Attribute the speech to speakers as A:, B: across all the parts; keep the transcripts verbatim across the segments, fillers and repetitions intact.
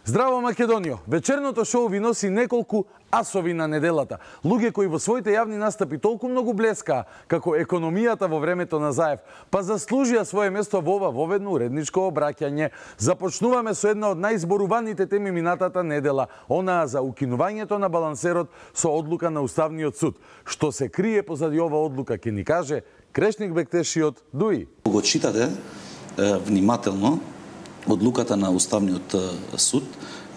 A: Здраво Македонијо! Вечерното шоу ви носи неколку асови на неделата. Луѓе кои во своите јавни настапи толку многу блескаа како економијата во времето на Заев, па заслужија свое место во ова воведно уредничко обраќање. Започнуваме со една од најзборуваните теми минатата недела, онаа за укинувањето на балансерот со одлука на Уставниот суд. Што се крие позади ова одлука ќе ни каже Крешник Бектешиот Дуи.
B: Го читате внимателно одлуката на Уставниот суд,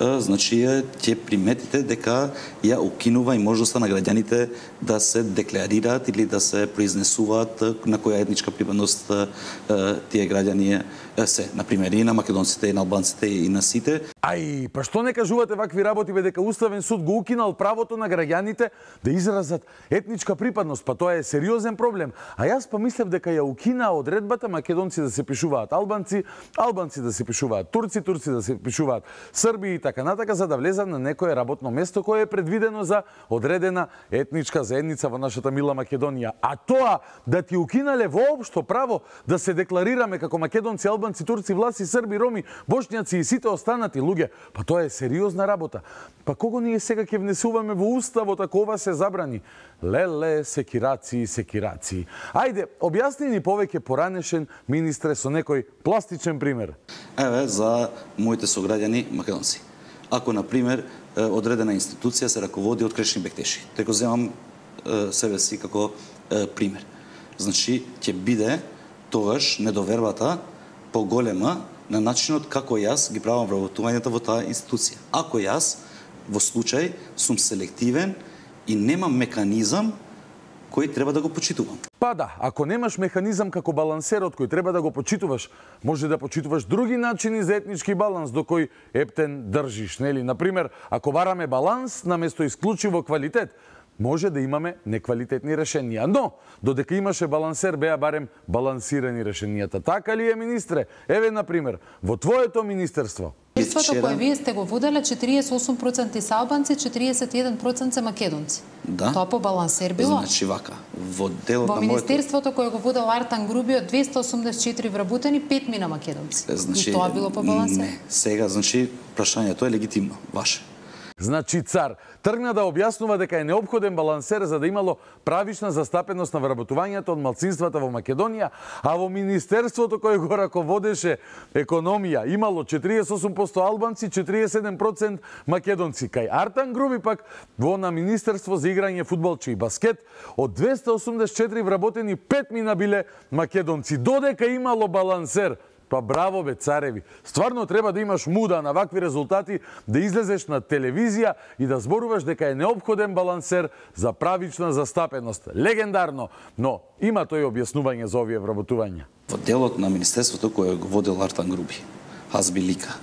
B: значи ќе приметите дека ја укинува и можноста на граѓаните да се декларираат или да се произнесуваат на која етничка припадност тие граѓани се, например и на македонците, и на албанците, и на сите.
A: Ај, па што не кажувате вакви работи бе дека Уставен суд го укинал правото на граѓаните да изразат етничка припадност, па тоа е сериозен проблем. А јас па мислев дека ја укина одредбата македонци да се пишуваат албанци, албанци да се пишуваат турци, турци да се пишуваат срби и така натака, за да влезат на некое работно место кое е предвидено за одредена етничка заедница во нашата мила Македонија. А тоа да ти укинале воопшто право да се декларираме како македонци, албанци, турци, власи, срби, роми, бошњаци и сите останати луѓе, па тоа е сериозна работа. Па кого ние сега ќе внесуваме во уставот ако ова се забрани? Леле, секираци, секираци. Ајде, објасни ни повеќе поранешен, министре, со некој пластичен пример.
B: Еве, за моите сограѓани македонци. Ако, например, одредена институција се раководи од Крешник Бектеши, те го земам себе си како пример. Значи, ќе биде тогаш недовербата поголема на начинот како јас ги правам вработувањата во таа институција. Ако јас, во случај, сум селективен и немам механизам кој треба да го почитувам.
A: Па да, ако немаш механизам како балансерот кој треба да го почитуваш, може да почитуваш други начини за етнички баланс до кој ептен држиш, нели? Например, ако бараме баланс наместо исклучиво квалитет, може да имаме неквалитетни решенија. Но, додека имаше балансер, беа барем балансирани решенијата. Така ли е, министре? Еве, например, во твоето министерство.
C: Министерството кое вие сте го воделе, четириесет и осум проценти се албанци, четириесет и еден проценти се македонци.
B: Да.
C: Тоа по балансер било?
B: Значи вака, во делот
C: во
B: на моето...
C: министерството кое го водел Артан Груби од двеста осумдесет и четири вработени, пет мина македонци.
B: Значи,
C: и тоа било по балансер?
B: Не, сега, значи, прашањето е легитимно, ваше.
A: Значи цар тргна да објаснува дека е неопходен балансер за да имало правична застапеност на вработувањето од малцинствата во Македонија, а во министерството кое го раководеше економија имало четириесет и осум проценти албанци, четириесет и еден проценти македонци. Кај Артан Груби пак во на министерство за играње фудбалче и баскет од двеста осумдесет и четири вработени пет мина биле македонци. Додека имало балансер. Па браво бе, цареви. Стварно треба да имаш муда на вакви резултати, да излезеш на телевизија и да зборуваш дека е неопходен балансер за правична застапеност. Легендарно, но има тој објаснување за овие вработувања.
B: Во делот на министерството кое го водел Артан Груби, Хазби Лика,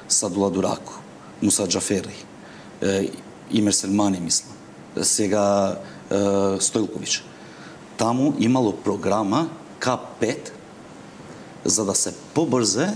B: Садула Дураку, Муса Џафери, Имер Селмани, мислам, сега Стојлковиќ. Таму имало програма К пет за да се побрзе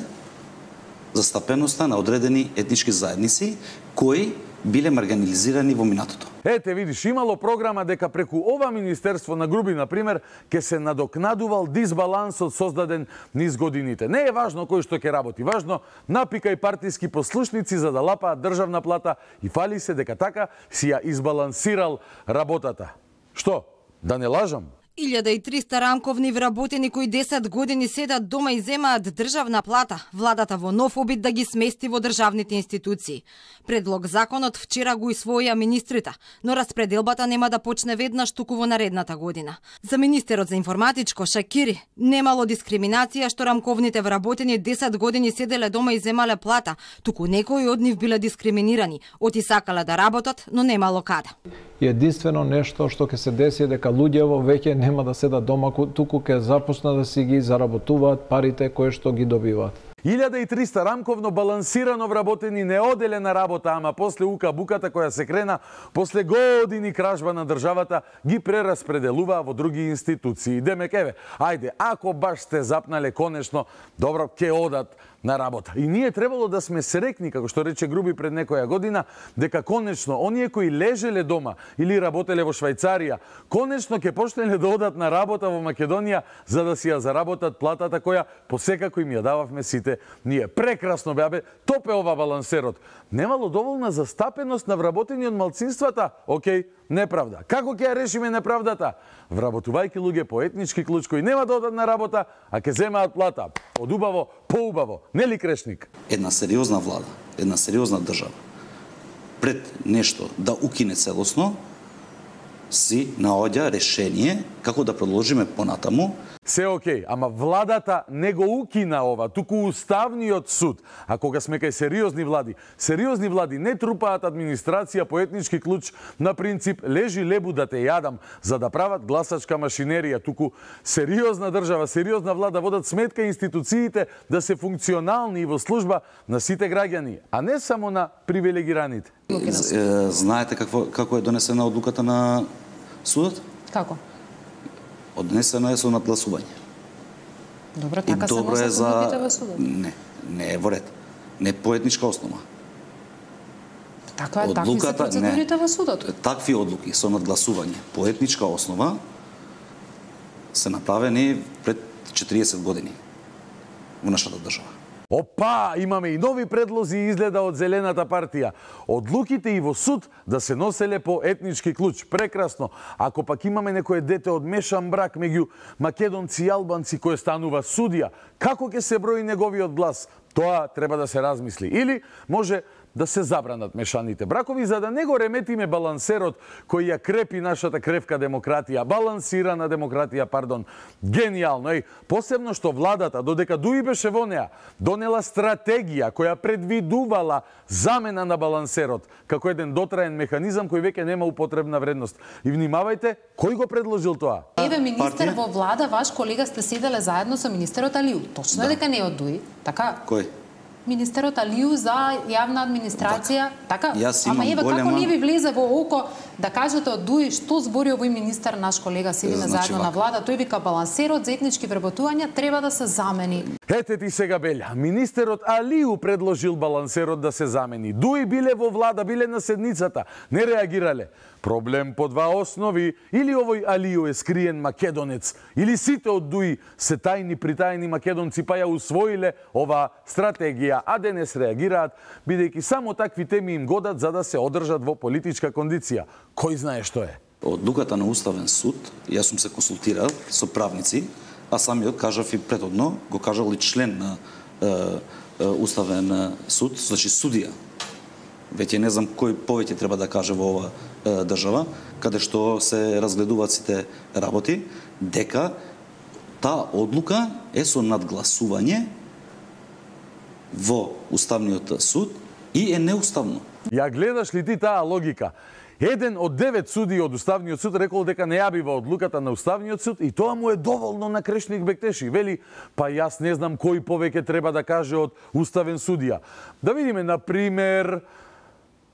B: застапеноста на одредени етнички заедници кои биле маргинализирани во минатото.
A: Ете, видиш, имало програма дека преку ова министерство на Груби, например, ке се надокнадувал дисбалансот создаден низ годините. Не е важно кој што ќе работи, важно напика и партиски послушници за да лапаат државна плата и фали се дека така си ја избалансирал работата. Што, да не лажам?
D: илјада и триста рамковни вработени кои десет години седат дома и земаат државна плата, владата во нов обид да ги смести во државните институции. Предлог законот вчера го усвоија министрите, но распределбата нема да почне веднаш туку во наредната година. За министерот за информатичко Шакири немало дискриминација што рамковните вработени десет години седеле дома и земале плата, туку некои од нив биле дискриминирани, оти сакале да работат, но немало каде.
E: Единствено нешто што ќе се деси е дека луѓето веќе нема да седат дома, туку ќе започнат да си ги заработуваат парите кои што ги добиваат.
A: илјада и триста рамковно балансирано вработени неоделена работа, ама после ука буката која се крена, после години кражба на државата, ги прераспределуваа во други институции. Демек, еве, ајде, ако баш сте запнале конечно, добро, ќе одат на работа. И ние требало да сме срекни, како што рече Груби пред некоја година, дека конечно оние кои лежеле дома или работеле во Швајцарија, конечно ќе почнеле да одат на работа во Македонија за да си ја заработат платата која посекако им ја дававме сите ние. Прекрасно бе, топе ова балансерот. Немало доволна застапеност на вработени од малцинствата? Океј, неправда. Како ќе ја решиме неправдата? Вработувајќи луѓе по етнички клуч кои нема да одат на работа, а ќе земаат плата. Од убаво, поубаво. Нели Крешник?
B: Една сериозна влада, една сериозна држава, пред нешто да укине целосно, си наоѓа решение како да продолжиме понатаму.
A: Се окей, ама владата не го укина ова, туку Уставниот суд. А кога сме кај сериозни влади, сериозни влади не трупаат администрација по етнички клуч на принцип лежи лебу да те јадам, за да прават гласачка машинерија, туку сериозна држава, сериозна влада водат сметка институциите да се функционални и во служба на сите граѓани, а не само на привилегираните.
B: Знаете какво, како е донесена одлуката на судот?
C: Како?
B: Однесено е со надгласување.
C: Добро, така се носат
B: за...
C: одлуките во судот?
B: Не, не е во ред. Не по етничка основа.
C: Така е, такви се процедурите во судот.
B: Такви одлуки со надгласување по етничка основа се направени пред четириесет години во нашата држава.
A: Опа, имаме и нови предлози изгледа од Зелената партија. Одлуките и во суд да се носеле по етнички клуч. Прекрасно. Ако пак имаме некое дете од мешан брак меѓу македонци и албанци кој станува судија, како ќе се брои неговиот глас? Тоа треба да се размисли. Или може да се забранат мешаните бракови, за да не го реметиме балансерот кој ја крепи нашата кревка демократија, балансирана демократија, пардон. Гениално, еј, посебно што владата, додека Дуи беше во неа, донела стратегија која предвидувала замена на балансерот, како еден дотраен механизам кој веќе нема употребна вредност. И внимавајте, кој го предложил тоа?
C: Еве, министер во влада, ваш колега сте седеле заедно со министерот Алиу. Точно е дека не е од Дуи, така?
B: Кој?
C: Министерот Алиу за јавна администрација, така? Ама еве
B: голема...
C: како не ви влезе во око да кажете од Дуи што збори овој министер, наш колега, седиме значи, заедно вака. На влада, тој вика балансерот за етнички вработувања треба да се замени.
A: Ете ти сега белја, министерот Алиу предложил балансерот да се замени. Дуи биле во влада, биле на седницата, не реагирале. Проблем по два основи, или овој Алиу е скриен македонец, или сите од Дуи се тајни притајни македонци па ја усвоиле ова стратегија, а денес реагираат, бидејќи само такви теми им годат за да се одржат во политичка кондиција. Кој знае што е?
B: Одлуката на Уставен суд, јас сум се консултирал со правници, а самиот кажав и претhodно, го кажал и член на е, е, Уставен суд, значи судија. Веќе не знам кој повеќе треба да каже во ова е, држава, каде што се разгледуваат сите работи, дека таа одлука е со надгласување во Уставниот суд и е неуставно.
A: Ја гледаш ли ти таа логика? Еден од девет суди од Уставниот суд рекол дека не ја бива одлуката на Уставниот суд и тоа му е доволно на Крешник Бектеши. Вели, па јас не знам кој повеќе треба да каже од Уставен судија. Да видиме, на пример,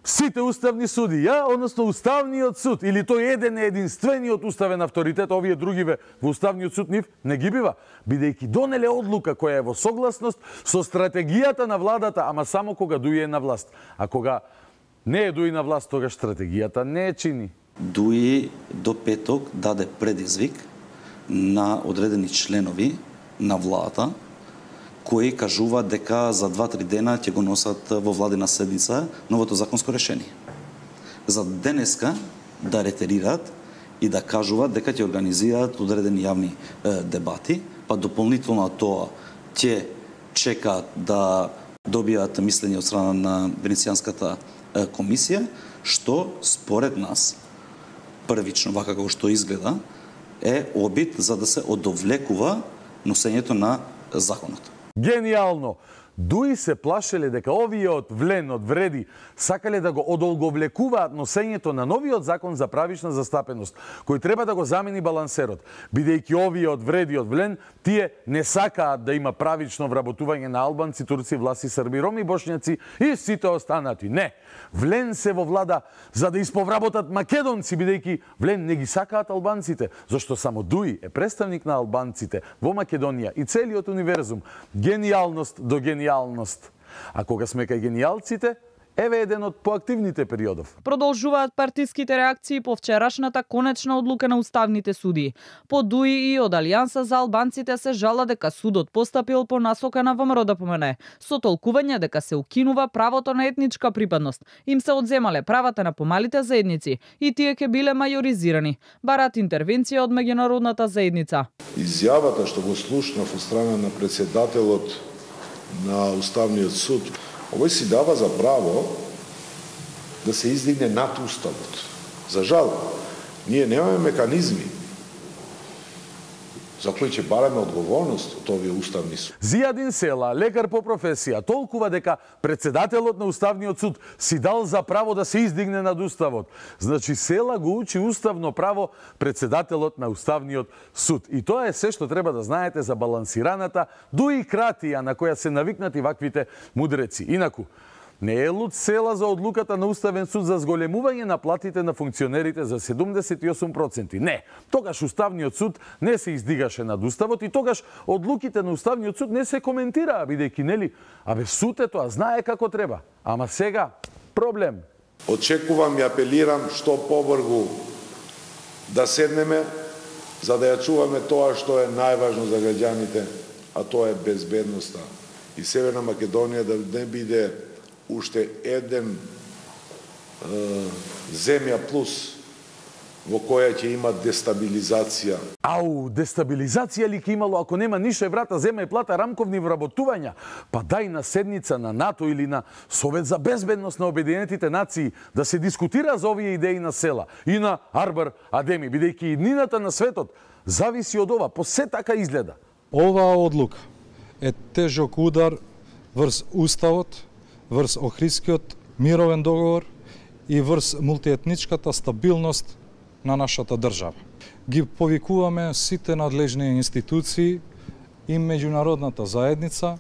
A: сите уставни судија, односно Уставниот суд, или тој еден е единствениот уставен авторитет, овие другиве во Уставниот суд нив не ги бива, бидејќи донеле одлука која е во согласност со стратегијата на владата, ама само кога Дуи е на власт. А кога не е Дуи на власт, тогаш стратегијата не е чини.
B: Дуи до петок даде предизвик на одредени членови на владата, кои кажуваат дека за два-три дена ќе го носат во владина седница новото законско решение. За денеска да ретерираат и да кажуваат дека ќе организираат одредени јавни е, дебати, па дополнително тоа ќе чекаат да добијат мислење од страна на Венецијанската е, комисија, што според нас, првично, вака како што изгледа, е обид за да се одовлекува носењето на законот.
A: Гениално! Дуи се плашеле дека овие од влен, од вреди, сакале да го одолговлекуваат носењето на новиот закон за правична застапеност, кој треба да го замени балансерот. Бидејќи овие од вреди, од влен, тие не сакаат да има правично вработување на албанци, турци, власи, срби, роми, бошњаци и сите останати. Не! Влен се во влада за да исповработат македонци, бидејќи влен не ги сакаат албанците, зашто само Дуи е представник на албанците во Македонија и целиот универзум. Гениалност до гениалност. гениалност. А кога сме кај гениалците, еве еден од поактивните периодов.
F: Продолжуваат партиските реакции по вчерашната конечна одлука на уставните суди. По ДУИ и од Алијанса за албанците се жала дека судот постапил по насока на ВМРО да помене, со толкување дека се укинува правото на етничка припадност. Им се одземале правата на помалите заедници и тие ќе биле мајоризирани. Барат интервенција од меѓународната заедница.
G: Изјавата што го слушнав од страна на председателот на Уставниот суд, овој си дава за право да се издигне над Уставот. За жал, ние немаме механизми за кои ќе бараме одговорност од овие уставни суд.
A: Зијадин Села, лекар по професија, толкува дека председателот на Уставниот суд си дал за право да се издигне над Уставот. Значи Села го учи уставно право председателот на Уставниот суд. И тоа е се што треба да знаете за балансираната дуикратија на која се навикнати ваквите мудреци. Инаку, не е луд Села за одлуката на Уставен суд за зголемување на платите на функционерите за седумдесет и осум проценти. Не, тогаш Уставниот суд не се издигаше над Уставот и тогаш одлуките на Уставниот суд не се коментираа, бидејќи нели, абе суд е тоа, знае како треба. Ама сега, проблем.
G: Очекувам и апелирам што побрзо да седнеме за да ја чуваме тоа што е најважно за граѓаните, а тоа е безбедноста. И Северна Македонија да не биде уште еден е, земја плюс во која ќе има дестабилизација.
A: Ау, дестабилизација ли ќе имало ако нема нише врата, зема и плата рамковни вработувања? Па дај на седница на НАТО или на Совет за безбедност на Обединетите нации да се дискутира за овие идеи на Села и на Арбар Адеми, бидејќи иднината на светот зависи од ова, по се така изгледа.
H: Оваа одлука е тежок удар врз Уставот, врз Охридскиот мировен договор и врз мултиетничката стабилност на нашата држава. Ги повикуваме сите надлежни институции и меѓународната заедница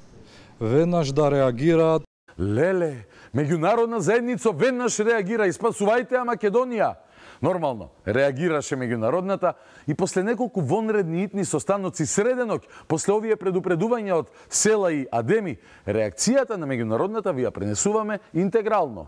H: веднаш да реагираат.
A: Леле, меѓународна заедница веднаш реагира и спасувајте ја Македонија. Нормално, реагираше меѓународната и после неколку вонредни итни состаноци среде ноќ, после овие предупредувања од Села и Адеми, реакцијата на меѓународната ви ја пренесуваме интегрално.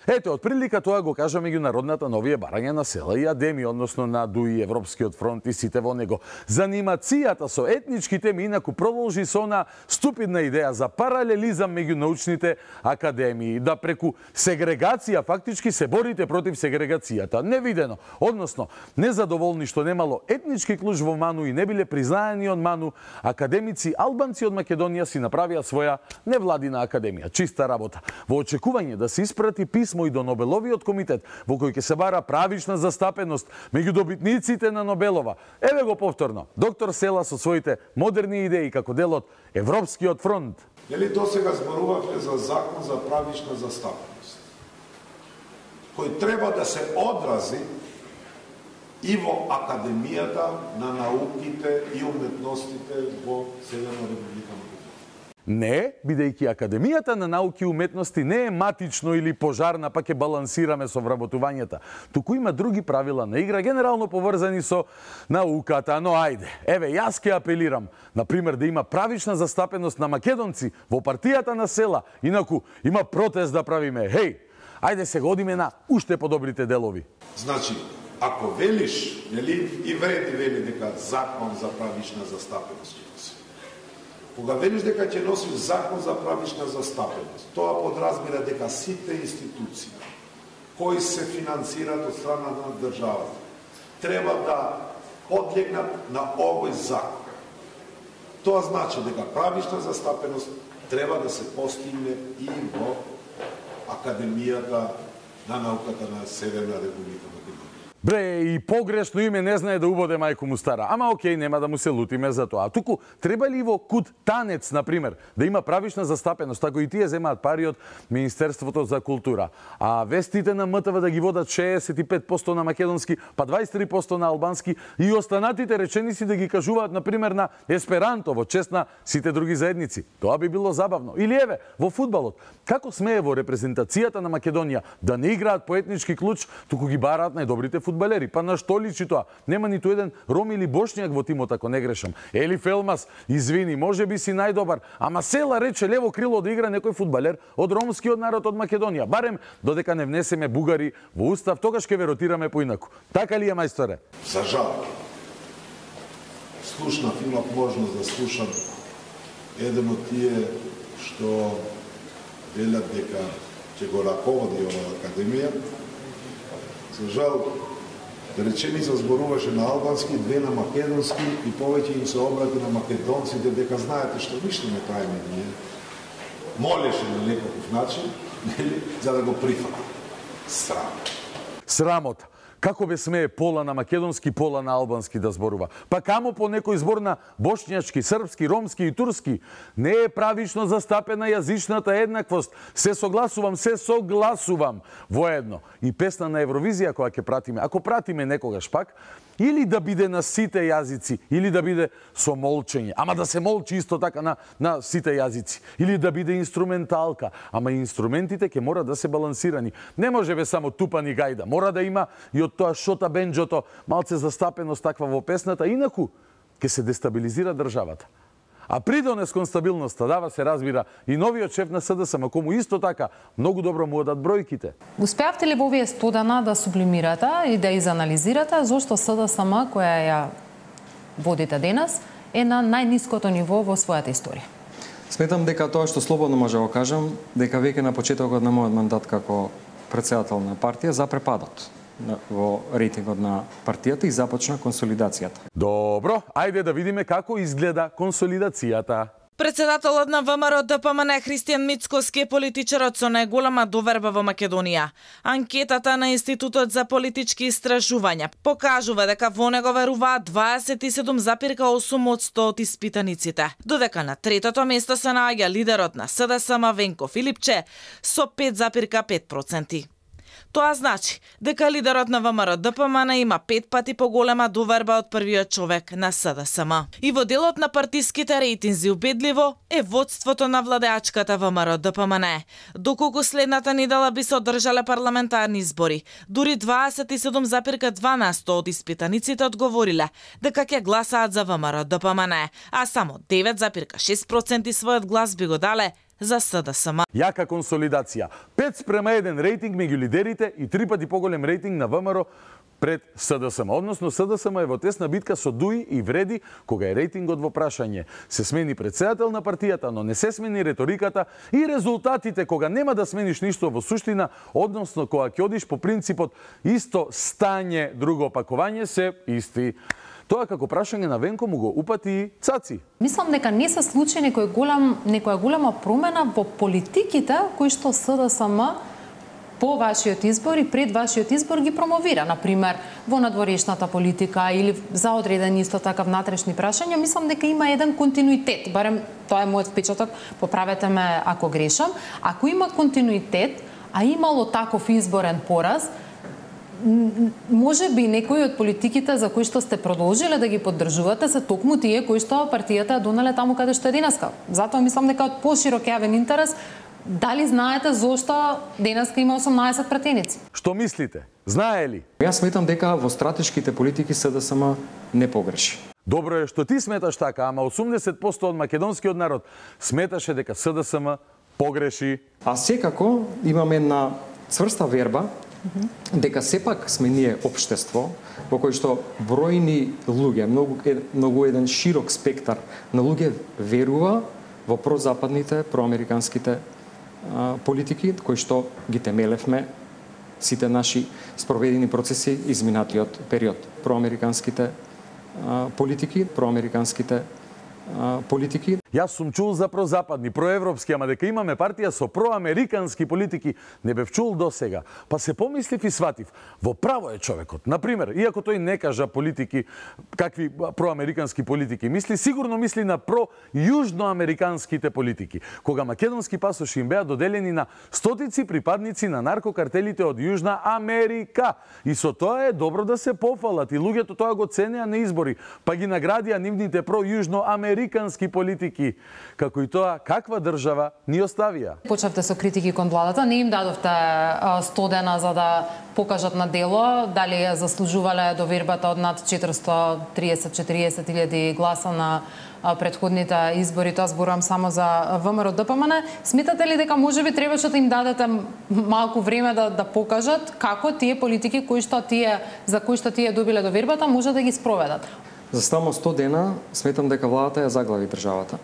A: Ете, од прилика тоа го кажа меѓународната на овие барања на Села и Адеми, односно на ДУИ, Европскиот фронт и сите во него. Занимацијата со етнички теми инаку продолжи со она ступидна идеја за паралелизам меѓу научните академии, да преку сегрегација фактички се борите против сегрегацијата. Невидено, односно, незадоволни што немало етнички клуч во МАНУ и не биле признаени од МАНУ, академици албанци од Македонија си направија своја невладина академија. Чиста работа. Во очекување да се испрати писмо и до Нобеловиот комитет, во кој ќе се бара правична застапеност меѓу добитниците на Нобелова. Еве го повторно, доктор Села со своите модерни идеи како дел од Европскиот фронт.
G: Нели досега зборувавме за закон за правична застапеност, кој треба да се одрази и во Академијата на науките и уметностите во Северна Република Македонија.
A: Не, бидејќи Академијата на науки и уметности не е матично или пожарна, па ќе балансираме со вработувањата. Туку има други правила на игра, генерално поврзани со науката, но ајде. Еве, јас ќе апелирам, например, да има правична застапеност на македонци во партијата на Села, инаку има протест да правиме. Хеј, ајде се годиме на уште подобрите делови.
G: Значи, ако велиш, нели, и вреди вели дека закон за правична застапеност ќе носи. Кога велиш дека ќе носиш закон за правична застапеност, тоа подразбира дека сите институции кои се финансираат од страна на државата треба да подлегнат на овој закон. Тоа значи дека правична застапеност треба да се постигне и во Академијата на науката на Северна Република Македонија.
A: Бре, и погрешно име не знае да убоде мајку му стара. Ама окей, нема да му се лутиме за тоа. Туку, треба ли во куд танец, например, да има правична застапеност, ако и тие земаат пари од Министерството за култура, а вестите на МТВ да ги водат шеесет и пет проценти на македонски, па дваесет и три проценти на албански и останатите реченици да ги кажуваат, например, на есперанто, во чест на сите други заедници. Тоа би било забавно. Или еве, во фудбалот, како смее во репрезентацијата на Македонија да не играат по етнички клуч, туку ги бараат најдобрите фудбалисти фудбалери. Па на што личи тоа? Нема ниту еден ром или бошњак во тимот, ако не грешам. Елиф Елмас, извини, може би си најдобар, ама Села рече лево крило да игра некој фудбалер од ромскиот народ од Македонија. Барем додека не внесеме бугари во устав, тогаш ќе ве ротираме поинаку. Така ли е, мајсторе?
G: За жал. Слушнав, имав можност да слушам еден од тие што велат дека ќе го раководи оваа академија. За жал, реченица зборуваше на албански, две на македонски и повеќе им се обрати на македонците дека знаете што ништо не правиме ние. Молеше на некаков начин, нели, за да го прифати. Срам.
A: Срамота. Како бе смее пола на македонски, пола на албански да зборува? Па камо по некој збор на бошњачки, српски, ромски и турски? Не е правично застапена јазичната еднаквост. Се согласувам, се согласувам воедно. И песна на Евровизија која ќе пратиме. Ако пратиме некогаш пак, или да биде на сите јазици, или да биде со молчење. Ама да се молчи исто така на, на сите јазици. Или да биде инструменталка. Ама инструментите ќе мора да се балансирани. Не може бе само тупани гајда. Мора да има и од тоа шота бенџото малце застапеност таква во песната. Инаку ќе се дестабилизира државата. А придонес кон стабилноста дава се разбира и новиот шеф на СДСМ, кому исто така многу добро му одат бројките.
C: Успеавте ли во овие сто дана да сублимирате и да изанализирате зошто СДСМ, која ја водите денес, е на најниското ниво во својата историја?
I: Сметам дека тоа што слободно може да го кажам, дека веќе на почетокот на мојот мандат како претседател на партија запре падот во рейтингот на партијата и започна консолидацијата.
A: Добро, ајде да видиме како изгледа консолидацијата.
F: Председателот на ВМРО Д П М Н Христијан Мицкоски е политичарот со најголема доверба во Македонија. Анкетата на Институтот за политички истражувања покажува дека во него веруваат дваесет и седум запирка и осум одсто од испитаниците, додека на третото место се наоѓа лидерот на СДСМ Венко Филипче со пет запирка и пет проценти. Тоа значи дека лидерот на ВМРО Д П М Н има пет пати поголема доверба од првиот човек на СДСМ. И во делот на партиските рейтинзи убедливо е водството на владеачката ВМРО Д П М Н. Доколку следната недела би се одржале парламентарни избори, дури дваесет и седум запирка и два на сто од испитаниците одговориле дека ќе гласаат за ВМРО Д П М Н, а само девет запирка и шест проценти својот глас би го дале за СДСМ.
A: Јака консолидација. пет спрема еден рейтинг меѓу лидерите и три пати поголем рейтинг на ВМРО пред СДСМ. Односно, СДСМ е во тесна битка со Дуи и Вреди, кога е рейтингот во прашање. Се смени председател на партијата, но не се смени реториката и резултатите кога нема да смениш ништо во суштина, односно кога ќе одиш по принципот исто стање, друго опакување, се исти. Тоа како прашање на Венко му го упати Цаци.
C: Мислам дека не се случи некој голем, некоја голема промена во политиките кои што СДСМ по вашиот избор и пред вашиот избор ги промовира. Например, во надворешната политика или за одредени исто така внатрешни прашања, мислам дека има еден континуитет. Барем тоа е мојот впечаток, поправете ме ако грешам. Ако има континуитет, а имало таков изборен пораз, може би некои од политиките за кои што сте продолжиле да ги поддржувате се токму тие кои што партијата донале таму каде што е денеска. Затоа мислам дека од поширок јавен интерес, дали знаете зошто денеска има осумнаесет пратеници?
A: Што мислите? Знае ли?
I: Јас сметам дека во стратешките политики СДСМ не погреши.
A: Добро е што ти сметаш така, ама осумдесет проценти од македонскиот народ сметаше дека СДСМ погреши.
I: А секако имаме една цврста верба дека сепак сме ние општество во кој што бројни луѓе, многу, многу еден широк спектар на луѓе верува во прозападните, проамериканските а, политики, кои што ги темелевме сите наши спроведени процеси изминатиот период. Проамериканските а, политики, проамериканските а, политики.
A: Јас сум чул за прозападни, проевропски, ама дека имаме партија со проамерикански политики, не бев чул до сега. Па се помислив и сватив. Во право е човекот. Например, иако тој не кажа политики, какви проамерикански политики мисли, сигурно мисли на про-јужноамериканските политики. Кога македонски пасоши им беа доделени на стотици припадници на наркокартелите од Јужна Америка. И со тоа е добро да се пофалат и луѓето тоа го ценеа на избори, па ги наградија нивните про-јужноамерикански политики. критики, како и тоа каква држава ни оставија.
C: Почнавте со критики кон владата, не им дадовте сто дена за да покажат на дело дали ја заслужувале довербата од над четиристотини и триесет до четириесет илјади гласа на претходните избори, тоа зборувам само за ВМРО Д П М Н. Сметате ли дека можеби требаше да им дадете малку време да да покажат како тие политики кои што тие за кои што тие добиле довербата може да ги спроведат?
I: За само сто дена сметам дека владата ја заглави државата.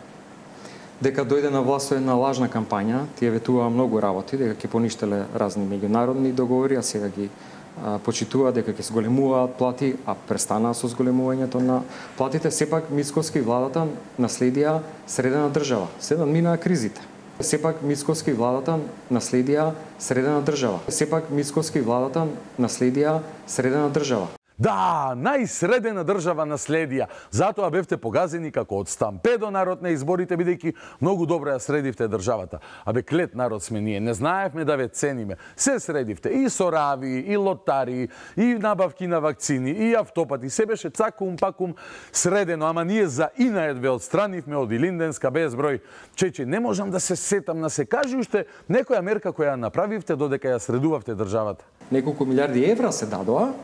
I: Дека дојде на власт една лажна кампања, тие ветуваа многу работи, дека ќе поништеле разни меѓународни договори, а сега ги а, почитува дека ќе зголемуваат плати, а престанаа со зголемувањето на платите. Сепак Мицкоски владата наследија средена држава. Сега минаа кризите. Сепак Мицкоски владата наследија средена држава. Сепак Мицкоски владата наследија средена држава.
A: Да, најсредена држава наследија. Затоа бевте погазени како од стампедо народ на изборите, бидејќи многу добро ја средивте државата. Абе, клет народ сме ние, не знаевме да ве цениме. Се средивте, и соравии, и лотарии, и набавки на вакцини, и автопати. Се беше цакум пакум средено, ама ние за инаед ве отстранивме од Илинденска безброј. Чече, не можам да се сетам на се. Кажи уште некоја мерка која направивте додека ја средувавте државата.
I: Неколку милиарди евра се дадоа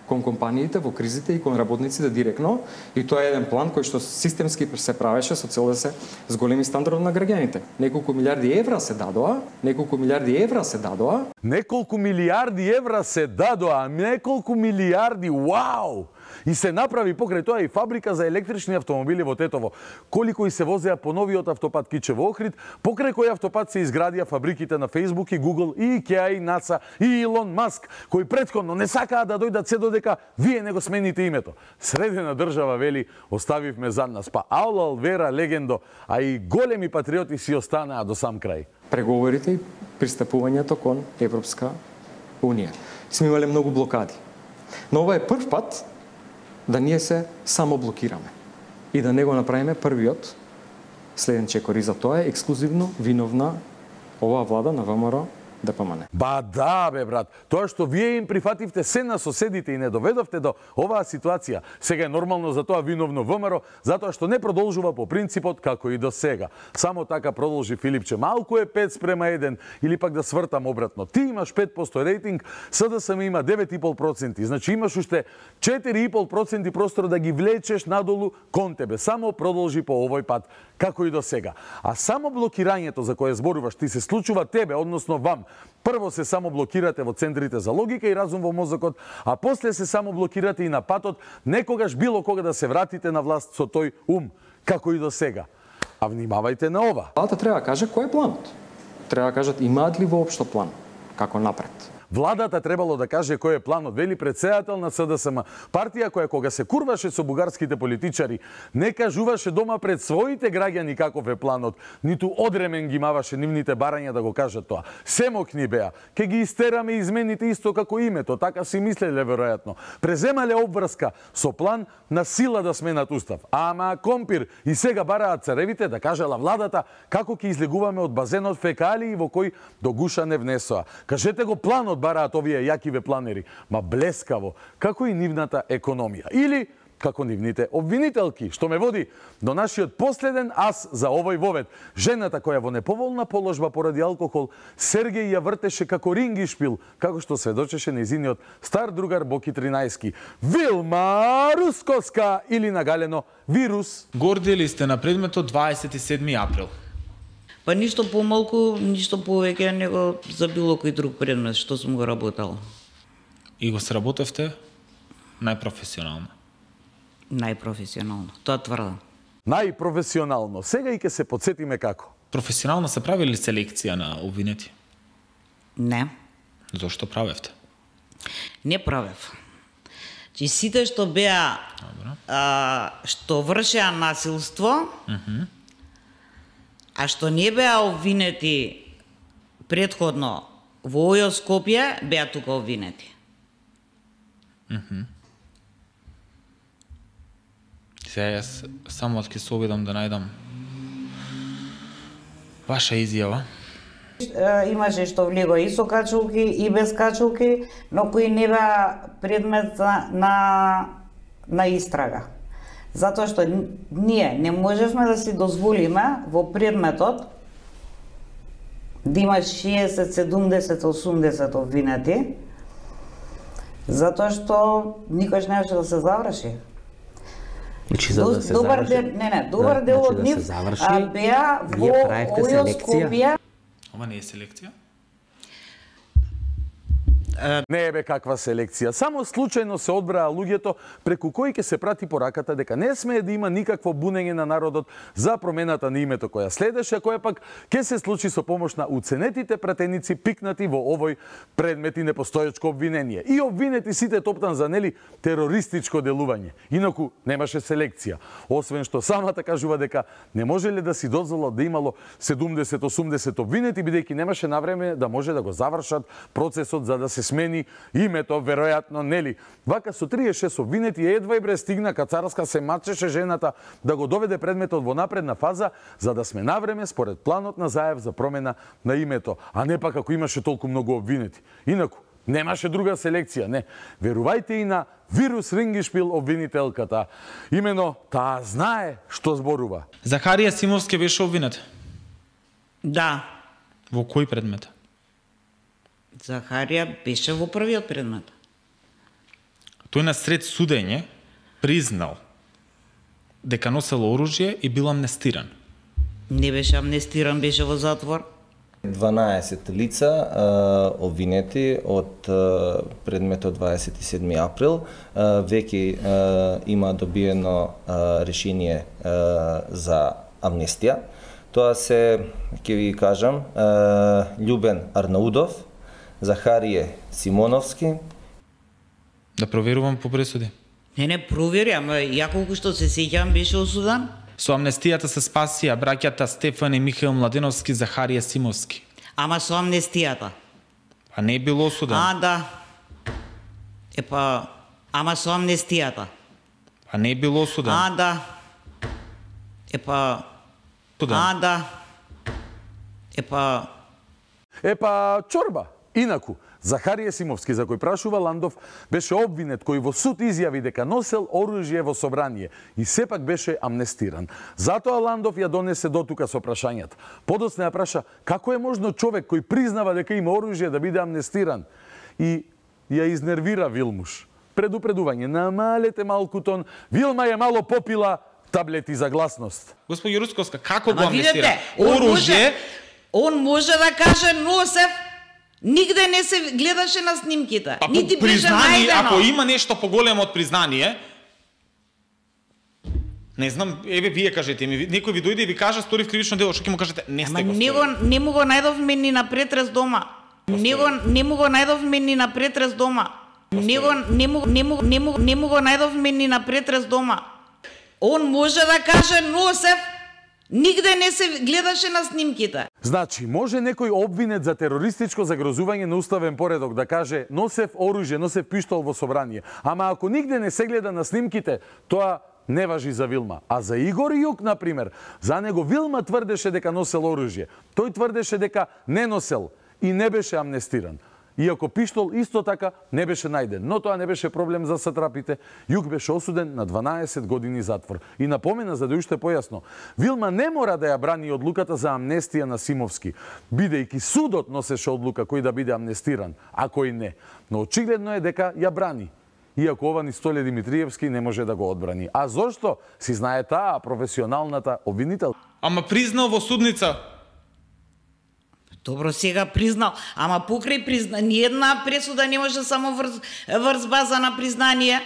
I: кон компаниите во кризите и кон работниците директно, и тоа е еден план кој што системски се правеше со цел да се зголеми стандардот на граѓаните. Неколку милиарди евра се дадоа, неколку милиарди евра се дадоа.
A: Неколку милиарди евра се дадоа, неколку милиарди, вау! И се направи покрај тоа и фабрика за електрични автомобили во Тетово. Колико и се возеа по новиот автопат Кичево Охрид, покрај кој автопат се изградија фабриките на Facebook и Google и IKEA и NASA и Илон Маск, кои претходно не сакаа да дојдат се додека вие не го смените името. Средена држава, вели, оставивме зад нас. Па аулал, вера, легендо, а и големи патриоти си останаа до сам крај.
I: Преговорите и пристапувањето кон Европска Унија. Сме имале многу блокади. Но ова е прв пат да ние се само блокираме и да не го направиме првиот следен чекор. И за тоа е ексклузивно виновна оваа влада на ВМРО Д П М Н.
A: Ба да, бе, брат. Тоа што вие им прифативте се на соседите и не доведовте до оваа ситуација, сега е нормално за тоа виновно ВМРО, затоа што не продолжува по принципот како и до сега. Само така продолжи Филипче. Малку е пет спрема еден, или пак да свртам обратно. Ти имаш пет проценти рейтинг, С Д С М има девет и пол проценти. Значи имаш уште четири и пол проценти простор да ги влечеш надолу кон тебе. Само продолжи по овој пат, како и до сега. А само блокирањето за кое зборуваш ти се случува тебе, односно вам. Прво се само блокирате во центрите за логика и разум во мозокот, а после се само блокирате и на патот, некогаш било кога да се вратите на власт со тој ум, како и до сега. А внимавајте на ова.
I: Владата треба да каже кој е планот. Треба да кажат имаат ли воопшто план, како напред.
A: Владата требало да каже кој е планот, вели претседател на С Д С М. Партија која кога се курваше со бугарските политичари, не кажуваше дома пред своите граѓани каков е планот, ниту одремен ги маваше нивните барања да го кажат тоа. Семокни беа, ке ги истераме и измените исто како името, така си мислеле веројатно. Преземале обврска со план на сила да сменат устав. Ама компир и сега бараат царевите да кажела владата како ќе излегуваме од базенот фекалии во кој до гуша не внесоа. Кажете го планот бараат овие јакиве планери, ма блескаво, како и нивната економија. Или како нивните обвинителки, што ме води до нашиот последен ас за овој вовед. Жената која во неповолна положба поради алкохол Сергеј ја вртеше како рингишпил, како што сведочеше нејзиниот стар другар Боки Тринајски. Вилма Рускоска или нагалено Вирус.
J: Горди ли сте на предметот дваесет и седми април?
K: Па ништо помалку, ништо повеќе него за било кој друг предмет што сум го работел.
J: И го сработевте најпрофесионално?
K: Најпрофесионално, тоа тврдам.
A: Најпрофесионално. Сега и ќе се подсетиме како.
J: Професионално се прави ли селекција на обвинети?
K: Не.
J: Зошто правевте?
K: Не правев. Чи сите што беа, а, што вршеа насилство,
J: uh-huh.
K: а што не беа обвинети предходно во Ојо Скопје, беа тука обвинети.
J: Uh-huh. Сега јас само ќе се обидам да најдам ваша изјава.
K: Имаше што влего и со качулки и без качулки, но кои не беа предмет на, на, на истрага. Затоа што ние не можевме да си дозволиме во предметот да има шеесет, седумдесет, осумдесет обвинети, затоа што никош немаше да се заврши.
L: Значи, за да се
K: добар
L: заврши,
K: дел, не, не, добар
L: да,
K: дел
L: значи,
K: од
L: да
K: нив
L: се заврши,
K: беа во Ојо-Скопје.
J: Ова не е селекција?
A: Не е бе каква селекција. Само случајно се одбраа луѓето преку кои ќе се прати пораката дека не смее да има никакво бунење на народот за промената на името која следеше, која пак ќе се случи со помош на уценетите пратеници пикнати во овој предмет и непостоечко обвинение. И обвинети сите топтан за нели терористичко делување. Инаку немаше селекција. Освен што самата кажува дека не можеле да си дозволат да имало седумдесет осумдесет обвинети, бидејќи немаше навреме да може да го завршат процесот за да се смени името, веројатно, нели. Вака со триесет и шест обвинети едва и бре стигна Кацарска, се мачеше жената да го доведе предметот во напредна фаза, за да сме навреме според планот на Заев за промена на името, а не пак ако имаше толку многу обвинети. Инаку, немаше друга селекција, не. Верувајте и на Вирус Рингишпил обвинителката. Имено, таа знае што зборува.
J: Захарија Симовски беше обвинет?
K: Да.
J: Во кој предмет?
K: Захарија беше во првиот предмет.
J: Тој на сред судење признал дека носел оружје и бил амнестиран.
K: Не беше амнестиран, беше во затвор.
M: дванаесет лица а, обвинети од а, предметот дваесет и седми април. А, веќе а, има добиено а, решение а, за амнестија. Тоа се, ќе ви кажам, а, Љубен Арнаудов, Захарije Симоновски.
J: Да проверувам по пресуди.
K: Не, не, провери, ама ја колку што се сеќавам беше осудан.
J: Со амнестијата се спасија браќата Стефан и Михаил Младеновски, Захарија Симовски.
K: Ама со амнестијата.
J: А не бил осуден.
K: А, да. Епа, ама со амнестијата.
J: А не бил осуден.
K: А, да. Епа,
J: Суден.
K: а, да. Епа,
A: Епа, чорба. Инаку, Захарија Симовски, за кој прашува Ландов, беше обвинет кој во суд изјави дека носел оружје во собрание и сепак беше амнестиран. Затоа Ландов ја донесе дотука со прашањата. Подоцна ја праша како е можно човек кој признава дека има оружје да биде амнестиран. И ја изнервира Вилмуш. Предупредување, намалете малку тон, Вилма е мало попила таблети за гласност.
J: Господи Русковска, како го
K: ама
J: амнестира?
K: видете, он
J: Оружје...
K: може, он може да каже носев, нигде не се гледаше на снимките.
J: Па,
K: нити беше
J: признание,
K: најдено.
J: ако има нешто поголемо од признание, не знам, еве вие кажете ми, некој ви дојде и ви каже сторив кривично дело, што ќе му кажете не сте
K: Ама
J: го
K: не го
J: сторили.
K: не му го најдовме ни на претрес дома. Не го не му го најдовме ни на претрес дома. Не го не му не му не му не му го најдовме ни на претрес дома. Он може да каже носев, нигде не се гледаше на снимките.
A: Значи, може некој обвинет за терористичко загрозување на уставен поредок да каже носев оружје, носев пиштол во собрание. Ама ако нигде не се гледа на снимките, тоа не важи за Вилма. А за Игор Јук, например, за него Вилма тврдеше дека носел оружје. Тој тврдеше дека не носел и не беше амнестиран. Иако пиштол исто така не беше најден, но тоа не беше проблем за сатрапите. Јук беше осуден на дванаесет години затвор. И напомена, за да уште појасно, Вилма не мора да ја брани одлуката за амнестија на Симовски, бидејќи судот носеше одлука кој да биде амнестиран, а кој не. Но очигледно е дека ја брани. Иако ова ни Столе Димитриевски не може да го одбрани. А зошто? Си знае таа професионалната обвинител.
J: Ама признал во судница.
K: Добро, сега признал, ама покрај призна, ни една пресуда не може само врз, врз база на признание,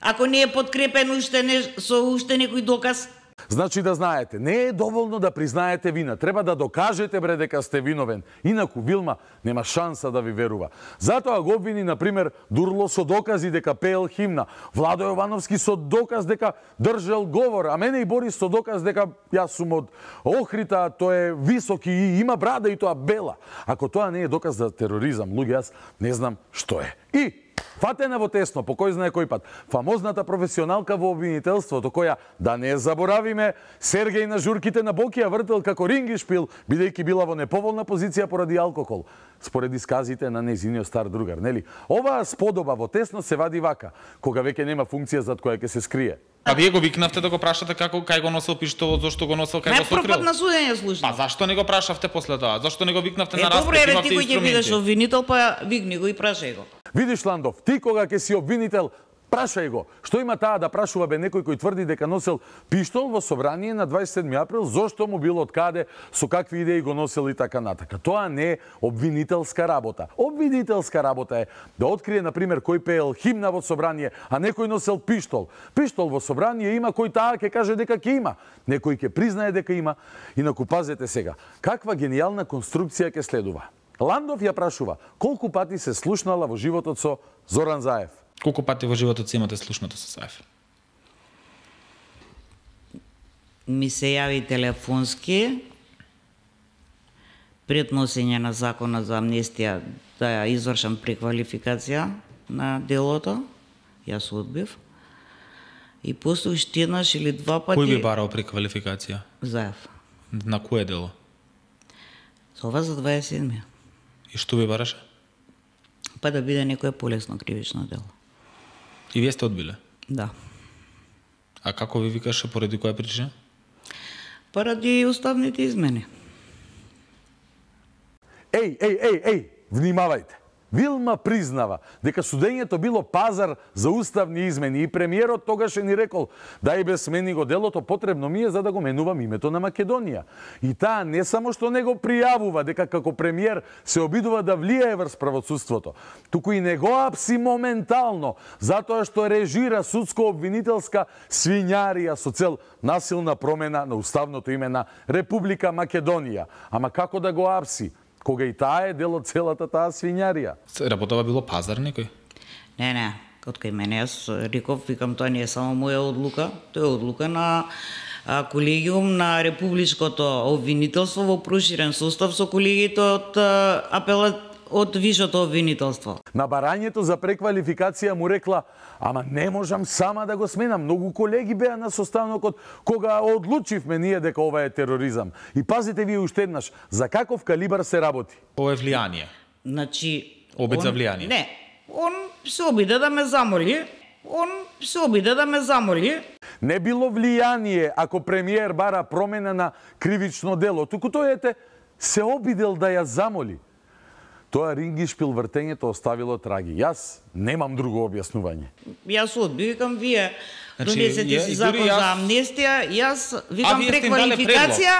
K: ако не е подкрепен уште не, со уште некој доказ.
A: Значи да знаете, не е доволно да признаете вина, треба да докажете бре дека сте виновен. Инаку Вилма нема шанса да ви верува. Затоа го обвини, например, Дурло со докази дека пеел химна, Владо Јовановски со доказ дека држал говор, а мене и Борис со доказ дека јас сум од Охрита, тој е високи и има брада и тоа бела. Ако тоа не е доказ за тероризам, луѓе, јас не знам што е. И Фатена во тесно, по кој знае кој пат. Фамозната професионалка во обвинителството, која, да не заборавиме, Сергеј на журките на Бокија вртел како рингишпил, бидејќи била во неповолна позиција поради алкохол, според исказите на нејзиниот стар другар, нели? Оваа сподоба во тесно се вади вака, кога веќе нема функција зад која ќе се скрие.
J: А вие го викнавте да го прашате како кај го носел пиштолот, зошто го носел, кај го сокрил?
K: Најпрв пат на судење слушнав.
J: Па зашто не го прашавте после тоа? Зашто не го викнавте
K: е,
J: на распред?
K: Добро, еве ти кој ќе бидеш обвинител, па викни го и прашај го.
A: Видиш, Ландов, ти кога ќе си обвинител, прашај го. Што има таа да прашува бе некој кој тврди дека носел пиштол во собрание на дваесет и седми април, зошто му било од каде, со какви идеи го носел и така натака. Тоа не е обвинителска работа. Обвинителска работа е да открие, например, кој пеел химна во собрание, а некој носел пиштол. Пиштол во собрание има кој таа ќе каже дека ќе има. Некој ќе признае дека има. Инаку пазете сега, каква гениална конструкција ќе следува. Ландов ја прашува колку пати се слушнала во животот со Зоран Заев.
J: Колку пати во животот се имате слушнато со Заев?
K: Ми се јави телефонски пред носење на законот за амнестија да ја извршам преквалификација на делото. Јас одбив. И после уште еднаш или два пати...
J: Кој би барал преквалификација?
K: Заев.
J: На кое дело?
K: Ова за дваесет и седми.
J: И што би бараше?
K: Па да биде некое полесно кривично дело.
J: И вие сте одбиле?
K: Да.
J: А како ви викаше, поради која причина?
K: Поради уставните измени.
A: Еј, еј, еј, еј, внимавајте. Вилма признава дека судењето било пазар за уставни измени и премиерот тогаш ни рекол да и без смени го делото, потребно ми е за да го менувам името на Македонија. И таа не само што не го пријавува дека како премиер се обидува да влијае врз правосудството, туку и не го апси моментално, затоа што режира судско-обвинителска свињарија со цел насилна промена на уставното име на Република Македонија. Ама како да го апси, кога и таа е дел од целата таа свињарија?
J: Работава било пазар некој?
K: Не, не. Од кај мене јас реков, викам, тоа не е само моја одлука, тоа е одлука на а, колегиум на Републичкото обвинителство во проширен состав со колегите од а, апела од Вишото обвинителство.
A: На барањето за преквалификација му рекла: ама не можам сама да го сменам. Многу колеги беа на состанокот кога одлучивме ние дека ова е тероризам. И пазите вие уште еднаш, за каков калибар се работи?
J: Ова е влијание.
K: Значи,
J: обид
K: он,
J: за влијание.
K: Не, он се обиде да ме замоли. Он се обиде да ме замоли.
A: Не било влијание ако премиер бара промена на кривично дело, туку тој ете се обидел да ја замоли. Тоа рингишпил вртењето оставило траги. Јас немам друго објаснување.
K: Јас одби, викам, вие
J: значи,
K: донесете си закон јас... за амнестија, јас викам преквалификација,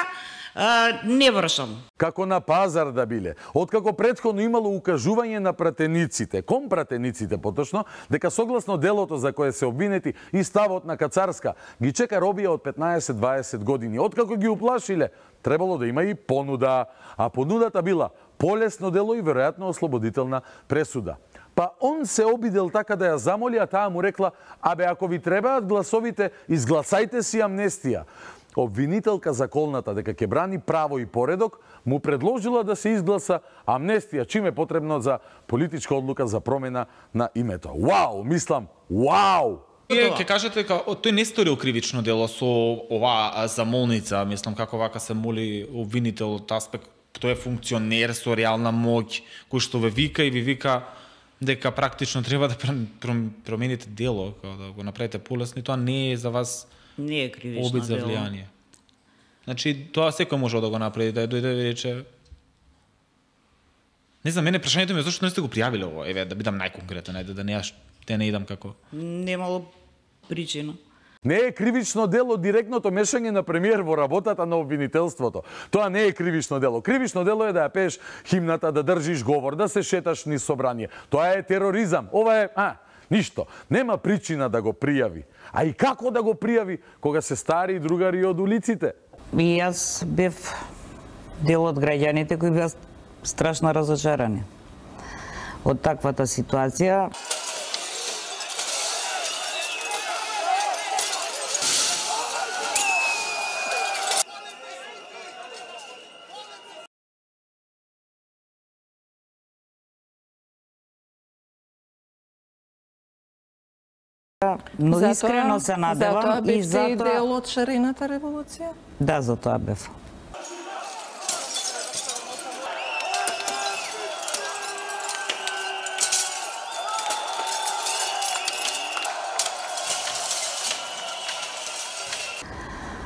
K: а, не вршам.
A: Како на пазар да биле. Откако претходно имало укажување на пратениците, кон пратениците поточно, дека согласно делото за кое се обвинети и ставот на Кацарска ги чека робија од петнаесет до дваесет години. Откако ги уплашиле, требало да има и понуда, а понудата била полесно дело и веројатно ослободителна пресуда. Па он се обидел така да ја замоли, а таа му рекла: абе, ако ви требаат гласовите, изгласајте си амнестија. Обвинителка заколната дека ќе брани право и поредок, му предложила да се изгласа амнестија, чим е потребно за политичка одлука за промена на името. Вау, мислам, вау!
J: Вие ќе кажете дека тој не сторил кривично дело со оваа замолница, мислам, како вака се моли обвинител од аспект, тој е функционер со реална моќ, кој што ве вика и ви вика дека практично треба да промените дело, да го направите полесно, и тоа не е за вас
K: не е кривично
J: обид за влијание. Значи, тоа секој може да го направи, да дојде и рече... Не знам, мене прашањето ми е зашто не сте го пријавиле ово, еве, да бидам најконкретен, ајде да не јаш, те не идам како...
K: Немало причина.
A: Не е кривично дело директното мешање на премиер во работата на обвинителството. Тоа не е кривично дело. Кривично дело е да ја пееш химната, да држиш говор, да се шеташ низ собрание. Тоа е тероризам. Ова е, а, ништо. Нема причина да го пријави. А и како да го пријави кога се стари другари од улиците?
K: И јас бев дел од граѓаните кои беа страшно разочарани од таквата ситуација. Но
N: затоа,
K: искрено се надевам
N: затоа
K: и затоа
N: и дел од шарената револуција?
K: Да, затоа бев.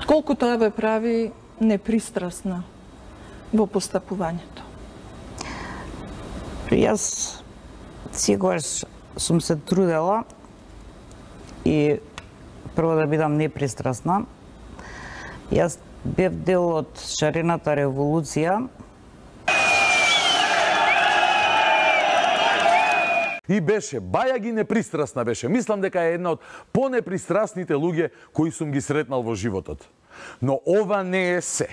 N: Колку тоа ве прави непристрасна во постапувањето?
K: Јас секогаш сум се трудела и прво да бидам непристрасна. Јас бев дел од шарената револуција.
A: И беше, баја ги непристрасна беше. Мислам дека е една од понепристрасните луѓе кои сум ги сретнал во животот. Но ова не е се.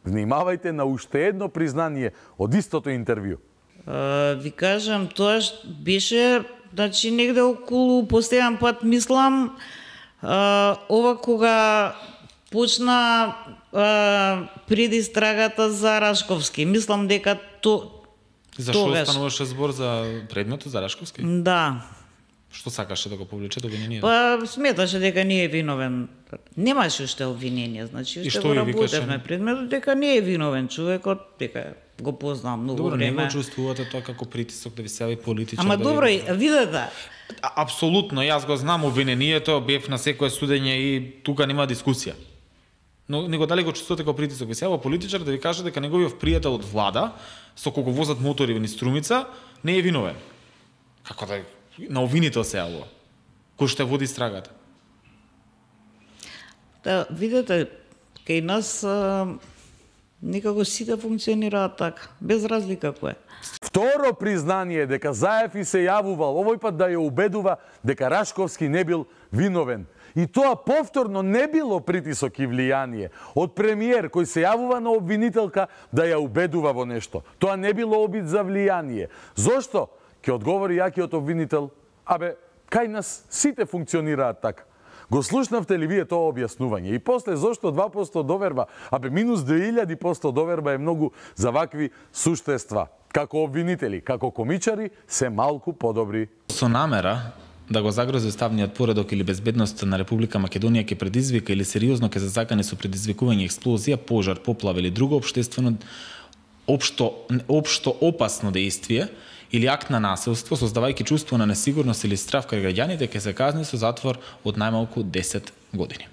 A: Внимавајте на уште едно признание од истото интервју.
K: Uh, ви кажам, тоа беше, значи, негде околу, последен пат мислам, uh, ова кога почна uh, предистрагата за Рашковски. Мислам дека то
J: Зашо
K: тогаш...
J: стануваше збор за предметот за Рашковски?
K: Да.
J: Што сакаше да го повлече до обвинението?
K: Па сметаше дека не е виновен. Немаше уште обвинение, значи уште го работевме предметот дека не е виновен човекот, дека го познавам многу
J: добро,
K: време.
J: Добро, не го чувствувате тоа како притисок да ви се јави политичар?
K: Ама
J: да
K: добро,
J: ви...
K: видете.
J: Апсолутно, јас го знам обвинението, бев на секое судење и тука нема дискусија. Но него дали го чувствувате како притисок? Ви се јава политичар да ви каже дека неговиот пријател од влада, со кого возат мотори во Струмица, не е виновен. Како да на обвинител се јавува, кој што води страгата.
K: Да, видите, кај нас а, некако сите функционираат така, без разлика кој е.
A: Второ признание дека Заев и се јавувал, овој пат да ја убедува дека Рашковски не бил виновен. И тоа повторно не било притисок и влијание од премиер кој се јавува на обвинителка да ја убедува во нешто. Тоа не било обид за влијание. Зошто? Ке одговори јакиот обвинител, абе, кај нас сите функционираат така. Го слушнавте ли вие тоа објаснување? И после, зошто два проценти доверба? Абе, минус две илјади проценти доверба е многу за вакви суштества. Како обвинители, како комичари, се малку подобри.
J: Со намера да го загрози уставниот поредок или безбедноста на Република Македонија ќе предизвика или сериозно ќе зазакане со предизвикување експлозија, пожар, поплава или друго општествено општо општо опасно дејствие или акт на насилство, создавајќи чувство на несигурност или страв кај граѓаните, ќе се казни со затвор од најмалку десет години.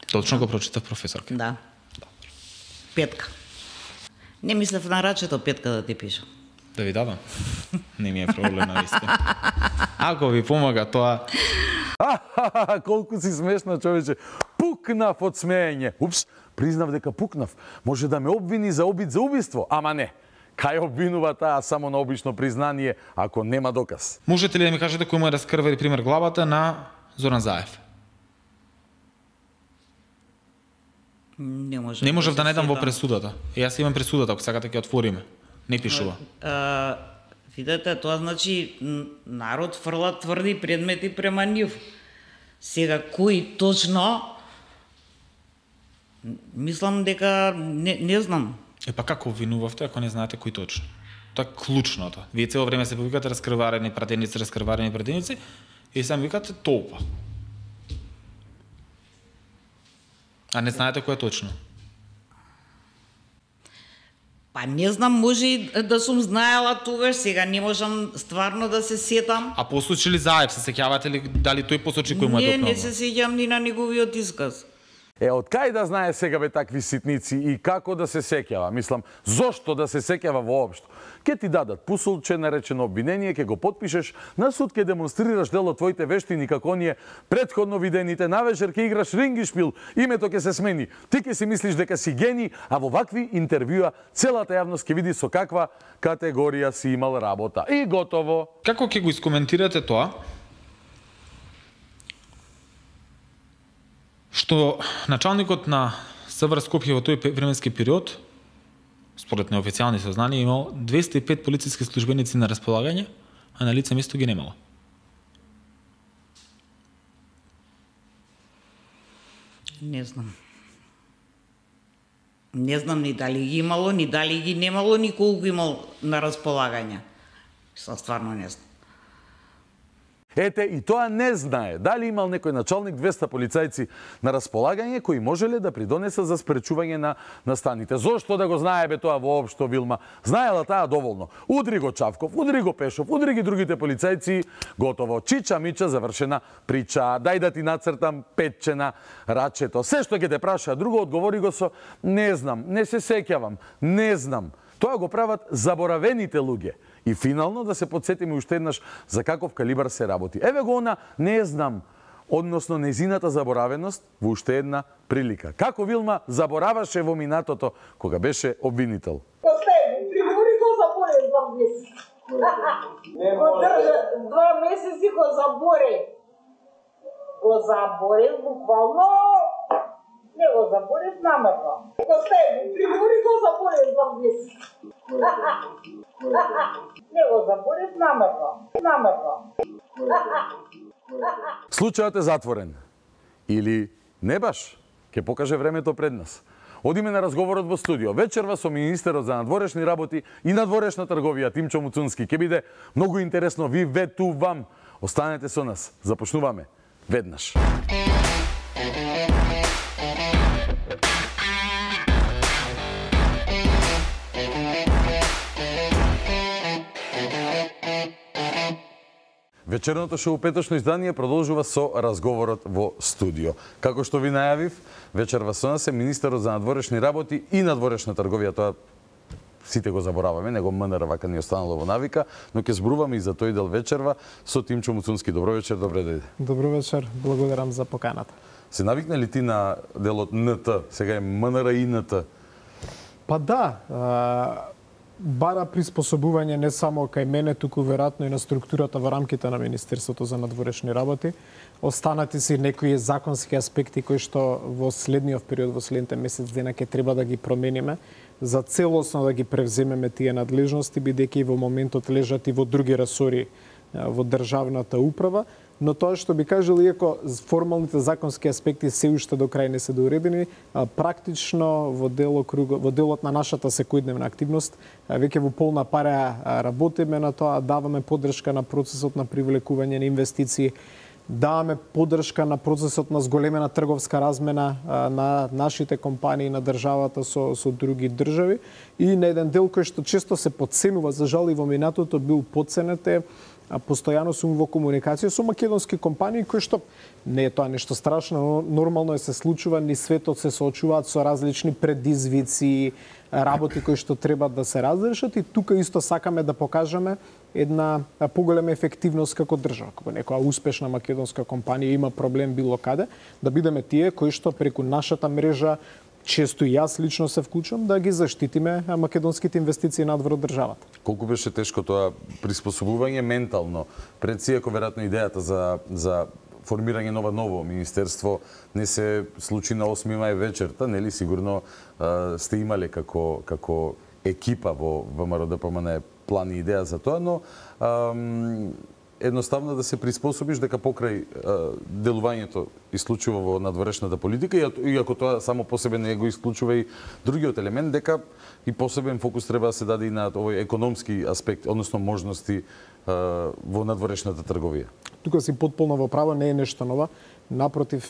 J: Точно го прочитав, професорка.
K: Да. Петка. Не мислев на рачето петка да ти пишам.
J: Да ви дадам? Не ми е проблем на вистина. Ако ви помага тоа...
A: Ахахаха, колку си смешна, човече. Пукнав од смеење. Упс, признав дека пукнав. Може да ме обвини за обид за убиство, ама не. Кај обвинува таа само на обично признание, ако нема доказ?
J: Можете ли да ми кажете кој му е раскрвали пример главата на Зоран Заев?
K: Не можев.
J: Не можев да не дам во пресудата. Јас имам пресудата, ако сакате ќе отвориме. Не пишува.
K: А, видете, тоа значи народ фрла тврди предмети према нив. Сега кои точно мислам дека не, не знам.
J: Е па како обвинувавте ако не знаете кои точно? Тоа е клучното. Вие цело време се повикате раскрварени пратеници, раскрварени пратеници и сам викате толпа. А не знаете кој е точно?
K: Па не знам, може и да сум знаела тогаш, сега не можам стварно да се сетам.
J: А посочи ли Заев, се сеќавате ли дали тој посочи кој му е допнал?
K: Не, не се сеќам ни на неговиот исказ.
A: Е, од кај да знае сега бе такви ситници и како да се сеќава? Мислам, зошто да се сеќава воопшто? Ке ти дадат пусулче, наречено обвинение, ке го потпишеш, на суд ке демонстрираш дел од твоите вештини како оние предходно видените, навечер ке играш рингишпил, името ке се смени. Ти ке си мислиш дека си гени, а во вакви интервјуа целата јавност ке види со каква категорија си имал работа. И готово.
J: Како ќе го искоментирате тоа? Што началникот на СВР Скопје во тој временски период, според неофицијални сознанија, имал двесте и пет полициски службеници на располагање, а на лице место ги немало.
K: Не знам. Не знам ни дали ги имало, ни дали ги немало, ни колку имал на располагање. Са стварно не знам.
A: Ете, и тоа не знае дали имал некој началник двеста полицајци на располагање кои можеле да придонесат за спречување на настаните. Зошто да го знае бе тоа воопшто, Вилма? Знаела таа доволно. Удри го Чавков, удри го Пешов, удри ги другите полицајци, готово. Чича мича завршена прича. Дај да ти нацртам петче на рачето. Се што ќе те праша, друго одговори го со не знам, не се сеќавам, не знам. Тоа го прават заборавените луѓе. И финално да се подсетиме уште еднаш за каков калибар се работи. Еве го она, не знам, односно незината заборавеност во уште една прилика. Како Вилма забораваше во минатото кога беше обвинител.
O: Последни, пригори го заборе два месеци. Го држа два месеци го заборе. Го заборе буквално. Не го заборев намерно. Последни, пригори го заборе два месеци. Не го заборев намерно. Намерно.
A: Случајот е затворен. Или не баш, ќе покаже времето пред нас. Одиме на разговорот во студио. Вечерва со министерот за надворешни работи и надворешна трговија Тимчо Муцунски. Ке биде многу интересно, ви ветувам. Останете со нас. Започнуваме веднаш. Вечерното шоу петочно издание продолжува со разговорот во студио. Како што ви најавив, вечерва со нас е министерот за надворешни работи и надворешна трговија. Тоа сите го забораваме, него М Н Р вака ни останало во навика, но ќе зборуваме и за тој дел вечерва со Тимчо Муцунски. Добро вечер, добре дојде.
E: Добро вечер, благодарам за поканата.
A: Се навикна ли ти на делот Н Т? Сега е М Н Р и Н Т.
E: Па да, а... бара приспособување не само кај мене, туку веројатно и на структурата во рамките на Министерството за надворешни работи. Останати си некои законски аспекти кои што во следниот период, во следните месец дена ќе треба да ги промениме, за целосно да ги превземеме тие надлежности, бидејќи во моментот лежат и во други ресори во државната управа, но тоа што би кажал, иако формалните законски аспекти се уште до крај не се доуредени, практично во делокруг, во делот на нашата секојдневна активност, веќе во полна пара работиме на тоа, даваме поддршка на процесот на привлекување на инвестиции, даваме поддршка на процесот на зголемена трговска размена на нашите компании, на државата со, со други држави, и на еден дел кој што често се подценува, за жал и во минатото бил подценет, е постојано сум во комуникација со македонски компании кои што не е тоа нешто страшно, но нормално е се случува, ни светот се соочуваат со различни предизвици, работи кои што треба да се разрешат, и тука исто сакаме да покажеме една поголема ефективност како држава. Кога некоја успешна македонска компанија има проблем било каде, да бидеме тие кои што преку нашата мрежа, често и јас лично се вклучувам, да ги заштитиме македонските инвестиции надвор од државата.
A: Колку беше тешко тоа приспособување ментално? Пред си, ако веројатно идејата за, за формирање нова ново министерство не се случи на осми мај вечерта, нели сигурно а, сте имале како како екипа во ВМРО-ДПМН план и идеја за тоа, но ам, едноставно да се приспособиш дека покрај а, делувањето исклучува во надворешната политика, и ако тоа само по себе не го исклучува и другиот елемент, дека и посебен фокус треба да се даде и на овој економски аспект, односно можности а, во надворешната трговија.
E: Тука си потполно во право, не е нешто ново. Напротив,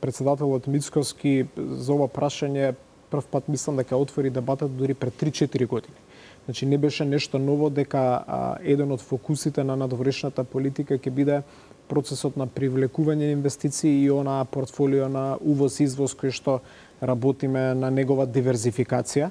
E: председателот Мицкоски за ова прашање прв пат мислам дека отвори дебатата дури пред три-четири години. Значи не беше нешто ново дека а, еден од фокусите на надворешната политика ќе биде процесот на привлекување на инвестиции и она портфолио на увоз-извоз кој што работиме на негова диверзификација.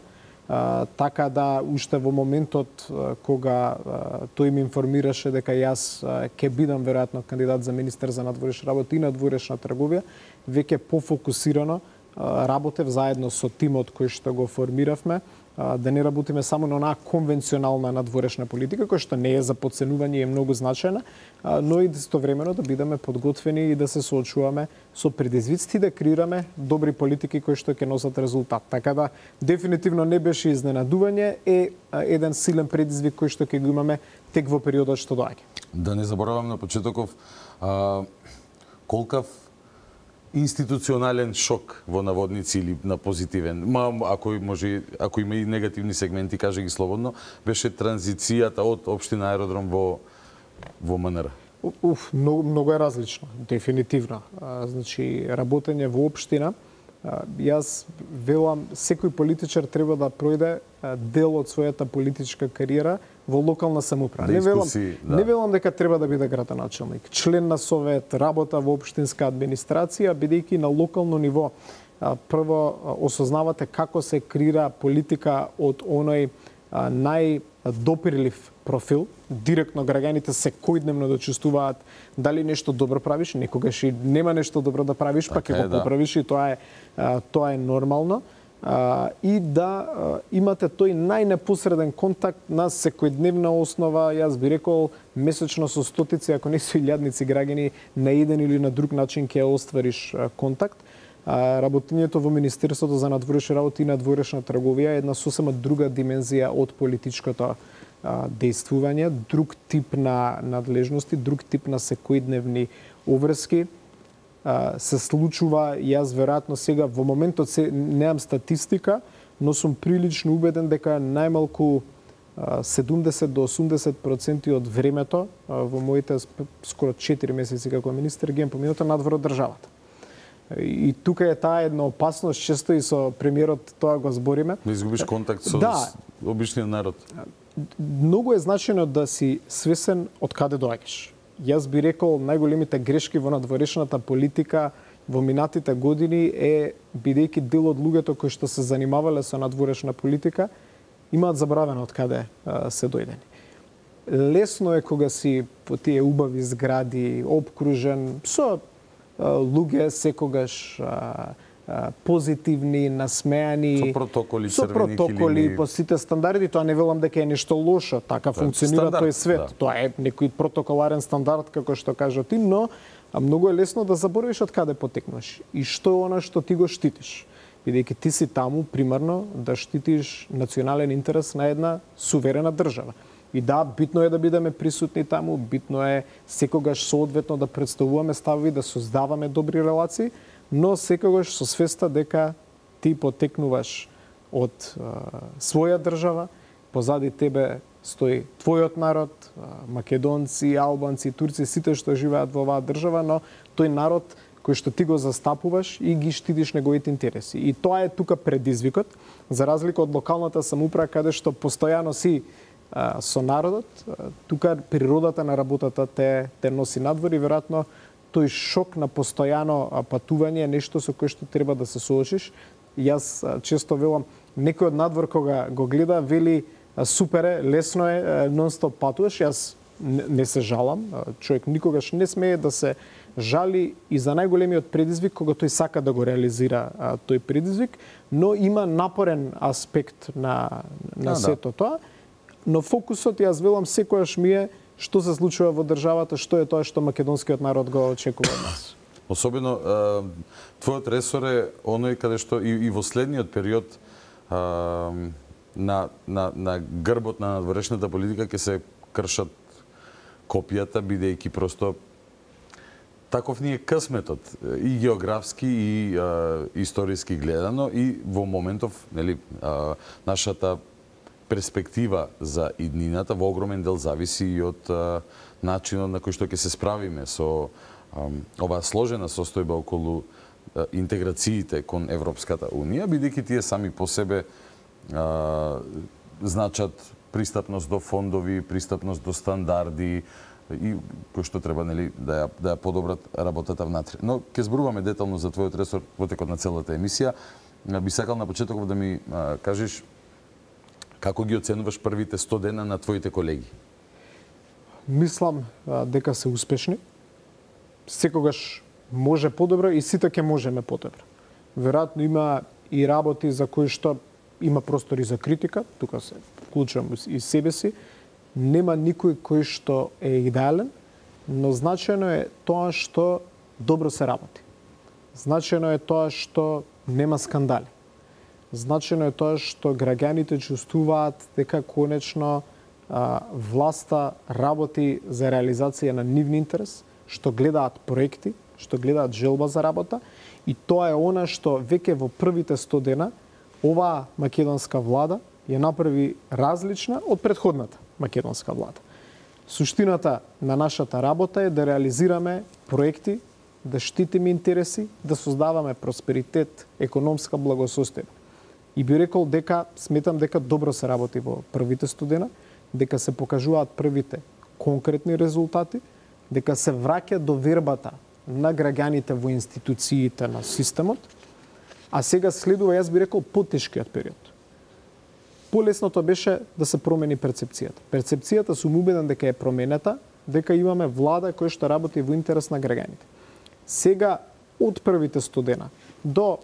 E: А, така да уште во моментот а, кога а, тој ми информираше дека јас а, ќе бидам веројатно кандидат за министер за надворешни работи и надворешна трговија, веќе пофокусирано а, работев заедно со тимот кој што го формиравме, а, да не работиме само на онаа конвенционална надворешна политика, која што не е за подценување и е многу значајна, а, но и истовремено да бидеме подготвени и да се соочуваме со предизвиците, да креираме добри политики кои што ќе носат резултат. Така да дефинитивно не беше изненадување, е еден силен предизвик кој што ќе го имаме тек во периодот што доаѓа.
A: Да не заборавам на почетоков а, колкав институционален шок во наводници или на позитивен, ма ако може, ако има и негативни сегменти, каже ги слободно, беше транзицијата од општина Аеродром во во М Н Р.
E: Уф, многу, многу е различно, дефинитивно. А, значи, работење во општина, а, јас велам, секој политичар треба да пројде а, дел од својата политичка кариера во локална самоуправа. Не велам,
A: да.
E: не велам дека треба да биде градоначелник, член на совет, работа во општинска администрација, бидејќи на локално ниво а, прво а, осознавате како се креира политика од оној а, најдопирлив профил, директно граѓаните секојдневно да чувствуваат дали нешто добро правиш, некогаш и нема нешто добро да правиш, па ќе го поправиш и тоа е а, тоа е нормално. А, и да а, имате тој најнепосреден контакт на секојдневна основа, јас би рекол месечно со стотици, ако не со илјадници граѓани на еден или на друг начин ќе оствариш а, контакт. А, работењето во Министерството за надворешни работи и надворешна трговија е една сосема друга димензија од политичкото действување, друг тип на надлежности, друг тип на секојдневни обврски. Се случува, јас веројатно сега во моментот се немам статистика, но сум прилично убеден дека најмалку седумдесет до осумдесет проценти од времето во моите скоро четири месеци како министер ги поминато надвор од државата. И тука е таа една опасност, често и со премиерот тоа го збориме.
A: Да изгубиш контакт со
E: да,
A: обичниот народ.
E: Многу е значено да си свесен од каде доаѓаш. Јас би рекол најголемите грешки во надворешната политика во минатите години е бидејќи дел од луѓето кои што се занимавале со надворешна политика имаат забравено од каде а, се дојдени. Лесно е кога си по тие убави згради, обкружен со а, луѓе секогаш а, позитивни, насмеани,
A: со протоколи,
E: со протоколи по сите стандарди, тоа не велам дека е нешто лошо, така функционира
A: стандард,
E: тој свет. Да. Тоа е некој протоколарен стандард, како што кажа ти, но многу е лесно да заборавиш од каде потекнуваш и што е она што ти го штитиш. Бидејќи ти си таму примарно да штитиш национален интерес на една суверена држава. И да, битно е да бидеме присутни таму, битно е секогаш соодветно да представуваме ставови, да создаваме добри релации, но секогаш со свеста дека ти потекнуваш од а, своја држава, позади тебе стои твојот народ, а, македонци, албанци, турци, сите што живеат во оваа држава, но тој народ кој што ти го застапуваш и ги штитиш неговите интереси. И тоа е тука предизвикот, за разлика од локалната самоуправа каде што постојано си а, со народот, а, тука природата на работата те, те носи надвор и веројатно тој шок на постојано патување е нешто со кое што треба да се соочиш. Јас често велам, некој од надвор кога го гледа, вели супер е, лесно е, нон-стоп патуваш. Јас не се жалам. Човек никогаш не смее да се жали и за најголемиот предизвик кога тој сака да го реализира тој предизвик, но има напорен аспект на, на да, сето да. Тоа. Но фокусот, јас велам, секојаш ми е што се случува во државата, што е тоа што македонскиот народ го очекува од нас.
A: Особено, твојот ресор е оној каде што и, и во следниот период а, на, на, на грбот на надворешната политика ќе се кршат копијата, бидејќи просто таков ни е късметот, и географски, и а, историски гледано, и во моментов, нели, а, нашата перспектива за иднината во огромен дел зависи и од а, начинот на кој што ќе се справиме со а, оваа сложена состојба околу а, интеграциите кон Европската Унија, бидејќи тие сами по себе а, значат пристапност до фондови, пристапност до стандарди и кој што треба, нели, да ја, да ја подобрат работата внатре. Но ќе зборуваме детално за твојот ресор во текот на целата емисија. Би сакал на почетоков да ми а, кажеш како ги оценуваш првите сто дена на твоите колеги?
E: Мислам а, дека се успешни. Секогаш може подобро и сите ќе можеме подобро. Веројатно има и работи за кои што има простори за критика, тука се вклучувам и себе си. Нема никој кој што е идеален, но значено е тоа што добро се работи. Значено е тоа што нема скандали. Значено е тоа што граѓаните чувствуваат дека конечно а, власта работи за реализација на нивни интерес, што гледаат проекти, што гледаат желба за работа, и тоа е она што веќе во првите сто дена оваа македонска влада ја направи различна од претходната македонска влада. Суштината на нашата работа е да реализираме проекти, да штитиме интереси, да создаваме просперитет, економска благосостојба. И би рекол дека, сметам дека добро се работи во првите студена, дека се покажуваат првите конкретни резултати, дека се враќа довербата на граѓаните во институциите на системот, а сега следува, јас би рекол, потешкиот период. Полесното беше да се промени перцепцијата. Перцепцијата сум убеден дека е променета, дека имаме влада која што работи во интерес на граѓаните. Сега, од првите студена до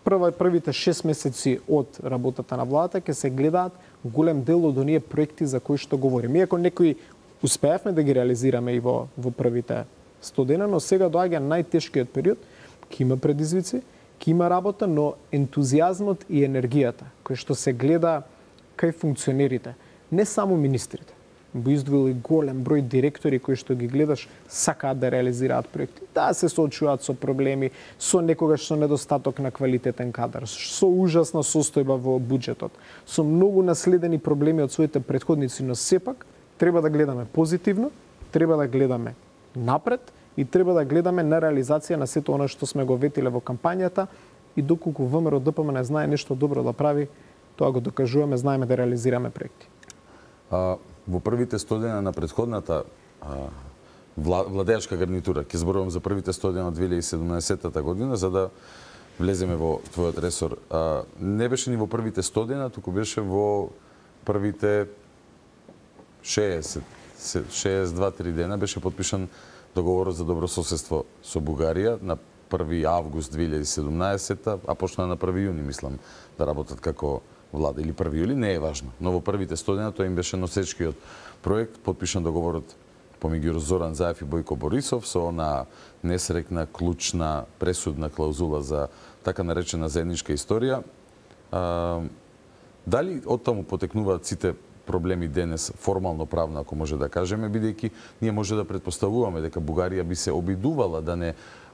E: прва, првите шест месеци од работата на владата, ќе се гледаат голем дел од оние проекти за кои што говорим. Иако некои успеавме да ги реализираме и во, во првите студена, но сега доаѓа најтешкиот период, ќе има предизвици, ќе има работа, но ентузијазмот и енергијата, кој што се гледа кај функционерите, не само министрите, бо издвоил и голем број директори кои што ги гледаш сакаат да реализираат проекти. Да, се соочуваат со проблеми, со некогаш со недостаток на квалитетен кадар, со ужасна состојба во буџетот, со многу наследени проблеми од своите претходници, но сепак треба да гледаме позитивно, треба да гледаме напред и треба да гледаме на реализација на сето оно што сме го ветиле во кампањата и доколку ВМРО Д П М Н знае нешто добро да прави, тоа го докажуваме, знаеме да реализираме проекти.
A: А, во првите студена на претходната а, вла, владеачка гарнитура, ќе зборувам за првите студена од две илјади и седумнаесетта година, за да влеземе во твојот ресор. А, не беше ни во првите студена, туку беше во првите шеесет, шеесет и два три дена беше подпишан договорот за добрососедство со Бугарија на први август две илјади и седумнаесетта, а почна на први јуни, мислам, да работат како влада, или први јули, не е важно. Но во првите студена тоа им беше носечкиот проект, подпишан договорот помеѓу Зоран Заев и Бојко Борисов со она несрекна, клучна, пресудна клаузула за така наречена заедничка историја. А, дали оттаму потекнуваат сите проблеми денес, формално правно, ако може да кажеме, бидејќи ние може да претпоставуваме дека Бугарија би се обидувала да не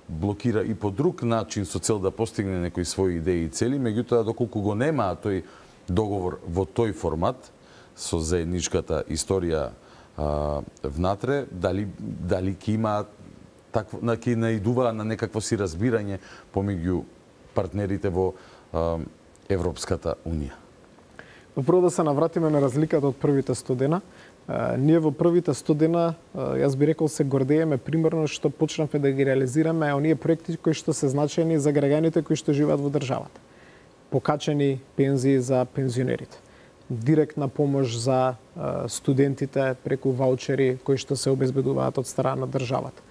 A: блокира и по друг начин со цел да постигне некои своји идеи и цели, меѓутоа доколку го немаа тој договор во тој формат со заедничката историја а, внатре, дали дали ќе има такво, на ќе наидува на некакво си разбирање помеѓу партнерите во а, Европската унија.
E: Прво да се навратиме на разликата од првите студена. Uh, ние во првите студена, uh, јас би рекол, се гордееме примерно што почнавме да ги реализираме оние проекти кои што се значени за граѓаните кои што живеат во државата. Покачени пензии за пензионерите, директна помош за uh, студентите преку ваучери кои што се обезбедуваат од страна на државата.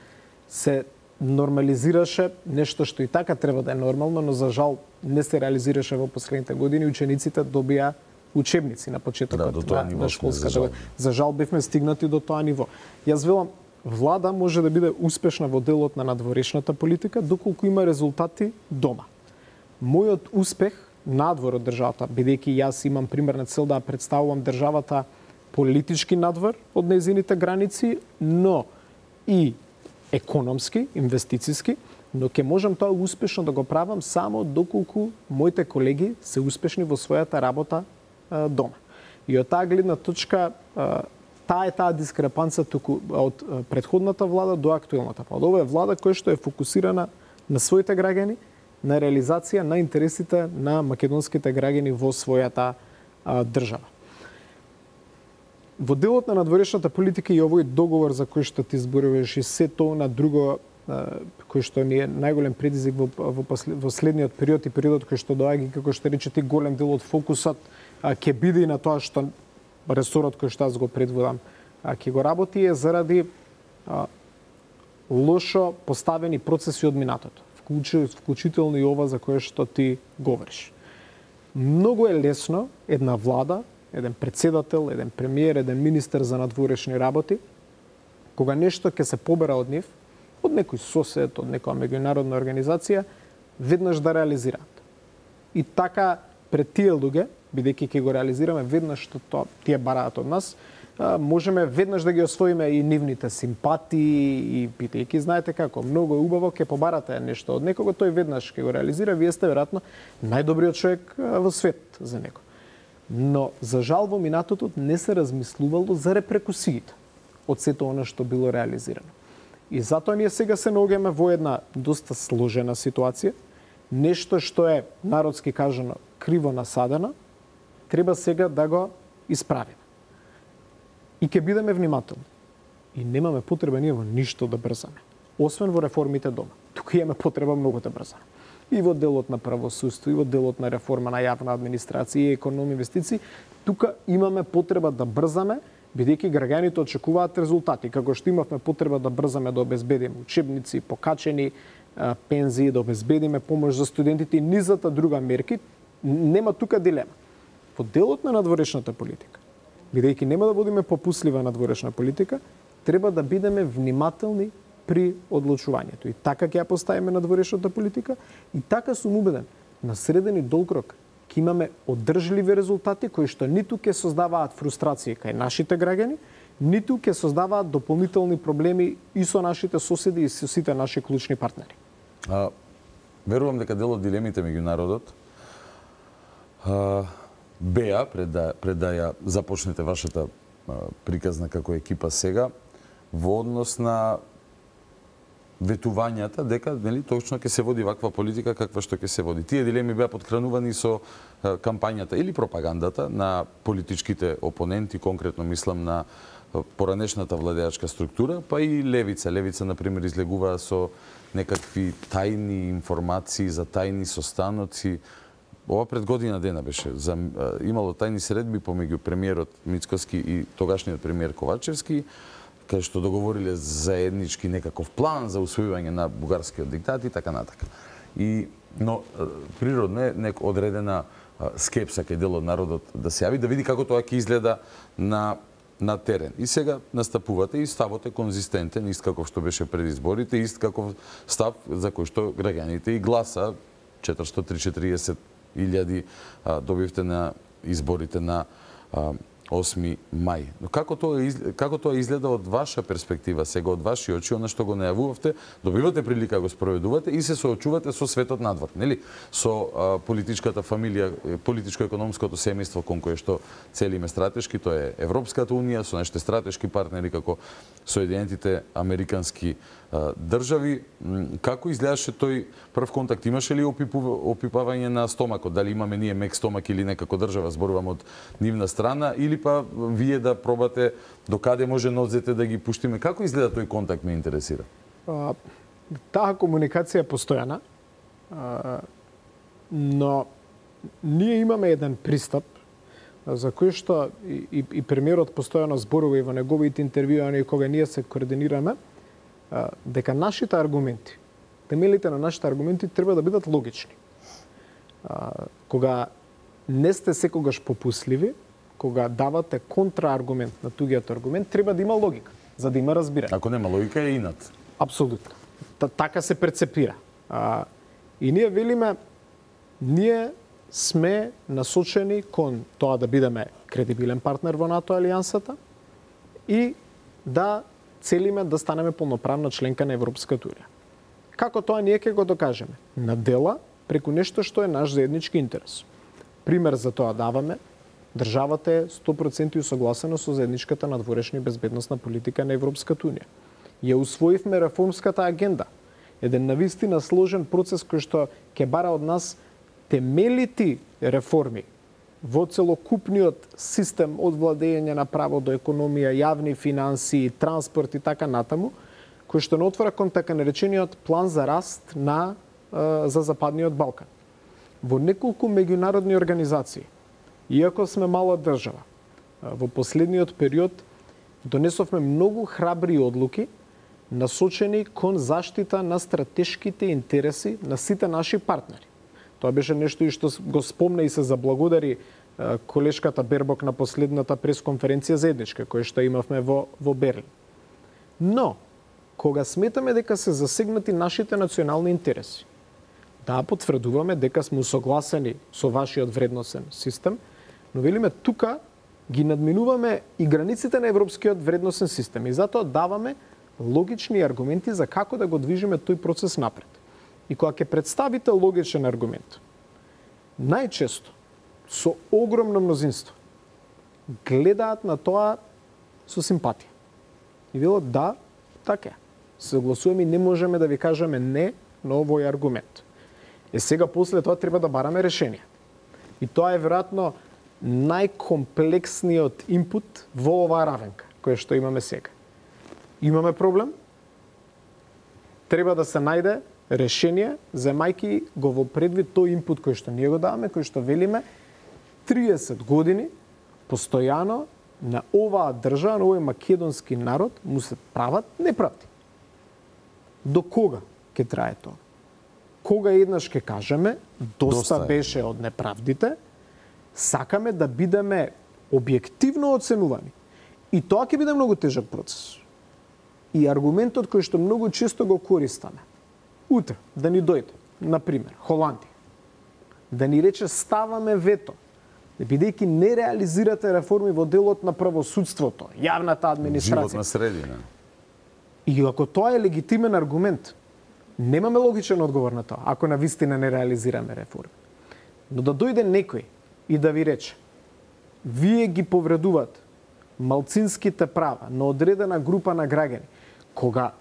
E: Се нормализираше нешто што и така треба да е нормално, но за жал не се реализираше во последните години. Учениците добија учебници на почетокот да, на, на школската година. За жал бевме стигнати до тоа ниво. Јас велам, влада може да биде успешна во делот на надворешната политика доколку има резултати дома. Мојот успех надвор од државата, бидејќи јас имам примерна цел да представувам државата политички надвор од нејзините граници, но и економски, инвестициски, но ќе можам тоа успешно да го правам само доколку моите колеги се успешни во својата работа дома. И од таа гледна точка, таа е таа дискрепанца туку од претходната влада до актуелната влада. Ова е влада која што е фокусирана на своите граѓани, на реализација на интересите на македонските граѓани во својата а, држава. Во делот на надворешната политика и овој договор за кој што ти зборуваш и се тоа на друго а, кој што ни е најголем предизвик во, во, во следниот период и периодот кој што доаѓа, како што рече ти, голем дел од фокусот ќе биде и на тоа што ресорот кој што аз го предводам ќе го работи е заради а, лошо поставени процеси од минатото, вклучително и ова за кое што ти говориш. Многу е лесно една влада, еден председател, еден премиер, еден министер за надворешни работи, кога нешто ќе се побера од нив, од некој сосед, од некоја меѓународна организација, веднаш да реализираат. И така пред тие луѓе, бидејќи ќе го реализираме веднаш што тоа тие бараат од нас, можеме веднаш да ги освоиме и нивните симпатии и питајќи, знаете како, многу е убаво, ќе побарате нешто од некого, тој веднаш ќе го реализира, вие сте веројатно најдобриот човек во свет за него. Но за жал во минатото не се размислувало за репрекусиите од сето оно што било реализирано. И затоа ние сега се наоѓаме во една доста сложена ситуација, нешто што е, народски кажано, криво насадено, треба сега да го исправиме. И ќе бидеме внимателни. И немаме потреба ние во ништо да брзаме. Освен во реформите дома. Тука имаме потреба многу да брзаме. И во делот на правосудство, и во делот на реформа на јавна администрација и економија инвестиции, тука имаме потреба да брзаме, бидејќи граѓаните очекуваат резултати, како што имавме потреба да брзаме да обезбедиме учебници, покачени а, пензии, да обезбедиме помош за студентите и низата друга мерки, нема тука дилема. Во делот на надворешната политика, бидејќи нема да водиме попуслива надворешна политика, треба да бидеме внимателни при одлучувањето. И така ќе ја поставиме надворешната политика, и така сум убеден, на среден и долг рок ќе имаме одржливи резултати кои што ниту ќе создаваат фрустрација кај нашите граѓани, ниту ќе создаваат дополнителни проблеми и со нашите соседи и со сите наши клучни партнери.
A: А, верувам дека дел од дилемите меѓу народот а, беа пред да, пред да ја започнете вашата а, приказна како екипа сега, во однос на ветувањата дека нели точно ќе се води ваква политика каква што ќе се води. Тие дилеми беа подхранувани со а, кампањата или пропагандата на политичките опоненти, конкретно мислам на поранешната владеачка структура, па и левица. Левица, например, излегува со некакви тајни информации за тајни состаноци. Ова пред година дена беше. За, имало тајни средби помеѓу премиерот Мицкоски и тогашниот премиер Ковачевски, кај што договориле заеднички некаков план за усвојување на бугарскиот диктат и така натака. И, но природно е нек одредена скепса кај дел од народот да се јави, да види како тоа ќе изгледа на на терен. И сега настапувате и ставот е конзистентен, ист како што беше пред изборите, ист како став за кој што граѓаните и гласа четиристотини и четириесет илјади добивте на изборите на осми мај. Но како тоа како тоа изгледа од ваша перспектива, сега од ваши очи, она што го најавувавте, добивате прилика да го спроведувате и се соочувате со светот надвор, нели? Со а, политичката фамилија, политичко-економското семејство кон кое што целиме стратешки, тоа е Европската унија, со нашите стратешки партнери како Соединетите американски а, држави. Како изгледаше тој прв контакт? Имаше ли опипување на стомакот? Дали имаме ние мек стомак или не како држава, зборувам од нивна страна, или па вие да пробате докаде може нозете да ги пуштиме? Како изгледа тој контакт, ме интересира?
E: А, таа комуникација е постојана, а, но ние имаме еден пристап за кој што и, и, и премиерот постојано зборува и во неговите интервјуи кога ние се координираме, а, дека нашите аргументи, темелите на нашите аргументи треба да бидат логични. А, кога не сте секогаш попусливи, кога давате контрааргумент на тугиот аргумент, треба да има логика, за да има разбирање.
A: Ако нема логика е инат.
E: Апсолутно. Та, така се перцепира. А, и ние велиме, ние сме насочени кон тоа да бидеме кредибилен партнер во НАТО алијансата и да целиме да станеме полноправна членка на Европската унија. Како тоа ние ќе го докажеме? На дела, преку нешто што е наш заеднички интерес. Пример за тоа даваме. Државата е сто проценти усогласена со заедничката надворешна и безбедносна политика на Европската унија. Ја усвоивме реформската агенда. Еден навистина сложен процес кој што ќе бара од нас темелити реформи во целокупниот систем од владење на право до економија, јавни финансии, транспорт и така натаму, кој што не отвора кон така наречениот план за раст на за Западниот Балкан. Во неколку меѓународни организации, иако сме мала држава, во последниот период донесовме многу храбри одлуки насочени кон заштита на стратешките интереси на сите наши партнери. Тоа беше нешто и што го спомна и се заблагодари колешката Бербок на последната пресконференција заедничка, која што имавме во, во Берлин. Но, кога сметаме дека се засегнати нашите национални интереси, да потврдуваме дека сме усогласени со вашиот вредносен систем, но велиме тука ги надминуваме и границите на европскиот вредносен систем и затоа даваме логични аргументи за како да го движиме тој процес напред. И кога ќе представите логичен аргумент, најчесто со огромно мнозинство гледаат на тоа со симпатија. И вело да, така е. Согласуваме и не можеме да ви кажеме не на овој аргумент. Е сега после тоа треба да бараме решение. И тоа е веројатно најкомплексниот инпут во оваа равенка која што имаме сега. Имаме проблем, треба да се најде решение, земајки го во предвид тој инпут кој што ние го даваме, кој што велиме триесет години постојано на оваа држава, на овој македонски народ му се прават неправди. До кога ќе трае тоа? Кога еднаш ќе кажеме доста, доста беше од неправдите, сакаме да бидеме објективно оценувани. И тоа ќе биде многу тежок процес. И аргументот кој што многу често го користаме, утре да ни дојде, на пример, Холандија, да ни рече ставаме вето, бидејќи не реализирате реформи во делот на правосудството, јавната администрација.
A: Животна средина.
E: И ако тоа е легитимен аргумент, немаме логичен одговор на тоа, ако на вистина не реализираме реформи. Но да дојде некој и да ви рече, вие ги повредувате малцинските права на одредена група на граѓани, кога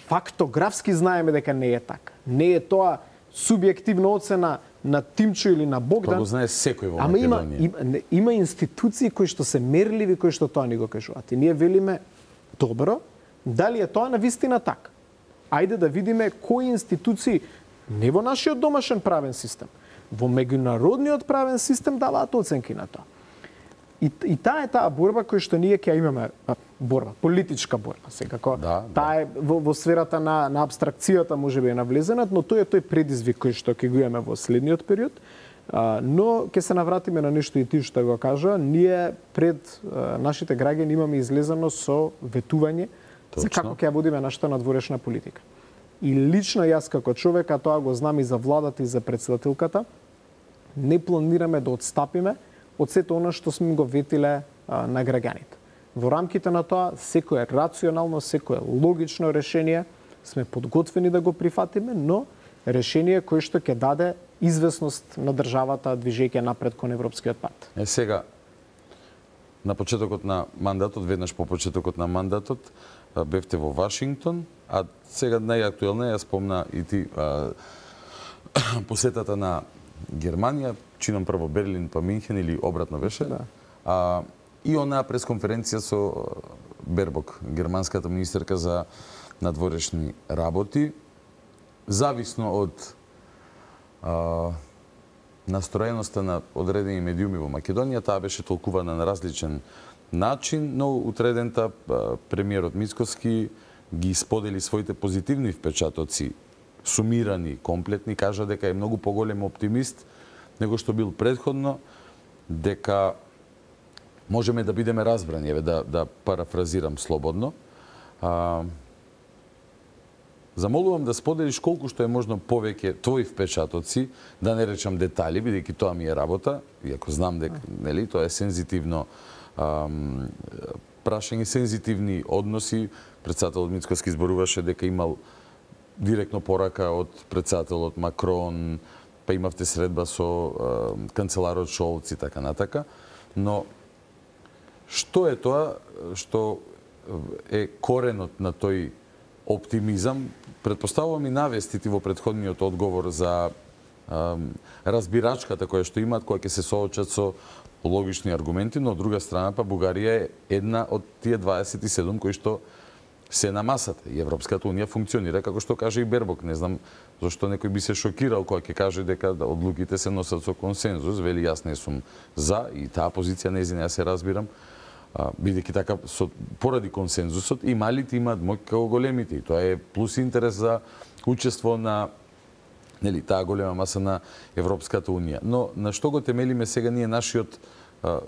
E: фактографски знаеме дека не е така. Не е тоа субјективна оцена на Тимчо или на Богдан.
A: Тоа го знае секој во
E: Ама има,
A: Македонија.
E: има, има институции кои што се мерливи, кои што тоа ни го кажуваат. И ние велиме, добро, дали е тоа на вистина така? Ајде да видиме кои институции, не во нашиот домашен правен систем, во меѓународниот правен систем даваат оценки на тоа. И, и таа е таа борба која што ние ќе имаме, борба, политичка борба, секако.
A: Да,
E: таа е во, во сферата на, на абстракцијата може би е навлезенат, но тој е тој предизвик кој што ќе го имаме во следниот период. А, но ќе се навратиме на нешто и ти што го кажа, ние пред а, нашите граѓани имаме излезено со ветување за како ќе ја водиме нашата надворешна политика. И лично јас како човек, а тоа го знам и за владата и за председателката, не планираме да отстапиме од сето она што сме го ветиле а, на граѓаните. Во рамките на тоа, секое рационално, секое логично решение сме подготвени да го прифатиме, но решение кое што ќе даде известност на државата движејќи напред кон европскиот пат.
A: Е сега, на почетокот на мандатот, веднаш по почетокот на мандатот, бевте во Вашингтон, а сега најактуелна ја спомна и ти а, посетата на Германија, чинам прво Берлин па Минхен или обратно беше. Да. А, и онаа пресконференција со Бербок, германската министерка за надворешни работи, зависно од а, настроеноста на одредени медиуми во Македонија, таа беше толкувана на различен начин, но утредента премиерот Мицкоски ги сподели своите позитивни впечатоци, сумирани, комплетни, кажа дека е многу поголем оптимист него што бил предходно, дека можеме да бидеме разбрани, еве да да парафразирам слободно. А, замолувам да споделиш колку што е можно повеќе твои впечатоци, да не речам детали, бидејќи тоа ми е работа, иако знам дека нели тоа е сензитивно ам, прашање, сензитивни односи. Председателот Мицкоски зборуваше дека имал директно порака од председателот Макрон, па имавте средба со е, канцеларот Шолц и така натака, но што е тоа што е коренот на тој оптимизам? Предпоставувам и навестите во претходниот одговор за е, разбирачката која што имаат, која ќе се соочат со логични аргументи, но од друга страна па Бугарија е една од тие дваесет и седум кои што се на масата. И Европската унија функционира како што каже и Бербок. Не знам зашто некој би се шокирал кога ќе каже дека одлуките се носат со консензус. Вели, јас не сум за и таа позиција нејзина ја се разбирам, бидејќи така со поради консензусот и малите имаат моќ како големите. И тоа е плюс интерес за учество на нели таа голема маса на Европската унија. Но на што го темелиме сега ние нашиот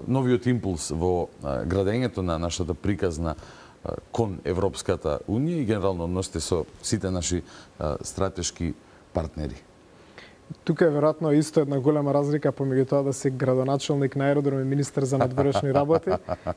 A: новиот импулс во градењето на нашата приказна кон Европската унија и генерално односите со сите наши а, стратешки партнери?
E: Тука е веројатно исто една голема разлика помеѓу тоа да си градоначалник на аеродром и министер за надворешни работи.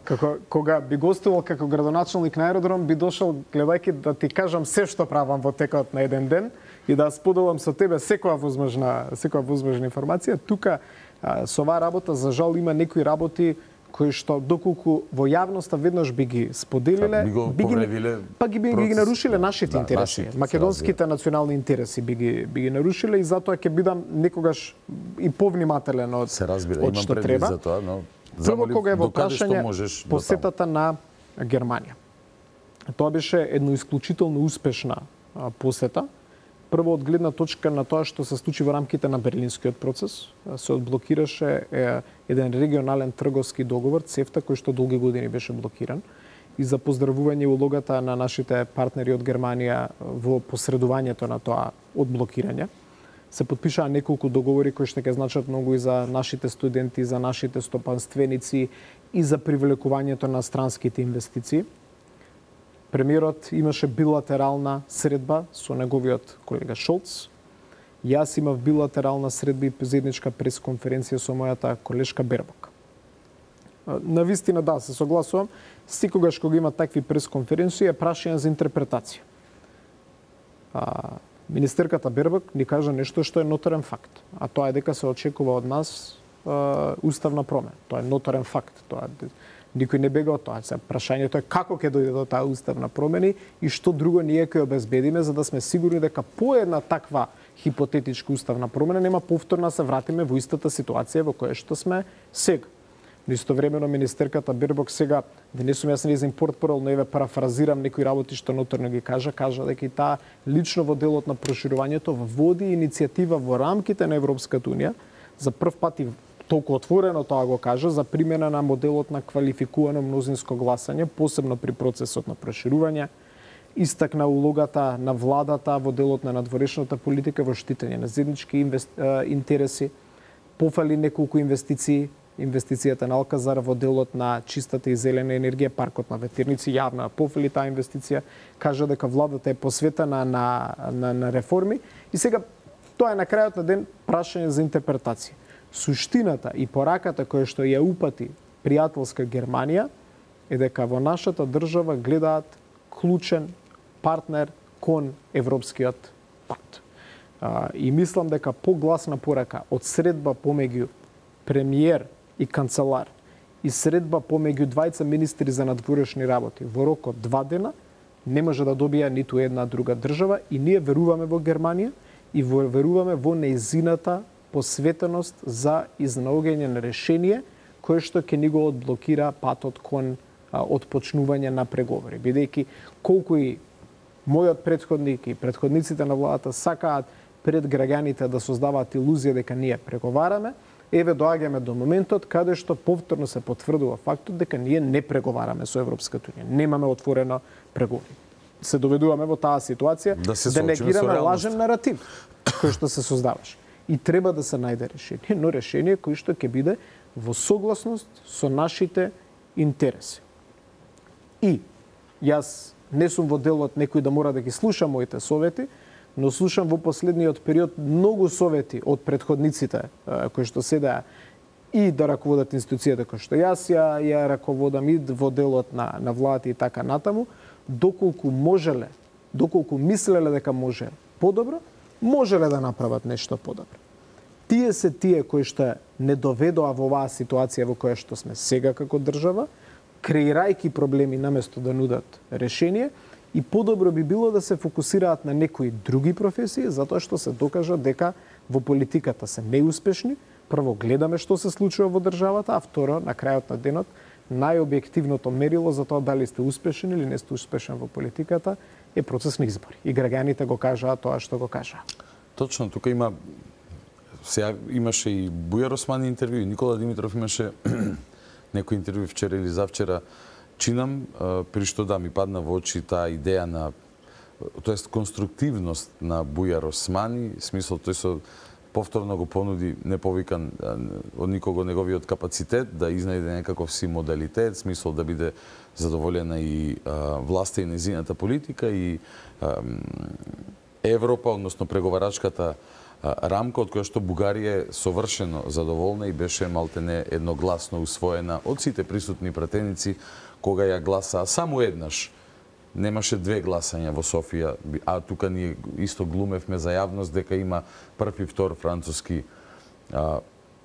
E: Како кога би гостувал како градоначалник на аеродром, би дошол гледајќи да ти кажам се што правам во текот на еден ден и да споделам со тебе секоја возможна секоја возможна информација. Тука а, со оваа работа за жал има некои работи кои што доколку во јавноста веднаш би ги споделиле,
A: би го
E: би ги,
A: повредиле
E: па ги би ги нарушиле нашите
A: да,
E: интереси,
A: нашите,
E: македонските национални интереси би ги би ги нарушиле и затоа ќе бидам некогаш и повнимателен од
A: се разбира,
E: од
A: имам
E: што
A: предвид
E: треба.
A: за тоа, но
E: Прво кога е во прашање
A: посетата
E: посетата на Германија. Тоа беше едно исклучително успешна а, посета. Прво од гледна точка на тоа што се случи во рамките на Берлинскиот процес, се одблокираше е, еден регионален трговски договор, цефта, кој што долги години беше блокиран. И за поздравување улогата на нашите партнери од Германија во посредувањето на тоа одблокирање. Се потпишаа неколку договори кои што ќе значат многу и за нашите студенти, за нашите стопанственици и за привлекувањето на странските инвестиции. Премиерот имаше билатерална средба со неговиот колега Шолц. Јас имав билатерална средба и заедничка пресконференција со мојата колешка Бербок. На вистина да, се согласувам, секогаш кога има такви пресконференции е прашање за интерпретација. А, министерката Бербок ни кажа нешто што е ноторен факт, а тоа е дека се очекува од нас а, уставна промена. Тоа е ноторен факт. Тоа никој не бега од тоа. Се прашањето е како ќе дојде до таа уставна промена и што друго ние ќе обезбедиме за да сме сигурни дека по една таква хипотетичка уставна промена нема повторно се вратиме во истата ситуација во која што сме сега. Но истовремено министерката Бербок сега, да не сум јас нејзин портпарол, но еве парафразирам некои работи што ноторно ги кажа, кажа дека и таа лично во делот на проширувањето води иницијатива во рамките на Европската унија за прв пат и толку отворено тоа го кажа за примена на моделот на квалификувано мнозинско гласање, посебно при процесот на проширување, истакна улогата на владата во делот на надворешната политика во штитење на заеднички инвест... интереси, пофали неколку инвестиции, инвестицијата на Алказар во делот на чистата и зелена енергија, паркот на ветерници, јавна пофали таа инвестиција, кажа дека владата е посветена на, на, на реформи и сега тоа е на крајот на ден прашање за интерпретација. Суштината и пораката која што ја упати пријателска Германија е дека во нашата држава гледаат клучен партнер кон Европскиот пакт. А, и мислам дека погласна порака од средба помеѓу премиер и канцелар и средба помеѓу двајца министри за надворешни работи во рок од два дена не може да добија ниту една друга држава и ние веруваме во Германија и веруваме во нејзината посветеност за изнаоѓање на решение кое што ќе ни го одблокира патот кон отпочнување на преговори. Бидејќи колку и мојот претходник и претходниците на владата сакаат пред граѓаните да создаваат илузија дека ние преговараме, еве доаѓаме до моментот каде што повторно се потврдува фактот дека ние не преговараме со Европската унија. Немаме отворено преговори. Се доведуваме во таа ситуација да, да негираме лажен наратив кој што се создаваше. И треба да се најде решение, но решение кој што ќе биде во согласност со нашите интереси. И јас не сум во делот некој да мора да ги слуша моите совети, но слушам во последниот период многу совети од претходниците кои што седеа и да раководат институцијата кој што јас ја, ја раководам и во делот на, на владата и така натаму, доколку можеле, доколку мислеле дека може подобро, можеле да направат нешто подобро. Тие се тие кои што не доведоа во оваа ситуација во која што сме сега како држава, креирајќи проблеми наместо да нудат решение, и подобро би било да се фокусираат на некои други професии, затоа што се докажа дека во политиката се неуспешни. Прво гледаме што се случува во државата, а второ, на крајот на денот, најобјективното мерило за тоа дали сте успешни или не сте успешен во политиката е процес на избори. И граѓаните го кажаа тоа што го кажаа.
A: Точно, тука има сега имаше и Бујар Османи интервју, Никола Димитров имаше некој интервју вчера или завчера. Чинам, при што да ми падна во очи таа идеја на, тоест конструктивност на Бујар Османи, смисол тој со повторно го понуди неповикан од никого неговиот капацитет да изнајде некаков си модалитет, смисол да биде задоволена и а, власта и нејзината политика и а, Европа, односно преговарачката а, рамка од која што Бугарија е совршено задоволна и беше малтене едногласно усвоена од сите присутни пратеници кога ја гласаа само еднаш. Немаше две гласања во Софија, а тука ние исто глумевме за јавност дека има прв и втор француски а,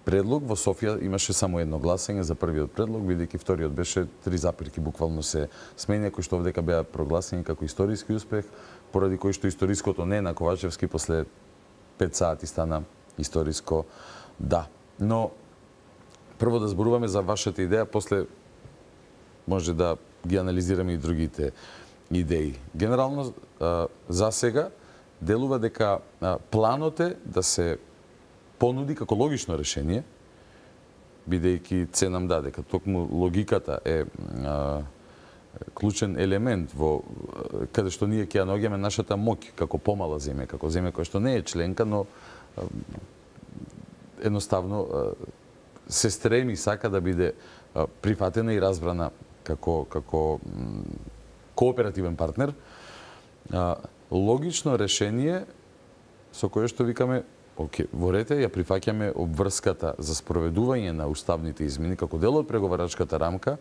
A: предлог во Софија имаше само едно гласање за првиот предлог, бидејќи вториот беше три запирки буквално се сменја, кои што овдека беа прогласени како историски успех, поради кој што историското не на Ковачевски после пет сати стана историско да. Но прво да зборуваме за вашата идеја, после може да ги анализираме и другите идеи. Генерално, за сега, делува дека планот е да се понуди како логично решение, бидејќи се нам даде, дека токму логиката е а, клучен елемент во каде што ние ќе ја наоѓаме нашата моќ како помала земја, како земја која што не е членка, но а, едноставно а, се стреми сака да биде а, прифатена и разбрана како како м, кооперативен партнер. А, логично решение со кое што викаме Оке, во рете ја прифаќаме обврската за спроведување на уставните измени како дел од преговарачката рамка,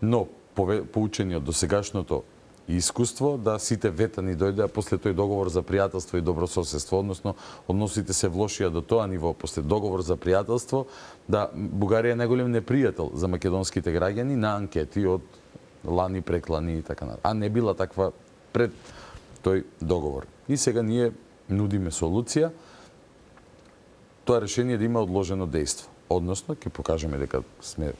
A: но поучени од досегашното искуство да сите ветани дојдеа после тој договор за пријателство и добрососедство, односно односите се влошија до тоа ниво после договор за пријателство, да Бугарија е најголем непријател за македонските граѓани на анкети од лани, преклани и така натаму. А не била таква пред тој договор. И сега ние нудиме солуција тоа решение да има одложено дејство. Односно, ќе покажеме дека сме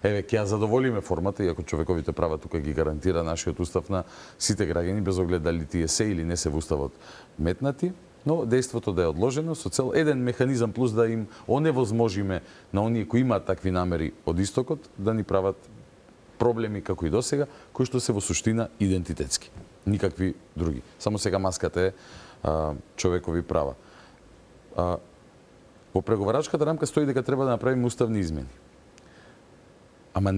A: еве ќе ја задоволиме формата, иако човековите права тука ги гарантира нашиот устав на сите граѓани без оглед дали тие се или не се во уставот метнати, но дејството да е одложено со цел еден механизам плюс да им оневозможиме на оние кои имаат такви намери од истокот да ни прават проблеми како и досега, кои што се во суштина идентитетски. Никакви други. Само сега маската е а, човекови права. А, Во преговарачката рамка стои дека треба да направиме уставни измени. Ама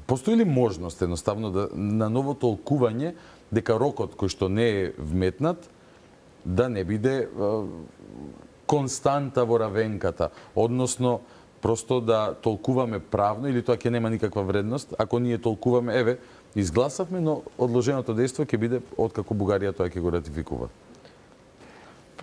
A: постои ли можност едноставно да на ново толкување дека рокот кој што не е вметнат да не биде а, константа во равенката, односно просто да толкуваме правно или тоа ќе нема никаква вредност ако ние толкуваме еве изгласавме, но одложеното дејство ќе биде откако Бугарија тоа ќе го ратификува.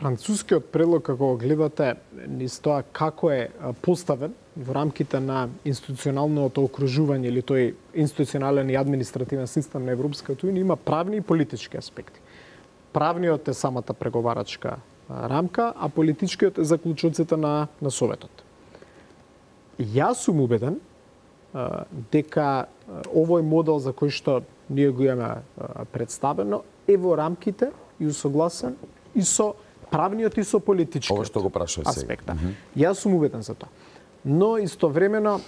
E: Францускиот предлог, како го гледате, низ тоа како е поставен во рамките на институционалното окружување или тој институционален и административен систем на Европската унија, има правни и политички аспекти. Правниот е самата преговарачка рамка, а политичкиот е заклучоците на, на Советот. Јас сум убеден дека овој модел за кој што ние го имаме представено е во рамките и усогласен и со правниот и со политичкиот
A: Ова што го прашав сега.
E: аспекта. Mm -hmm. Јас сум убеден за тоа. Но истовремено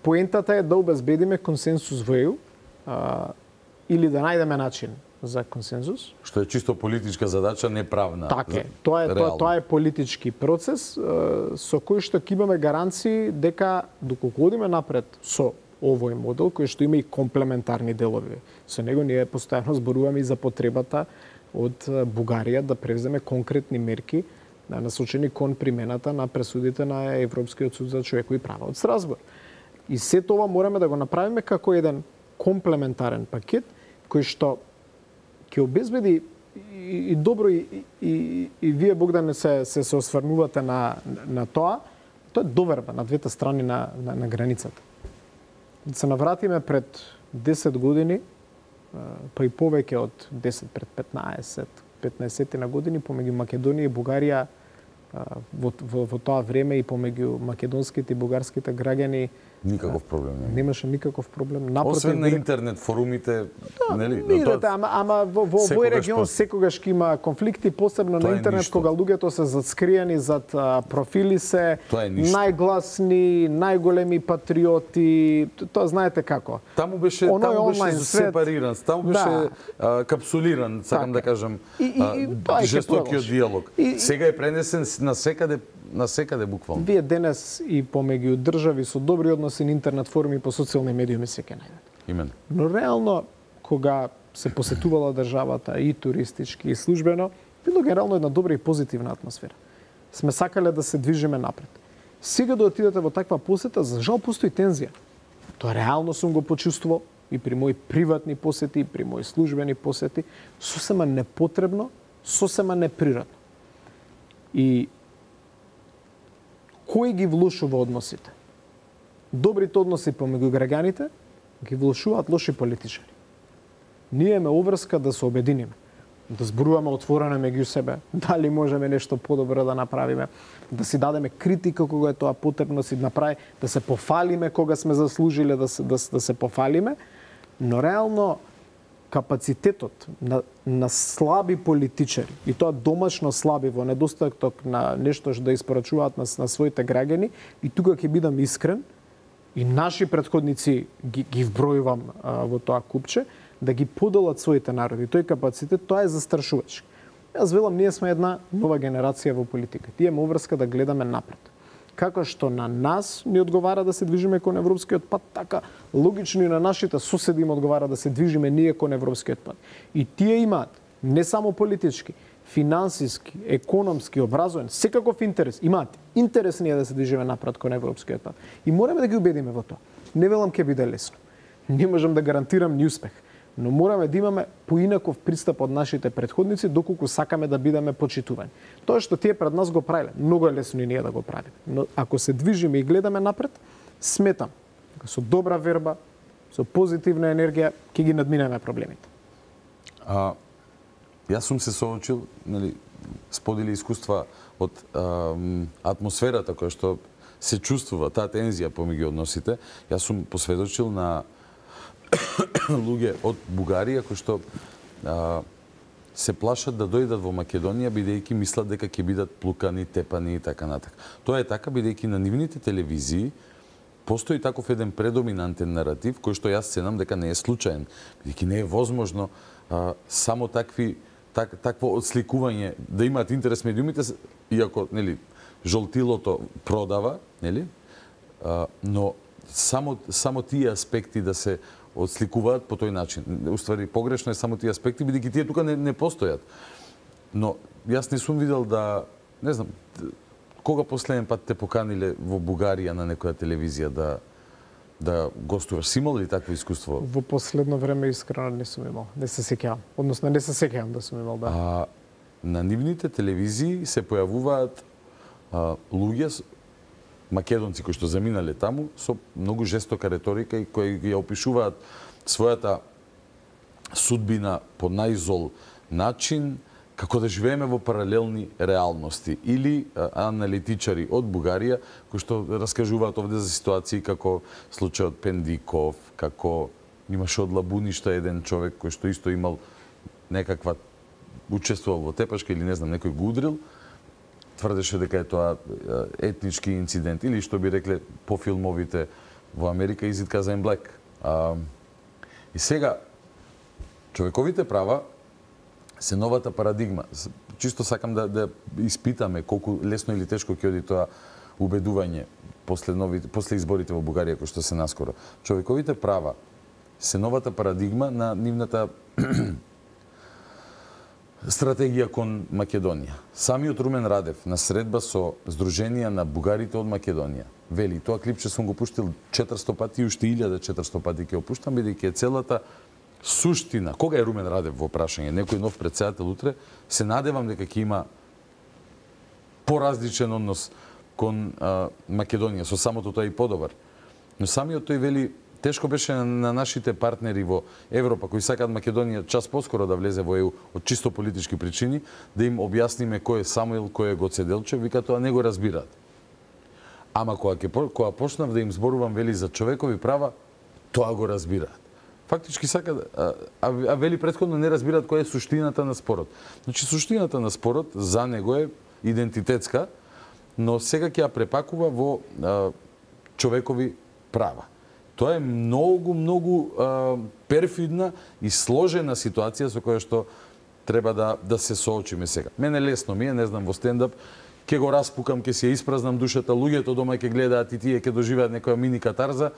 E: поентата е да обезбедиме консенсус во ЕУ или да најдеме начин за консенсус.
A: Што е чисто политичка задача, не правна.
E: Така е. Тоа е тоа, тоа е политички процес со кој што ќе имаме гаранции дека доколку одиме напред со овој модел кој што има и комплементарни делови. Со него ние постојано зборуваме и за потребата од Бугарија да превземе конкретни мерки насочени кон примената на пресудите на Европскиот суд за човекови права од Страсбург. И се тоа мораме да го направиме како еден комплементарен пакет кој што ќе обезбеди и, и добро и, и, и вие Богдане се се, се осврнувате на на тоа, тоа е доверба на двете страни на на, на границата. Да се навратиме пред десет години, па и повеќе од десет, пред петнаесет, петнаесет на години помеѓу Македонија и Бугарија во, во, во тоа време и помеѓу македонските и бугарските граѓани
A: никаков проблем не.
E: Немаше никаков проблем. Напротив,
A: освен на интернет форумите,
E: да,
A: нели?
E: Видете, ама ама во во овој регион секогаш ќе има конфликти, посебно на интернет кога луѓето се зацкриени зад а, профили се, најгласни, најголеми патриоти, тоа знаете како.
A: Таму беше
E: Оно
A: таму беше
E: свет,
A: сепариран, таму беше
E: да.
A: а, капсулиран, сакам
E: така.
A: да кажам,
E: и, и, и,
A: а, жестокиот диалог.
E: И,
A: Сега е пренесен на секаде на секаде буквално.
E: Вие денес и помеѓу држави со добри односи на интернет форуми по социјални медиуми се ќе најдете.
A: Именно.
E: Но реално кога се посетувала државата и туристички и службено, било генерално една добра и позитивна атмосфера. Сме сакале да се движиме напред. Сега да отидете во таква посета, за жал постои тензија. Тоа реално сум го почувствувал и при мои приватни посети, и при мои службени посети, сосема непотребно, сосема неприродно. И кој ги влошува односите? Добрите односи помеѓу граѓаните ги влошуваат лоши политичари. Ние имаме обврска да се обединиме, да зборуваме отворено меѓу себе, дали можеме нешто подобро да направиме, да си дадеме критика кога е тоа потребно, си направи, да се пофалиме кога сме заслужиле да се, да, да се пофалиме, но реално капацитетот на, на слаби политичари, и тоа домашно слаби во недостаток на нешто што да испорачуваат на, на своите граѓани, и тука ќе бидам искрен, и наши претходници ги, ги вбројувам а, во тоа купче, да ги поделат своите народи. Тој капацитет, тоа е застрашувачки. Јас велам, ние сме една нова генерација во политика. Тие имаме обврска да гледаме напред. Како што на нас ни одговара да се движиме кон европскиот пат, така логично и на нашите соседи им одговара да се движиме ние кон европскиот пат. И тие имаат не само политички, финансиски, економски, образовен, секаков интерес. Имаат интерес ние да се движиме напред кон европскиот пат. И мораме да ги убедиме во тоа. Не велам ќе биде лесно. Не можам да гарантирам ни успех, но мораме да имаме поинаков пристап од нашите претходници доколку сакаме да бидеме почитувани. Тоа што тие пред нас го правиле, многу е лесно и ние да го правиме. Но ако се движиме и гледаме напред, сметам дека со добра верба, со позитивна енергија ќе ги надминеме проблемите.
A: А, јас сум се соочил, нели, сподели искуства од а, атмосферата која што се чувствува, таа тензија помеѓу односите. Јас сум посведочил на луѓе од Бугарија кои што а, се плашат да дојдат во Македонија бидејќи мислат дека ќе бидат плукани, тепани и така натака. Тоа е така бидејќи на нивните телевизии постои таков еден предоминантен наратив кој што јас ценам дека не е случаен, бидејќи не е возможно а, само такви так, такво отсликување да имаат интерес медиумите, иако нели жолтилото продава, нели? А, но само само тие аспекти да се отсликуваат по тој начин. Уствари погрешно е само тие аспекти, бидејќи тие тука не, не постојат. Но јас не сум видел да, не знам, кога последен пат те поканиле во Бугарија на некоја телевизија да да гостуваш? Си имал ли такво искуство?
E: Во последно време искрено не сум имал. Не се сеќавам. Односно не се сеќавам да сум имал, да.
A: А на нивните телевизии се појавуваат а, луѓе македонци кои што заминале таму со многу жестока реторика и кои ја опишуваат својата судбина по најзол начин, како да живееме во паралелни реалности, или а, аналитичари од Бугарија кои што раскажуваат овде за ситуации како случајот Пендиков, како имаше од Лабуништа еден човек кој што исто имал некаква учествувал во тепашка или не знам некој го удрил, тврдеше дека е тоа етнички инцидент, или што би рекле по филмовите во Америка Is It Cousin Black. А, и сега човековите права се новата парадигма. Чисто сакам да, да испитаме колку лесно или тешко ќе оди тоа убедување после новите после изборите во Бугарија кои што се наскоро. Човековите права се новата парадигма на нивната стратегија кон Македонија. Самиот Румен Радев на средба со Сдруженија на бугарите од Македонија вели, тоа клипче сум го пуштил четиристотини пати и уште илјада и четиристотини пати ќе го пуштам, бидејќи е целата суштина. Кога е Румен Радев во прашање? Некој нов претседател утре? Се надевам дека ќе има поразличен однос кон а, Македонија, со самото тоа и подобар. Но самиот тој вели, тешко беше на нашите партнери во Европа кои сакаат Македонија час поскоро да влезе во Е У од чисто политички причини, да им објасниме кој е Самуил, кој е Гоце Делчев, вика тоа не го разбираат. Ама кога ќе кога почнав да им зборувам вели за човекови права, тоа го разбираат. Фактички сакаат, а, а, а вели претходно не разбираат која е суштината на спорот. Значи суштината на спорот за него е идентитетска, но сега ќе ја препакува во а, човекови права. Тоа е многу, многу а, перфидна и сложена ситуација со која што треба да, да се соочиме сега. Мене лесно ми е, не знам, во стендап, ќе го распукам, ќе си ја испразнам душата, луѓето дома ќе гледаат и тие ќе доживеат некоја мини катарза,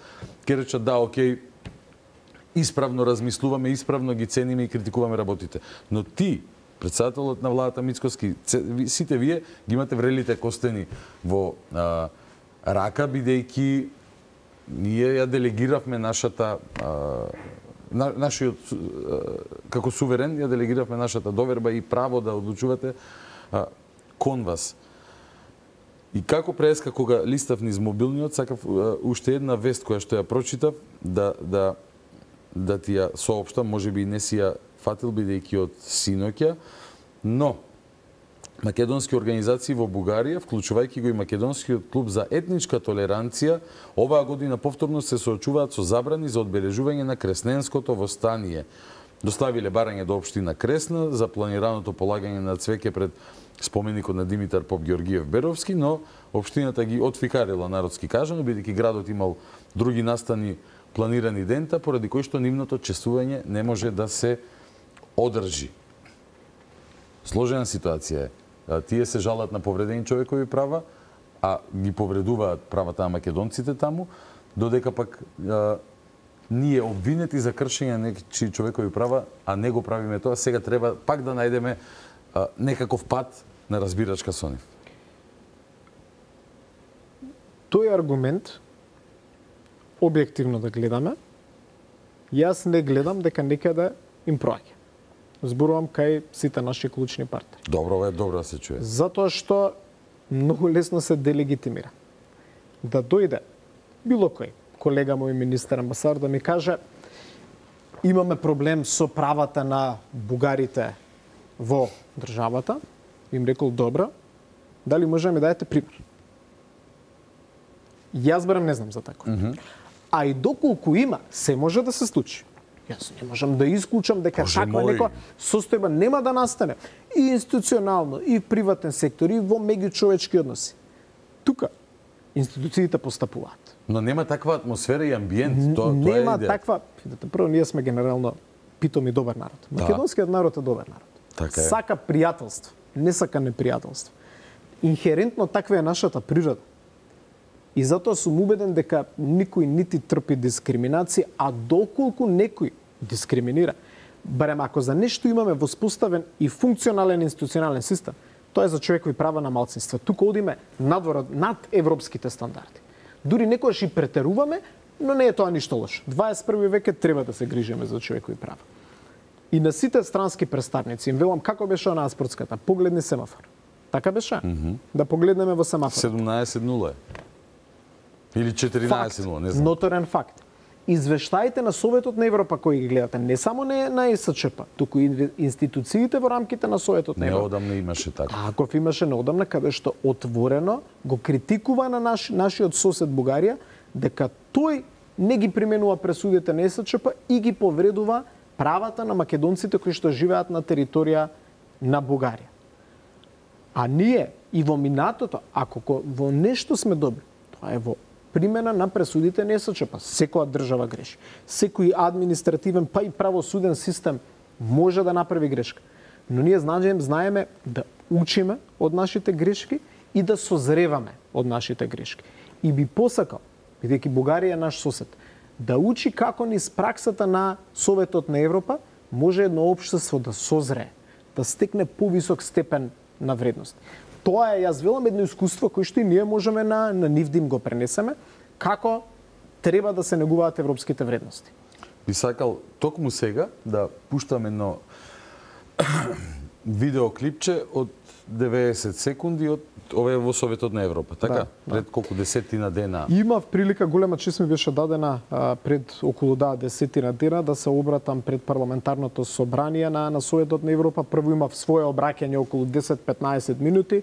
A: ќе речат да, окей, исправно размислуваме, исправно ги цениме и критикуваме работите. Но ти, претседателот на владата Мицкоски, сите вие ги имате врелите костени во а, рака, бидејќи ние ја делегиравме нашата а, на, нашиот а, како суверен ја делегиравме нашата доверба и право да одлучувате а, кон вас. И како преска кога листав низ мобилниот, сакав uh, уште една вест која што ја прочитав да да да ти ја соопштам, можеби и не си ја фатил бидејќи од синоќа, но македонски организации во Бугарија, вклучувајќи го и Македонскиот клуб за етничка толеранција, оваа година повторно се соочуваат со забрани за одбележување на Кресненското востание. Доставиле барање до општина Кресна за планираното полагање на цвеќе пред споменикот на Димитар Поп Георгиев Беровски, но општината ги отфикарила, народски кажано, бидејќи градот имал други настани планирани дента, поради кои што нивното чествување не може да се одржи. Сложена ситуација е. Тие се жалат на повредени човекови права, а ги повредуваат правата на македонците таму, додека пак а, ние обвинети за кршење на нечии човекови права, а не го правиме тоа, сега треба пак да најдеме а, некаков пат на разбирачка со нив.
E: Тој аргумент, објективно да гледаме, јас не гледам дека некаде им проаѓа. Зборувам кај сите наши клучни партии.
A: Добро, е добро да се чуе.
E: Затоа што многу лесно се делегитимира. Да дојде било кој колега мој министер амбасадор да ми каже имаме проблем со правата на бугарите во државата, им рекол добро, дали може да ми даете пример? Јас барам не знам за тако. Mm -hmm. А и доколку има, се може да се случи. Јас не можам да исклучам дека
A: Боже
E: таква
A: мој.
E: некоја состојба нема да настане и институционално, и в приватен сектор, и во меѓучовечки односи. Тука институциите постапуваат.
A: Но нема таква атмосфера и амбиент, тоа тоа е
E: Нема
A: идеја.
E: таква, видите, прво ние сме генерално питоми добар народ.
A: Да.
E: Македонскиот народ е добар народ.
A: Така е.
E: Сака пријателство, не сака непријателство. Инхерентно таква е нашата природа. И затоа сум убеден дека никој нити трпи дискриминација, а доколку некој дискриминира, барем ако за нешто имаме воспоставен и функционален институционален систем, тоа е за човекови права на малцинства. Тука одиме надвор над европските стандарди. Дури некогаш и претеруваме, но не е тоа ништо лошо. дваесет и први век треба да се грижиме за човекови права. И на сите странски представници им велам како беше онаа спортската, погледни семафор. Така беше? Mm -hmm. Да погледнеме во семафор.
A: седумнаесет нула е. Или четиринаесет нула, не знам.
E: Ноторен факт. Извештаите на Советот на Европа кои ги гледате, не само не на Е С Ч П, туку и институциите во рамките на Советот на Европа.
A: Неодамна имаше така.
E: Таков имаше неодамна, каде што отворено го критикува на наш, нашиот сосед Бугарија, дека тој не ги применува пресудите на Е С Ч П и ги повредува правата на македонците кои што живеат на територија на Бугарија. А ние и во минатото, ако во нешто сме добри, тоа е во примена на пресудите на Е С Ч П. Секоја држава греши. Секој административен, па и правосуден систем може да направи грешка. Но ние знаеме, знаеме да учиме од нашите грешки и да созреваме од нашите грешки. И би посакал, бидејќи Бугарија е наш сосед, да учи како низ праксата на Советот на Европа може едно општество да созрее, да стекне повисок степен на вредност. Тоа е, јас велам, едно искуство кое што и ние можеме на, на нив да им го пренесеме, како треба да се негуваат европските вредности.
A: Би сакал токму сега да пуштам едно видеоклипче од деветдесет секунди од ове во Советот на Европа, така?
E: Да,
A: пред
E: да.
A: колку десетина дена.
E: Имав прилика, голема чест ми беше дадена а, пред околу да десетина дена да се обратам пред парламентарното собрание на, на Советот на Европа. Прво имав своје обраќање околу десет-петнаесет минути,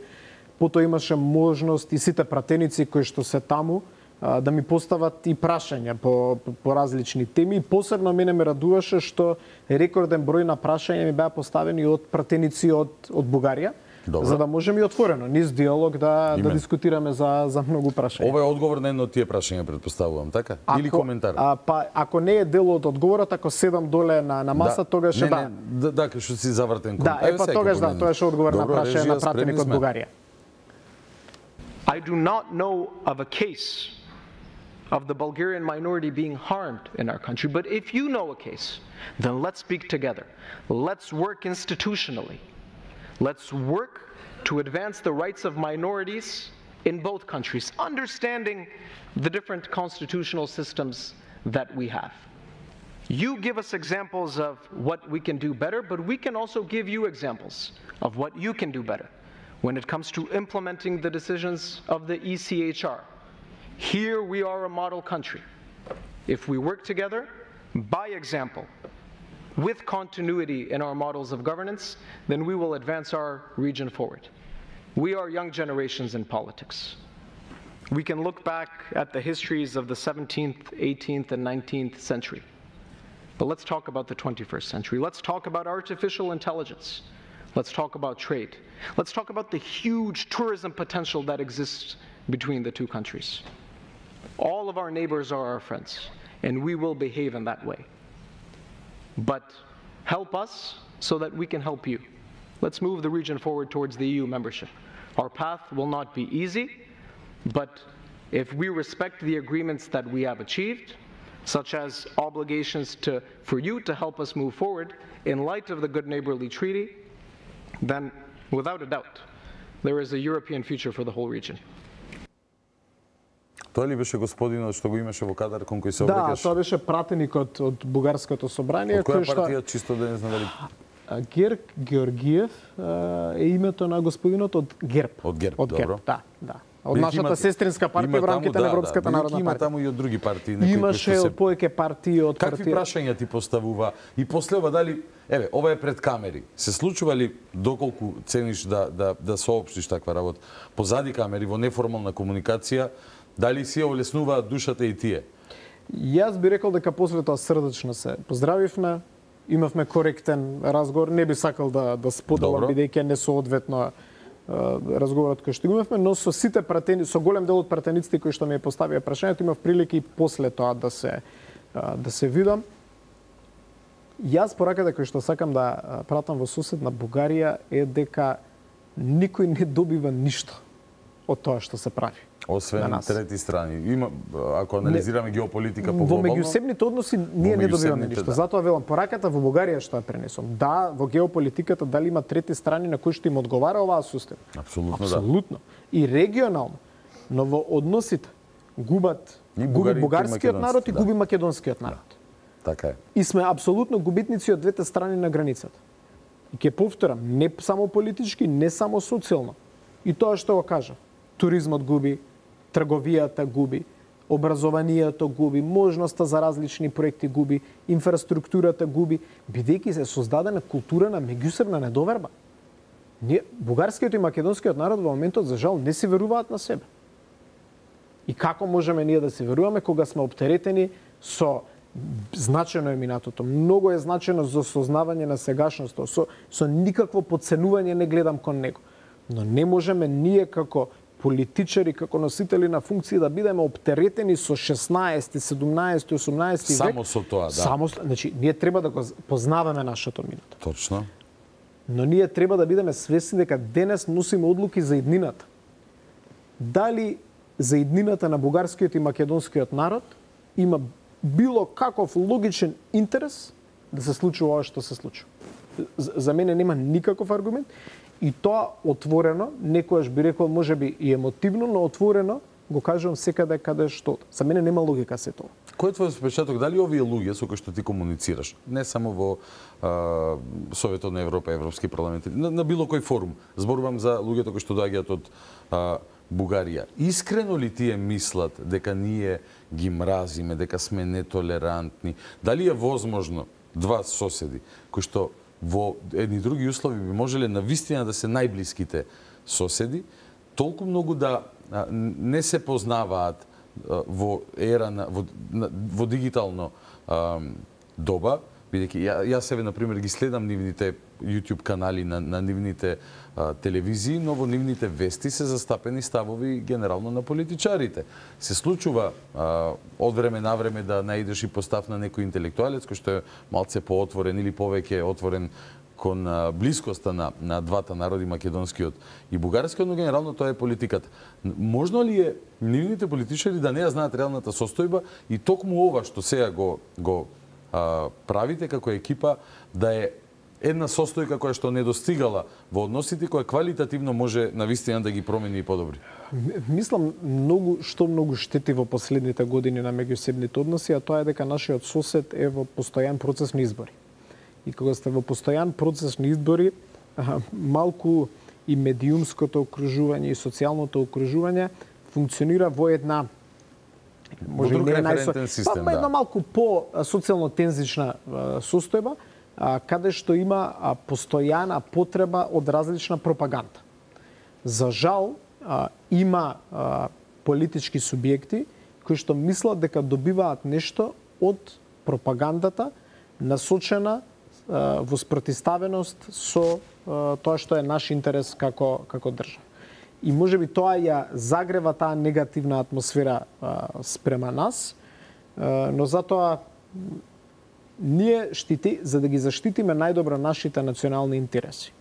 E: потоа имаше можност и сите пратеници кои што се таму а, да ми постават и прашања по, по, по различни теми. И посебно мене ме радуваше што рекорден број на прашања ми беа поставени од пратеници од, од Бугарија. Добро. За да можеме и отворено, низ диалог да, да дискутираме за, за многу прашања.
A: Ова е одговор на едно од тие прашања, предпоставувам, така?
E: Ако,
A: Или коментар?
E: А, па, ако не е дел од одговорот, ако седам доле на, на маса,
A: да.
E: тогаш
A: не,
E: да.
A: Не, да, да, кај што си завртен кон.
E: Да, е па тогаш да, тоа е одговор на прашање на пратеник од Бугарија.
P: I do not know of a case of the Bulgarian minority being harmed in our country, but if you know a case, then let's speak together. Let's work institutionally. Let's work to advance the rights of minorities in both countries, understanding the different constitutional systems that we have. You give us examples of what we can do better, but we can also give you examples of what you can do better. when it comes to implementing the decisions of the E C H R. Here we are a model country. If we work together, by example, with continuity in our models of governance, then we will advance our region forward. We are young generations in politics. We can look back at the histories of the seventeenth, eighteenth, and nineteenth century. But let's talk about the twenty-first century. Let's talk about artificial intelligence. Let's talk about trade. Let's talk about the huge tourism potential that exists between the two countries. All of our neighbors are our friends, and we will behave in that way. But help us so that we can help you. Let's move the region forward towards the E U membership. Our path will not be easy, but if we respect the agreements that we have achieved, such as obligations to, for you to help us move forward in light of the Good Neighborly Treaty, then without a doubt, there is a European future for the whole region.
A: Тоа ли беше господинот што го имаше во кадар кон кој се
E: Да,
A: обрекаш?
E: тоа беше пратеникот од Бугарското собрание.
A: Од која партија, чисто да не знам дали...
E: Герк Георгиев е името на господинот од ГЕРП.
A: Од ГЕРП,
E: од
A: добро.
E: ГЕРП, да, да. Од нашата сестринска партија во рамките на Европската народна
A: Има
E: партија.
A: таму и од други партии, некои
E: Имаше од повеќе партии од
A: Какви
E: партија.
A: прашања ти поставува? И после ова дали, еве, ова е пред камери. Се случува ли доколку цениш да да да соопштиш таква работа позади камери во неформална комуникација, дали си олеснуваат душата и тие?
E: Јас би рекол дека после тоа срдечно се поздравивме, имавме коректен разговор, не би сакал да да споделам бидејќи не соодветно разговорот кој што го имавме, но со сите пратени, со голем дел од пратениците кои што ми поставија прашањето, имав прилика и после тоа да се да се видам. Јас пораката кој што сакам да пратам во соседна Бугарија е дека никој не добива ништо од тоа што се прави.
A: Освен трети страни. Има, ако анализираме не, геополитика по глобално...
E: Во меѓусебните односи ние не добиваме ништо. Да. Затоа велам, пораката во Бугарија што ја пренесам. Да, во геополитиката дали има трети страни на кои што им одговара оваа систем?
A: Апсолутно,
E: Апсолутно. Да. И регионално. Но во односите губат губи бугарскиот народ и да. губи македонскиот народ.
A: Да. Така е.
E: И сме апсолутно губитници од двете страни на границата. И ќе повторам, не само политички, не само социјално. И тоа што го кажа, туризмот губи, трговијата губи, образованието губи, можноста за различни проекти губи, инфраструктурата губи, бидејќи се создадена култура на меѓусебна недоверба. Ние, бугарскиот и македонскиот народ во моментот за жал не си веруваат на себе. И како можеме ние да се веруваме кога сме оптеретени со значено е минатото, многу е значено за сознавање на сегашноста, со, со никакво подценување не гледам кон него. Но не можеме ние како политичари, како носители на функции да бидеме оптеретени со шеснаесети, седумнаесети, осумнаесети век.
A: Само со тоа, да.
E: Само, значи, ние треба да го познаваме нашето минато.
A: Точно.
E: Но ние треба да бидеме свесни дека денес носиме одлуки за иднината. Дали за иднината на бугарскиот и македонскиот народ има било каков логичен интерес да се случува ова што се случува. За мене нема никаков аргумент. И тоа отворено, некојаш би рекол можеби и емотивно, но отворено го кажувам секаде каде што. За мене нема логика се тоа.
A: Кој е твојот впечаток? Дали овие луѓе со кои што ти комуницираш, не само во а, Советот на Европа, Европски парламент, на, на било кој форум, зборувам за луѓето кои што доаѓаат од а, Бугарија, искрено ли тие мислат дека ние ги мразиме, дека сме нетолерантни? Дали е возможно два соседи кои што во едни други услови би можеле на вистина да се најблиските соседи, толку многу да а, не се познаваат а, во ера на во, на, во дигитално а, доба, бидејќи ја, јас себе на пример ги следам нивните YouTube канали на, на нивните а, телевизии, но во нивните вести се застапени ставови генерално на политичарите. Се случува а, од време на време да наидеш и постав на некој интелектуалец кој што е малце поотворен или повеќе отворен кон а, блискоста на, на двата народи, македонскиот и бугарскиот, но генерално тоа е политиката. Можно ли е нивните политичари да не ја знаат реалната состојба и токму ова што сега го, го а, правите како екипа да е една состојка која што не достигала во односите, која квалитативно може навистина да ги промени и подобри?
E: Мислам, многу, што многу штети во последните години на меѓусебните односи, а тоа е дека нашиот сосед е во постојан процес на избори. И кога сте во постојан процес на избори, малку и медиумското окружување и социјалното окружување функционира во една може
A: друг
E: не
A: референтен систем,
E: па,
A: да.
E: една малку по социјално тензична состојба, а, каде што има а, постојана потреба од различна пропаганда. За жал, а, има а, политички субјекти кои што мислат дека добиваат нешто од пропагандата насочена а, во спротивставеност со а, тоа што е наш интерес како како држава. И можеби тоа ја загрева таа негативна атмосфера а, спрема нас, а, но затоа ние штити, за да ги заштитиме најдобро нашите национални интереси.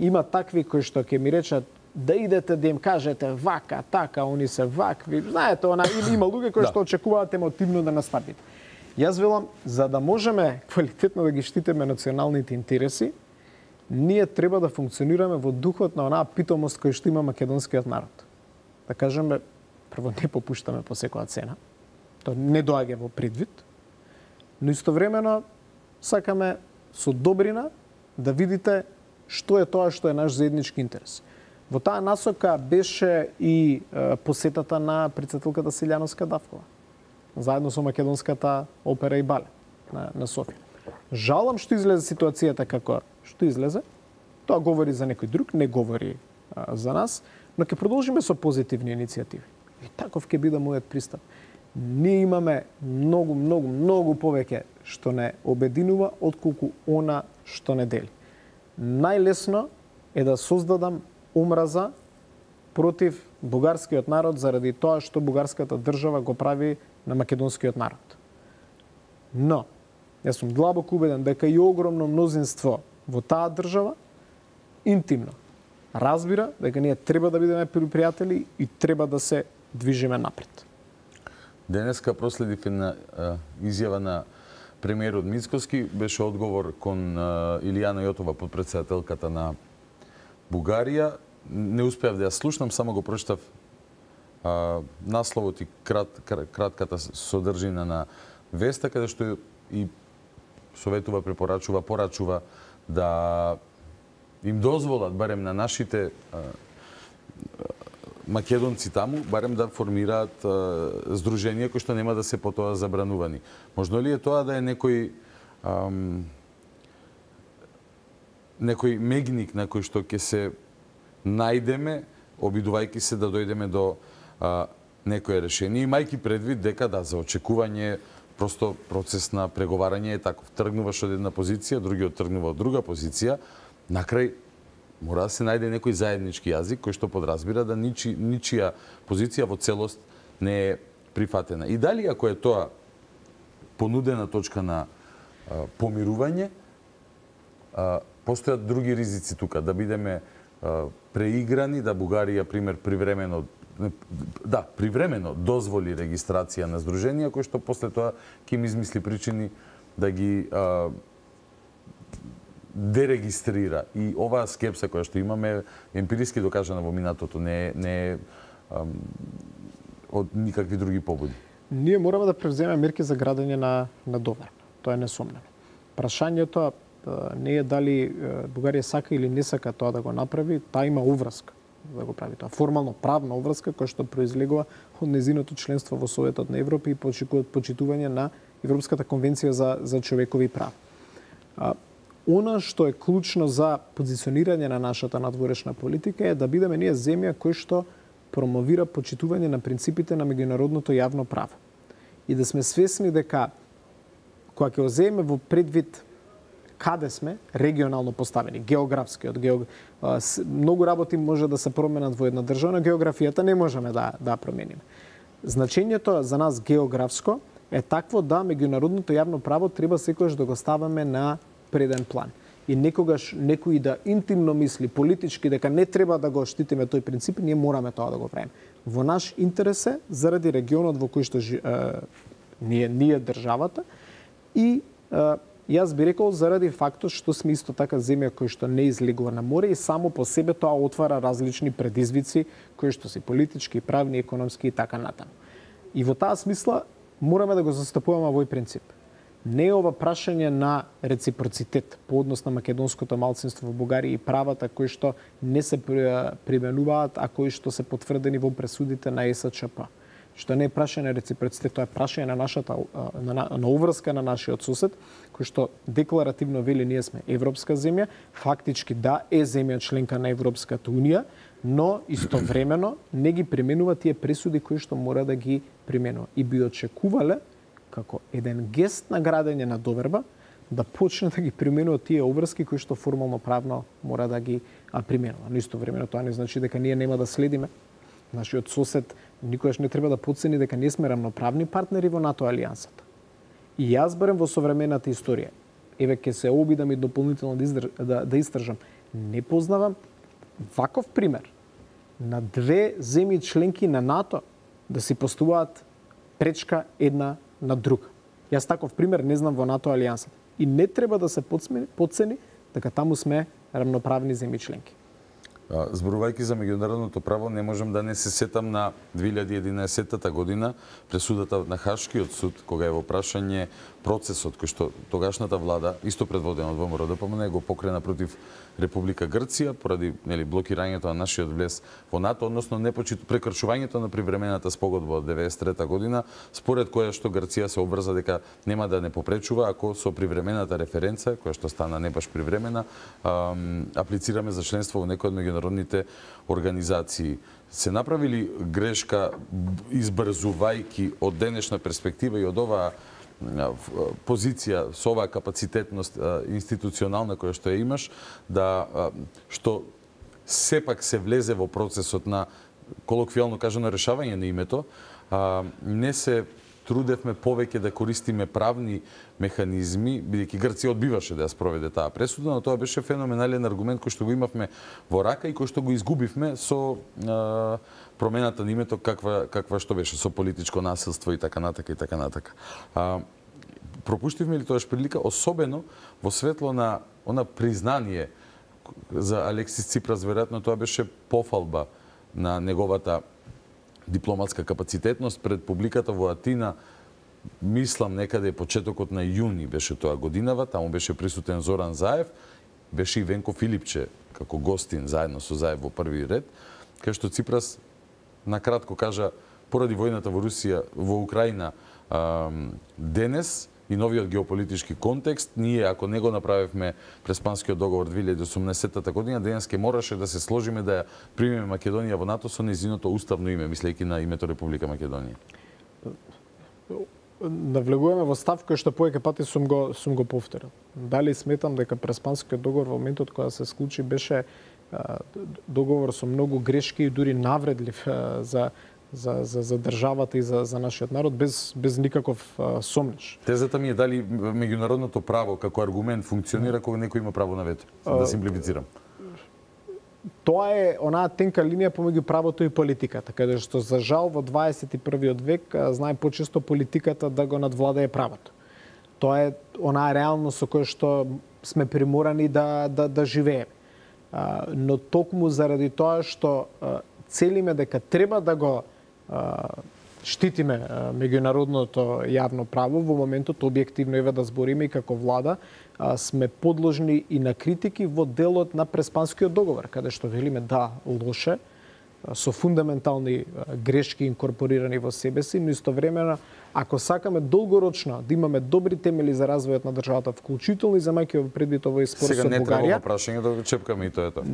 E: Има такви кои што ќе ми речат да идете да им кажете вака, така, они се вакви. Знаете, она или има луѓе кои што очекуваат емотивно да настапите. Јас велам, за да можеме квалитетно да ги штитиме националните интереси, ние треба да функционираме во духот на онаа питомост која што има македонскиот народ. Да кажеме, прво не попуштаме по секоја цена, тоа не доаѓа во предвид, но истовремено сакаме со добрина да видите што е тоа што е наш заеднички интерес. Во таа насока беше и е, посетата на председателката Силјановска Давкова, заедно со македонската опера и балет на, на Софија. Жалам што излезе ситуацијата како што излезе. Тоа говори за некој друг, не говори а, за нас, но ќе продолжиме со позитивни иницијативи. И таков ќе биде мојот пристап. Ние имаме многу, многу, многу повеќе што не обединува отколку она што не дели. Најлесно е да создадам омраза против бугарскиот народ заради тоа што бугарската држава го прави на македонскиот народ. Но јас сум длабоко убеден дека и огромно мнозинство во таа држава интимно разбира дека ние треба да бидеме пријатели и треба да се движиме напред.
A: Денеска проследив една изјава на премиерот Мицкоски, беше одговор кон Илијана Јотова, подпредседателката на Бугарија. Не успеав да ја слушнам, само го прочитав насловот и крат, кратката содржина на веста, каде што и советува, препорачува, порачува да им дозволат, барем на нашите а, македонци таму, барем да формираат а, здруженија кои што нема да се потоа забранувани. Можно ли е тоа да е некој ам, некој мегник на кој што ќе се најдеме, обидувајќи се да дојдеме до а, некое решение, имајќи предвид дека да, за очекување просто процес на преговарање е таков. Тргнуваш од една позиција, другиот тргнува од друга позиција, накрај мора да се најде некој заеднички јазик кој што подразбира да ничи, ничија позиција во целост не е прифатена. И дали ако е тоа понудена точка на а, помирување, а, постојат други ризици тука, да бидеме а, преиграни, да Бугарија, пример, привремено да, привремено дозволи регистрација на здруженија, кој што после тоа ќе им измисли причини да ги а, дерегистрира. И оваа скепса која што имаме емпириски докажана во минатото, не, не е ам, од никакви други побуди.
E: Ние мораме да превземеме мерки за градење на, на довер. Тоа е несомнено. Прашањето не е дали Бугарија сака или не сака тоа да го направи, таа има уврска да го прави тоа. Формално правна уврска која што произлегува од незиното членство во Советот на Европа и почитување на Европската конвенција за, за човекови права. А, она што е клучно за позиционирање на нашата надворешна политика е да бидеме ние земја кој што промовира почитување на принципите на меѓународното јавно право. И да сме свесни дека кога ќе оземе во предвид каде сме регионално поставени, географски, од геог... многу работи може да се променат во една држава, но географијата не можеме да да промениме. Значењето за нас географско е такво да меѓународното јавно право треба секогаш да го ставаме на преден план. И некогаш некој да интимно мисли политички дека не треба да го штитиме тој принцип, ние мораме тоа да го правиме. Во наш интерес е заради регионот во кој што жи... е, ние ние државата и е, јас би рекол заради фактот што сме исто така земја кој што не излегува на море и само по себе тоа отвара различни предизвици кои што се политички, правни, економски и така натаму. И во таа смисла мораме да го застапуваме овој принцип. Не е ова прашање на реципроцитет по однос на македонското малцинство во Бугарија и правата кои што не се применуваат, а кои што се потврдени во пресудите на Е С Ч П. Што не е прашање на реципроцитет, тоа е прашање на нашата на, на, на уврска на нашиот сосед, кој што декларативно вели ние сме европска земја, фактички да е земја членка на Европската унија, но истовремено не ги применува тие пресуди кои што мора да ги применува. И би очекувале како еден гест на градење на доверба да почне да ги применува тие обврски кои што формално правно мора да ги а, применува. Но истовремено тоа не значи дека ние нема да следиме нашиот сосед. Никогаш не треба да подцени дека не сме рамноправни партнери во НАТО алијансата. И јас барем во современата историја, еве ќе се обидам и дополнително да, издр... да, да истражам, не познавам ваков пример на две земји членки на НАТО да си постуваат пречка една на друга. Јас таков пример не знам во НАТО алијансата. И не треба да се подцени дека таму сме рамноправни земји членки.
A: Зборувајќи за меѓународното право, не можам да не се сетам на две илјади и единаесетта година пресудата на Хашкиот суд, кога е во прашање процесот кој што тогашната влада, исто предводена од Во М Р Д П М Н, го покрена против Република Грција поради нели блокирањето на нашиот влез во НАТО, односно непочит прекршувањето на привремената спогодба од деветдесет и трета година, според која што Грција се обврза дека нема да не попречува ако со привремената референца, која што стана не баш привремена, аплицираме за членство во некој од меѓународните организации. Се направили грешка избрзувајќи од денешна перспектива и од оваа позиција со оваа капацитетност институционална која што ја имаш, да што сепак се влезе во процесот на колоквијално кажано решавање на името, не се трудевме повеќе да користиме правни механизми, бидејќи Грција одбиваше да ја спроведе таа пресуда, но тоа беше феноменален аргумент кој што го имавме во рака и кој што го изгубивме со а, промената на името каква каква што беше со политичко насилство и така натака и така натака. А, пропуштивме ли тоаш прилика, особено во светло на она признание за Алексис Ципрас, веројатно тоа беше пофалба на неговата дипломатска капацитетност пред публиката во Атина. Мислам некаде почетокот на јуни беше тоа годинава, таму беше присутен Зоран Заев, беше и Венко Филипче како гостин заедно со Заев во први ред, кај што Ципрас накратко кажа поради војната во Русија, во Украина денес и новиот геополитички контекст, ние ако не го направивме Преспанскиот договор две илјади и осумнаесетта година, денес ке мораше да се сложиме да ја примеме Македонија во НАТО со нејзиното уставно име, мислејќи на името Република Македонија.
E: Навлегуваме во став кој што повеќе пати сум го сум го повторил. Дали сметам дека Преспанскиот договор во моментот кога се склучи беше а, договор со многу грешки и дури навредлив а, за За, за, за државата и за, за нашиот народ без, без никаков а, сомнеш.
A: Тезата ми е дали меѓународното право како аргумент функционира кога некој има право на вето, да симплифицирам.
E: Тоа е онаа тенка линија помеѓу правото и политиката, каде што за жал во дваесет и првиот век знае почесто политиката да го надвладае правото. Тоа е онаа реалност со која што сме приморани да, да, да живееме. А, но токму заради тоа што а, целиме дека треба да го штитиме меѓународното јавно право, во моментот објективно еве да збориме и како влада сме подложни и на критики во делот на Преспанскиот договор, каде што велиме да лоше, со фундаментални грешки инкорпорирани во себе си, но истовремено ако сакаме долгорочно да имаме добри темели за развојот на државата, вклучително и земајќи во предвид овој спор со Бугарија.
A: Сега не треба прашање да го чепкаме и тоа е тоа.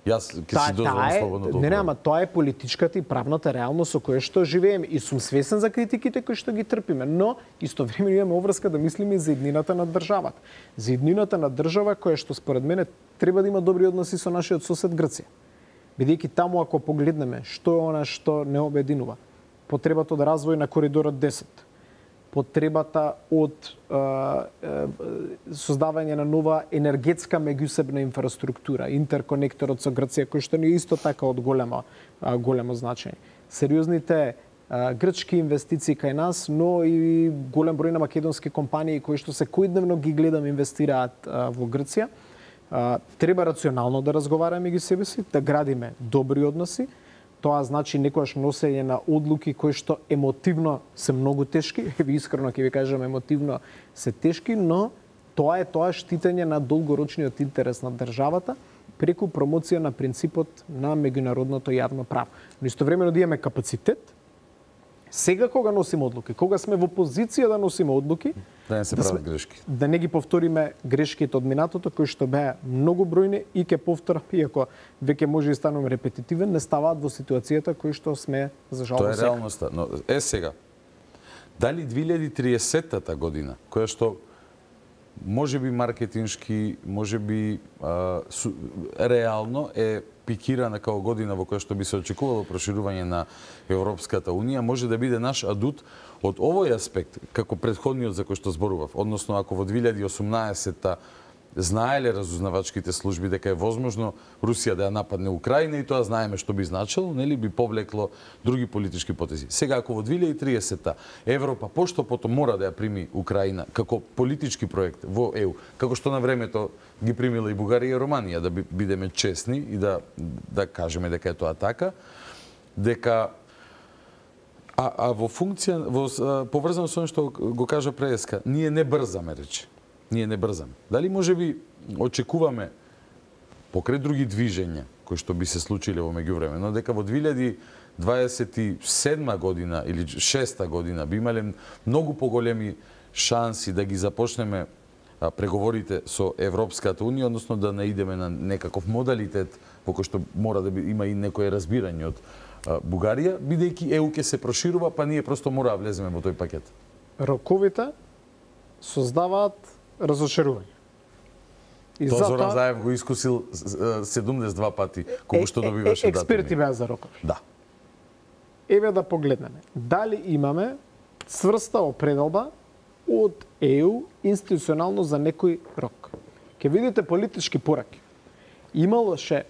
A: Јас ќе си дозволам слободно да.
E: Не, нема, тоа е политичката и правната реалност со која што живееме и сум свесен за критиките кои што ги трпиме, но истовремено имаме обврска да мислиме и за иднината на државата. За иднината на држава која што според мене треба да има добри односи со нашиот сосед Грција. Бидејќи таму ако погледнеме што е она што не обединува, потребата од развој на коридорот десет, потребата од е, е, создавање на нова енергетска меѓусебна инфраструктура, интерконекторот со Грција, кој што не е исто така од големо, големо значење. Сериозните е, грчки инвестиции кај нас, но и голем број на македонски компании кои што секојдневно ги гледам инвестираат е, во Грција. Е, треба рационално да разговараме меѓу себе си, да градиме добри односи. тоа значи некојаш носење на одлуки кои што емотивно се многу тешки, ви искрено ќе ви кажам емотивно се тешки, но тоа е тоа штитење на долгорочниот интерес на државата преку промоција на принципот на меѓународното јавно право. Но истовремено да имаме капацитет, сега кога носиме одлуки, кога сме во позиција да носиме одлуки,
A: да не се прават грешки.
E: Да не ги повториме грешките од минатото кои што беа многу бројни и ќе повторам, иако веќе може и станувам репетитивен, не ставаат во ситуацијата кои што сме за жал
A: Тоа е
E: сега.
A: реалноста. Но е сега. Дали две илјади и триесеттата година, која што може би маркетиншки, може би а, су, реално е пикирана као година во која што би се очекувало проширување на Европската Унија, може да биде наш адут од овој аспект, како претходниот за кој што зборував. Односно, ако во две илјади и осумнаесетта знаеле разузнавачките служби дека е возможно Русија да ја нападне Украина и тоа знаеме што би значило, нели би повлекло други политички потези. Сега ако во две илјади и триесетта Европа пошто потом мора да ја прими Украина како политички проект во Е У, како што на времето ги примила и Бугарија и Романија, да бидеме честни и да да кажеме дека е тоа така, дека а, а во функција во поврзано со она што го кажа преска, ние не брзаме, рече. Ние не брзаме. Дали може би очекуваме покрај други движења кои што би се случиле во меѓувреме, но дека во две илјади дваесет и седма година или шеста година би имале многу поголеми шанси да ги започнеме преговорите со Европската Унија, односно да наидеме на некаков модалитет во кој што мора да има и некое разбирање од Бугарија, бидејќи Е У ќе се проширува, па ние просто мора да влеземе во тој пакет.
E: Роковите создаваат разочарување.
A: И Тоа Зоран Заев го искусил седумдесет и два пати, кога што добиваше датуми.
E: Експерти беа за рокови.
A: Да.
E: Еве да погледнеме. Дали имаме цврста определба од Е У институционално за некој рок? Ке видите политички пораки. Ималоше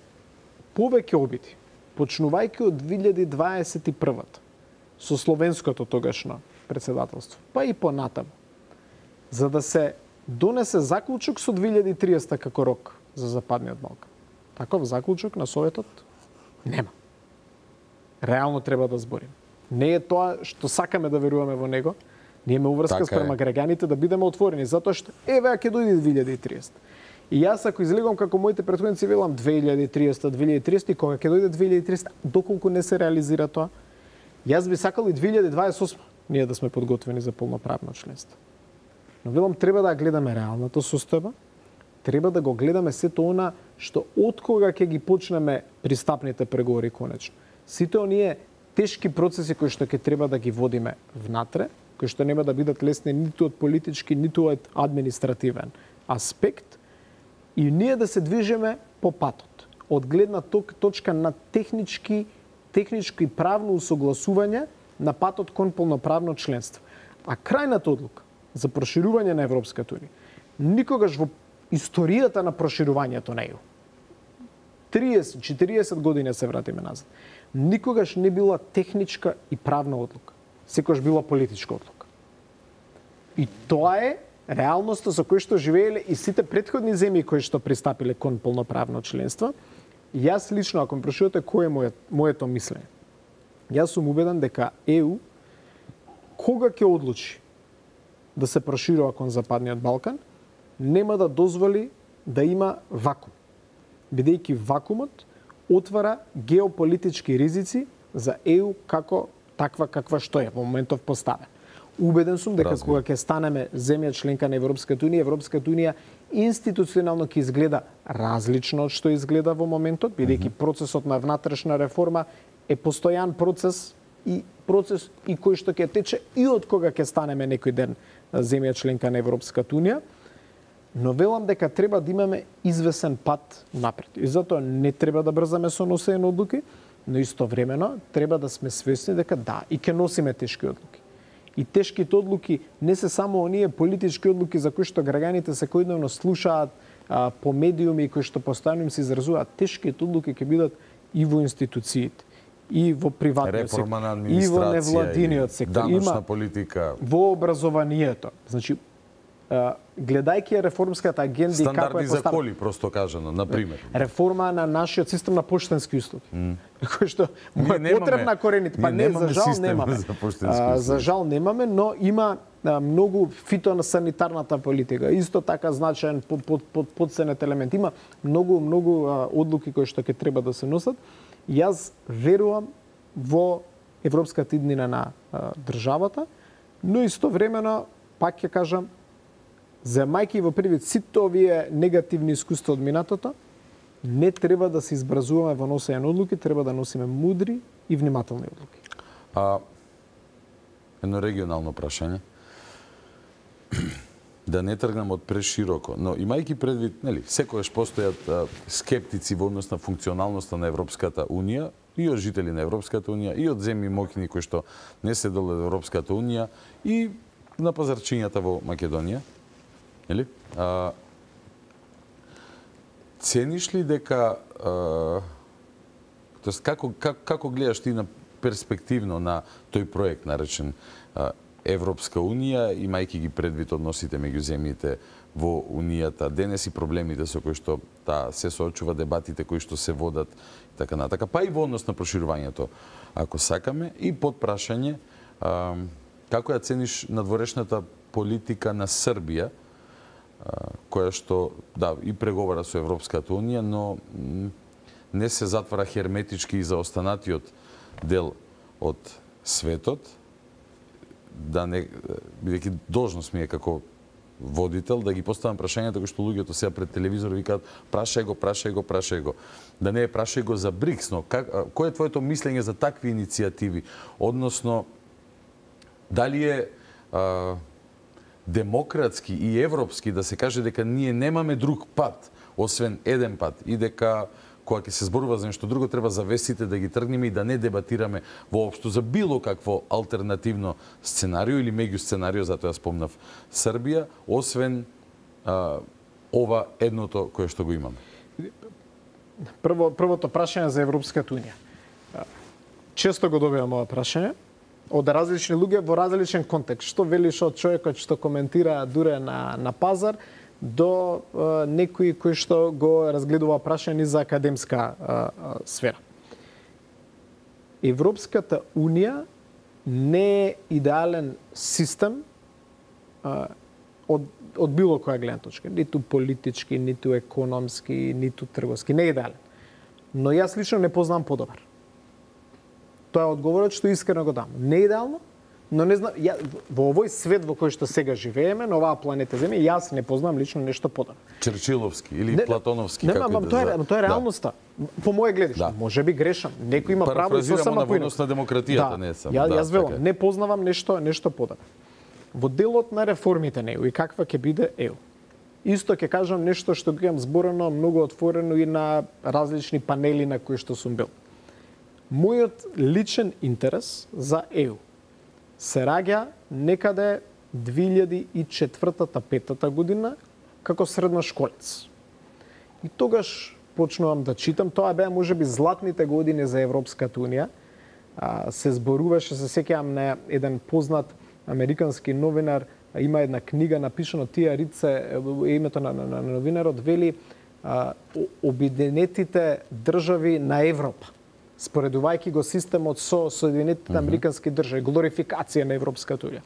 E: повеќе обиди, почнувајќи од две илјади дваесет и првата со словенското тогашно председателство, па и понатаму, за да се донесе заклучок со две илјади и триесетта како рок за Западниот Балкан. Таков заклучок на Советот нема. Реално треба да зборим. Не е тоа што сакаме да веруваме во него, ние имаме уврска
A: така
E: спрема граѓаните да бидеме отворени, затоа што еве ќе дојде две илјади и триесетта. И јас ако излегувам како моите претходници велам две илјади и триесетта, две илјади и триесетта и кога ќе дојде две илјади и триесетта, доколку не се реализира тоа, јас би сакал и две илјади дваесет и осма ние да сме подготвени за полноправно членство. Но велам треба да гледаме реалната состојба, треба да го гледаме сето она што од кога ќе ги почнеме пристапните преговори конечно. Сите оние тешки процеси кои што ќе треба да ги водиме внатре, кои што нема да бидат лесни ниту од политички, ниту од административен аспект, и ние да се движиме по патот. Од гледна точка на технички, техничко и правно усогласување на патот кон полноправно членство. А крајната одлука за проширување на Европската Унија никогаш во историјата на проширувањето на Е У, триесет четириесет години се вратиме назад, никогаш не била техничка и правна одлука. Секогаш била политичка одлука. И тоа е реалноста со која што живееле и сите претходни земји кои што пристапиле кон полноправно членство. Јас лично, ако ме прашувате кој е моје, моето мислење, јас сум убеден дека Е У кога ќе одлучи да се проширува кон Западниот Балкан, нема да дозволи да има вакуум. Бидејќи вакуумот отвара геополитички ризици за Е У како таква каква што е во моментов поставен. Убеден сум дека
A: Разумем.
E: кога ќе станеме земја членка на Европската Унија, Европската Унија институционално ќе изгледа различно од што изгледа во моментот, бидејќи процесот на внатрешна реформа е постојан процес и процес и кој што ќе тече и од кога ќе станеме некој ден земја членка на Европската Унија, но велам дека треба да имаме извесен пат напред. И затоа не треба да брзаме со носење на одлуки, но истовремено треба да сме свесни дека да, и ќе носиме тешки одлуки. И тешките одлуки не се само оние политички одлуки за кои што граѓаните секојдневно слушаат а, по медиуми и кои што постојано им се изразуваат. Тешките одлуки ќе бидат и во институциите, и во приватниот сектор,
A: реформа на
E: и во
A: администрација,
E: невладиниот сектор,
A: даночна
E: има
A: политика,
E: во образованието. Значи, гледајќи реформската агенда и како е
A: стандарди за коли, просто кажано, на пример.
E: Реформа на нашиот систем на поштенски услуги. Mm. Кој што му е потребна корените, па не, за жал немаме. За, за жал немаме, но има а, многу фитосанитарната политика, исто така значаен под, под, под, подсенет елемент. Има многу многу а, одлуки кои што ќе треба да се носат. Јас верувам во европската иднина на а, државата, но истовремено пак ќе кажам, земајќи во првид сите овие негативни искуства од минатото, не треба да се избразуваме во носење на одлуки, треба да носиме мудри и внимателни одлуки.
A: А, едно регионално прашање. Да не тргнам од прешироко, но имајќи предвид, нели, секогаш постојат а, скептици во однос на функционалноста на Европската Унија, и од жители на Европската Унија, и од земји моќни кои што не се дел од Европската Унија, и на пазарчињата во Македонија. Нели? А, цениш ли дека а, тоест како, како како гледаш ти на перспективно на тој проект наречен а, Европска Унија, имајќи ги предвид односите меѓу земјите во Унијата, денес и проблемите со кои што та се соочува, дебатите кои што се водат и така натака, па и во однос на проширувањето, ако сакаме, и под прашање а, како ја цениш надворешната политика на Србија, која што, да, и преговара со Европската Унија, но не се затвара херметички и за останатиот дел од светот, да не, бидејќи должност ми е како водител, да ги поставам прашањата кои што луѓето сега пред телевизор викаат прашај го, прашај го, прашај го. Да не е прашај го за БРИКС, но как, кој е твоето мислење за такви иницијативи? Односно, дали е а, демократски и европски да се каже дека ние немаме друг пат, освен еден пат, и дека кога ќе се зборува за нешто друго, треба завесите да ги тргнеме и да не дебатираме воопшто за било какво алтернативно сценарио или меѓу сценарио, затоа ја спомнав Србија, освен а, ова едното кое што го имаме.
E: Прво, првото прашање за Европската Унија. Често го добивам ова прашање од различни луѓе во различен контекст. Што велиш од човекот што коментира дуре на, на пазар, до а, некои кои што го разгледува прашање за академска а, а, сфера. Европската Унија не е идеален систем а, од, од било која гледна точка. Ниту политички, ниту економски, ниту трговски. Не е идеален. Но јас лично не познам подобар. Тоа е одговорот што искрено го дам. Не е идеално, но не знам, ја, во овој свет во кој што сега живееме, на оваа планета Земја, јас не познам лично нешто подобро.
A: Черчиловски или не, Платоновски,
E: не,
A: како
E: ма,
A: да
E: тоа е, тоа е реалноста. Да. По моје гледиште, да. Може би грешам. Некој има право со сама
A: на однос на демократијата,
E: да.
A: не сам.
E: Ја,
A: да,
E: јас велам, не познавам нешто нешто подобро. Во делот на реформите на ЕУ и каква ќе биде ЕУ. Исто ќе кажам нешто што го имам зборено многу отворено и на различни панели на кои што сум бил. Мојот личен интерес за ЕУ се раѓа некаде две илјади и четвртата-петата година како средношколец. И тогаш почнувам да читам, тоа беа можеби златните години за Европската Унија. А, се зборуваше, се сеќавам на еден познат американски новинар, има една книга напишана, тие рице, името на, на, на новинарот вели а, обединетите држави на Европа, споредувајќи го системот со Соединетите американски држави, глорификација на Европската Унија.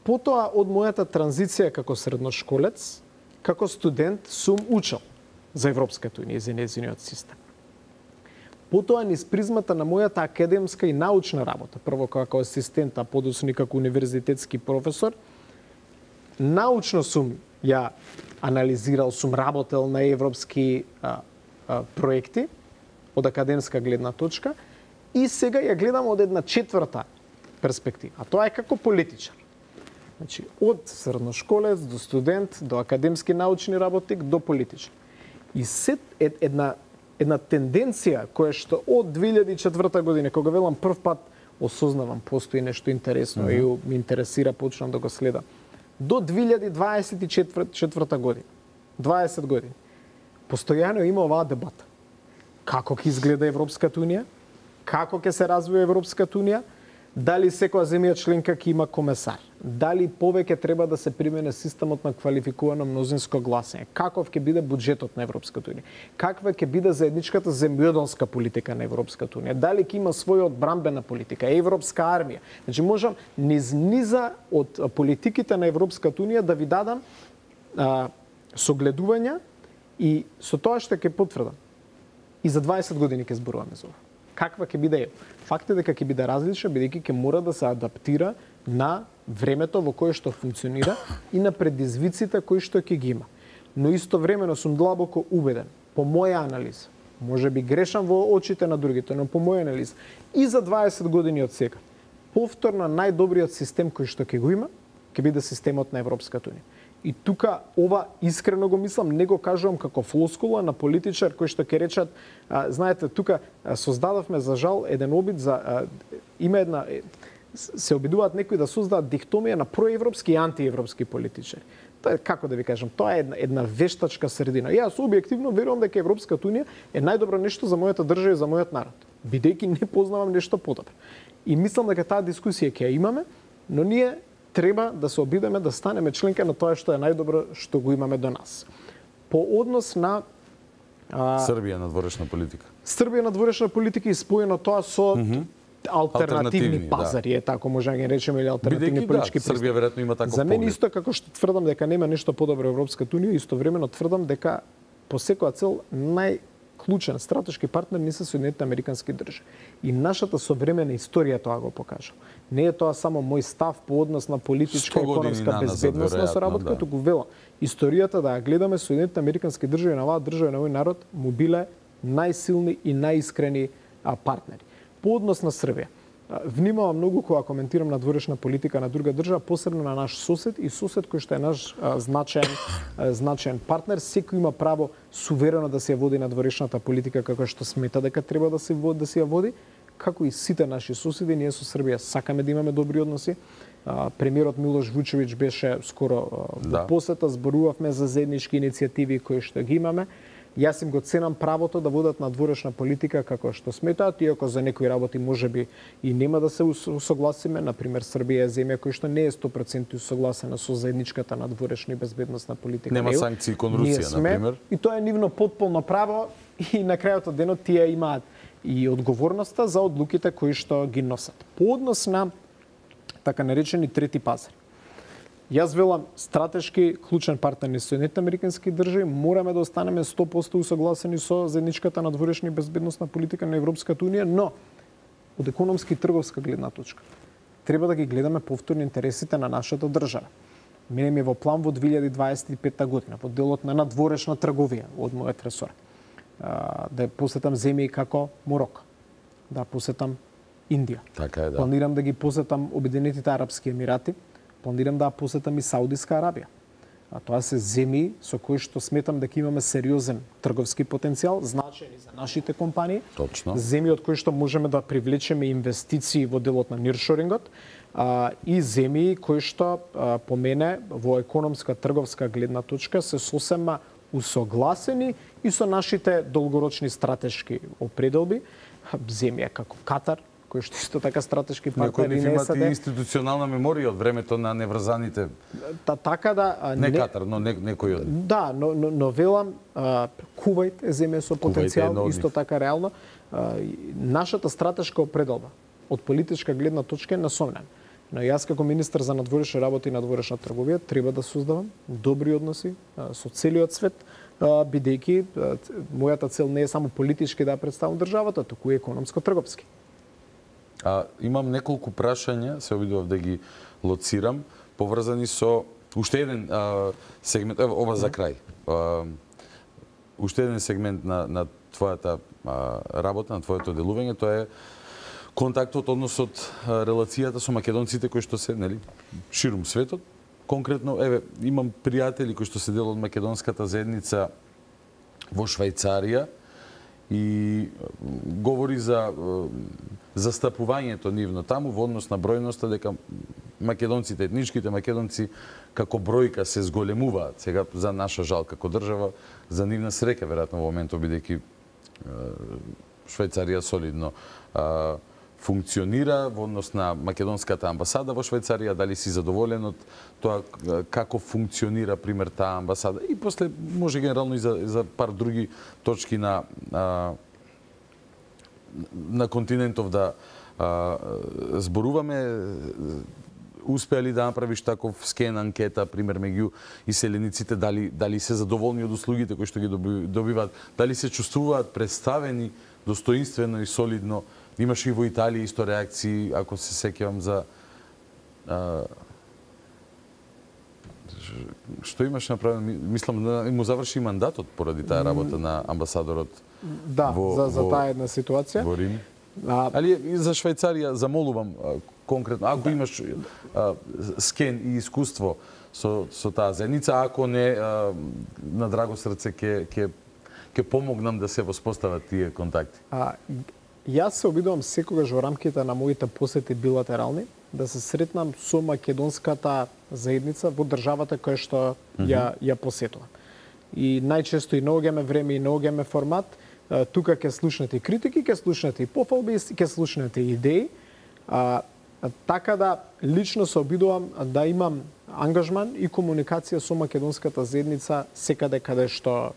E: Потоа, од мојата транзиција како средношколец, како студент, сум учел за Европската Унија и за нејзиниот систем. Потоа, низ призмата на мојата академска и научна работа, прво како асистент, а подоцна како универзитетски професор, научно сум ја анализирал, сум работел на европски а, а, проекти, од академска гледна точка, и сега ја гледам од една четврта перспектива. А тоа е како политичар. Значи, од средношколец до студент, до академски научни работник, до политичар. И сет е една, една тенденција која што од две илјади и четврта година, кога велам прв пат осознавам, постои нешто интересно mm-hmm. и ми интересира, почнам да го следам. До две илјади дваесет и четврта година, дваесет години, постојано има оваа дебата. Како ќе изгледа Европската Унија, како ќе се развива Европската Унија, Дали секоја земја членка ќе има комесар? Дали повеќе треба да се примене системот на квалификувано мнозинско гласење? Каков ќе биде буџетот на Европската унија? Каква ќе биде заедничката земјоделска политика на Европската унија? Дали ќе има своја одбранбена политика, европска армија? Значи можам низ низа од политиките на Европската унија да ви дадам а, согледувања и со тоа што ќе потврдам. И за дваесет години ќе зборуваме за ова. Каква ќе биде? Факт е дека ќе биде различна, бидејќи ќе мора да се адаптира на времето во кое што функционира и на предизвиците кои што ќе ги има. Но истовремено сум длабоко убеден, по моја анализа, може би грешам во очите на другите, но по моја анализа, и за дваесет години од сега, повторно најдобриот систем кој што ќе го има, ќе биде системот на Европската унија. И тука ова искрено го мислам, не го кажувам како флоскула на политичар кој што ќе речат, а, знаете, тука а, создадовме за жал еден обид за а, има една се обидуваат некои да создадат дихтомија на проевропски и антиевропски политичари. Тоа е, како да ви кажам, тоа е една, една вештачка средина. Јас објективно верувам дека Европската унија е најдобро нешто за мојата држава и за мојот народ, бидејќи не познавам нешто подобро. И мислам дека таа дискусија ќе ја имаме, но ние треба да се обидеме да станеме членка на тоа што е најдобро што го имаме до нас. По однос на а,
A: Србија надворешна политика.
E: Србија надворешна политика и споено тоа со mm -hmm. алтернативни пазари, да. Е така може да ги речеме, или алтернативни Бидејќи, политички
A: да, Србија веројатно има таков
E: За мен
A: поглед.
E: исто како што тврдам дека нема нешто подобро Европската унија, истовремено тврдам дека по секоја цел најклучен стратешки партнер не се Соединетите американски држави. И нашата современа историја тоа го покажа. Не е тоа само мој став по однос на политичка и економска безбедност на соработка, да. Туку велам, историјата да ја гледаме, Соединетите американски држави на оваа држава на овој народ му биле најсилни и најискрени партнери. По однос на Србија, внимавам многу кога коментирам надворешна политика на друга држава, посебно на наш сосед и сосед кој што е наш а, значаен а, значаен партнер. Секој има право суверено да се ја води надворешната политика како што смета дека треба да се води, да се ја води, како и сите наши соседи. Ние со Србија сакаме да имаме добри односи. А, премиерот Милош Вучевиќ беше скоро а, во да. посета, зборувавме за заеднички иницијативи кои што ги имаме. Јас им го ценам правото да водат надворешна политика како што сметаат, иако за некои работи можеби и нема да се усогласиме. Например, Србија е земја која што не е сто проценти усогласена со заедничката надворешна и безбедносна политика.
A: Нема санкции кон Русија, например.
E: И тоа е нивно потполно право и на крајот од денот тие имаат и одговорноста за одлуките кои што ги носат. По однос на така наречени трети пазар. Јас велам, стратешки клучен партнер на Соединетите американски држави, мораме да останеме сто проценти усогласени со заедничката надворешна и безбедносна политика на Европската унија, но од економски и трговска гледна точка треба да ги гледаме повторно интересите на нашата држава. Мене ми е во план во две илјади дваесет и пета година, во делот на надворешна трговија од мојот ресор, да посетам земји како Мороко, да посетам Индија.
A: Така е, да.
E: Планирам да ги посетам Обединетите арапски емирати, планирам да посетам и Саудиска Арабија. А тоа се земји со кои што сметам дека имаме сериозен трговски потенцијал, значајни за нашите компании.
A: Точно.
E: Земји од кои што можеме да привлечеме инвестиции во делот на ниршорингот, а, и земји кои што а, по мене во економска трговска гледна точка се сосема усогласени и со нашите долгорочни стратешки определби. Земја како Катар, кој што исто така стратешки партнери
A: на
E: САД.
A: Некои институционална меморија од времето на неврзаните.
E: Та, така да
A: не, не Катар, но не, некој од.
E: Да, но но, но велам а, Кувајт е земја со потенцијал, исто така реално. А, нашата стратешка определба од политичка гледна точка е насомнена. Но јас како министер за надворешни работи и надворешна трговија треба да создавам добри односи а, со целиот свет, а, бидејќи а, мојата цел не е само политички да представам државата, туку и економско-трговски.
A: А, имам неколку прашања, се обидував да ги лоцирам, поврзани со уште еден а, сегмент, ево, ова за крај. А, уште еден сегмент на, на твојата а, работа, на твоето делување, тоа е контактот, односот, релацијата со македонците кои што се, нели, ширум светот. Конкретно, еве, имам пријатели кои што се дел од македонската заедница во Швајцарија и говори за застапувањето нивно таму во однос на бројноста, дека македонците, етничките македонци како бројка се зголемуваат сега за наша жал како држава, за нивна среќа веројатно во моментот бидејќи Швајцарија солидно функционира во однос на македонската амбасада во Швајцарија, дали си задоволен од тоа како функционира пример таа амбасада и после може генерално и за, за пар други точки на а, на континентов да а, зборуваме. Успеа ли да направиш таков скен анкета пример меѓу иселениците, дали дали се задоволни од услугите кои што ги добиваат, дали се чувствуваат представени достоинствено и солидно. Имаше и во Италија исто реакции, ако се сеќавам за а, што имаше направено, мислам да му заврши мандатот поради таа работа на амбасадорот.
E: Да,
A: во,
E: за за
A: во,
E: таа една ситуација.
A: Во Рим.
E: А,
A: Али и за Швајцарија замолувам а, конкретно, ако да. имаш а, скен и искуство со со таа заедница, ако не а, на драго срце ќе ќе ќе помогнам да се воспостават тие контакти. А,
E: Јас се обидувам секогаш во рамките на моите посети билатерални да се сретнам со македонската заедница во државата која што mm -hmm. ја ја посетувам. И најчесто и наоѓаме време и наоѓаме формат, тука ќе слушнете критики, ќе слушнете и пофалби, ќе слушнете идеи. А, така да лично се обидувам да имам ангажман и комуникација со македонската заедница секаде каде што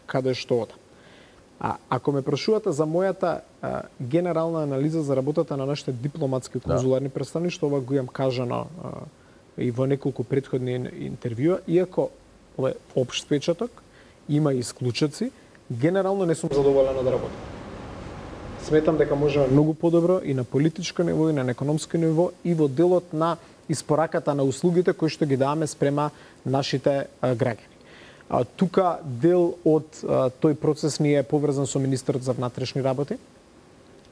E: каде што одам. А ако ме прашувате за мојата а, генерална анализа за работата на нашите дипломатски конзуларни да. представништва, ова го имам кажано а, и во неколку претходни интервјуа, иако ова е општ печаток, има и исклучоци, генерално не сум задоволен од работа. Сметам дека можеме многу подобро и на политичко ниво, и на економско ниво, и во делот на испораката на услугите кои што ги даваме спрема нашите а, граѓани. А, тука дел од а, тој процес ни е поврзан со министерот за внатрешни работи,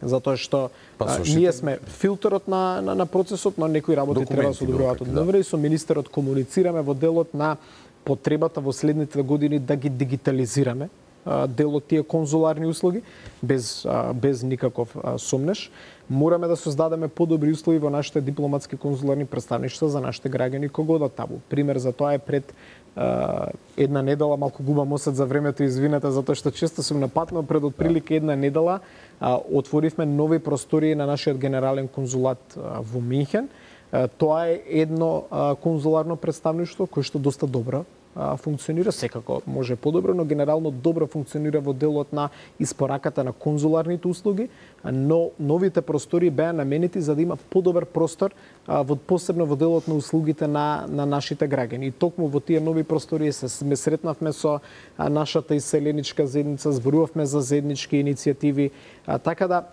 E: затоа што а, ние сме филтерот на, на, на процесот, но некои работи документи треба да се одобруваат од МВР и со министерот комуницираме во делот на потребата во следните години да ги дигитализираме а, дел од тие конзуларни услуги, без, а, без никаков а, сомнеш. Мораме да создадеме подобри услови во нашите дипломатски конзуларни представништва за нашите граѓани кога одат таму. Пример за тоа е пред Uh, една недела, малку губам осет за времето, извинете, затоа што често сум на пат, но пред отприлика една недела uh, отворивме нови простории на нашиот генерален конзулат uh, во Минхен. Uh, тоа е едно uh, конзуларно представништво кое што доста добро uh, функционира, секако може подобро, но генерално добро функционира во делот на испораката на конзуларните услуги, но новите простории беа наменети за да има подобар простор а, во посебно во делот на услугите на на нашите граѓани. И токму во тие нови простории се сме сретнавме со а, нашата иселеничка заедница, зборувавме за заеднички иницијативи, а, така да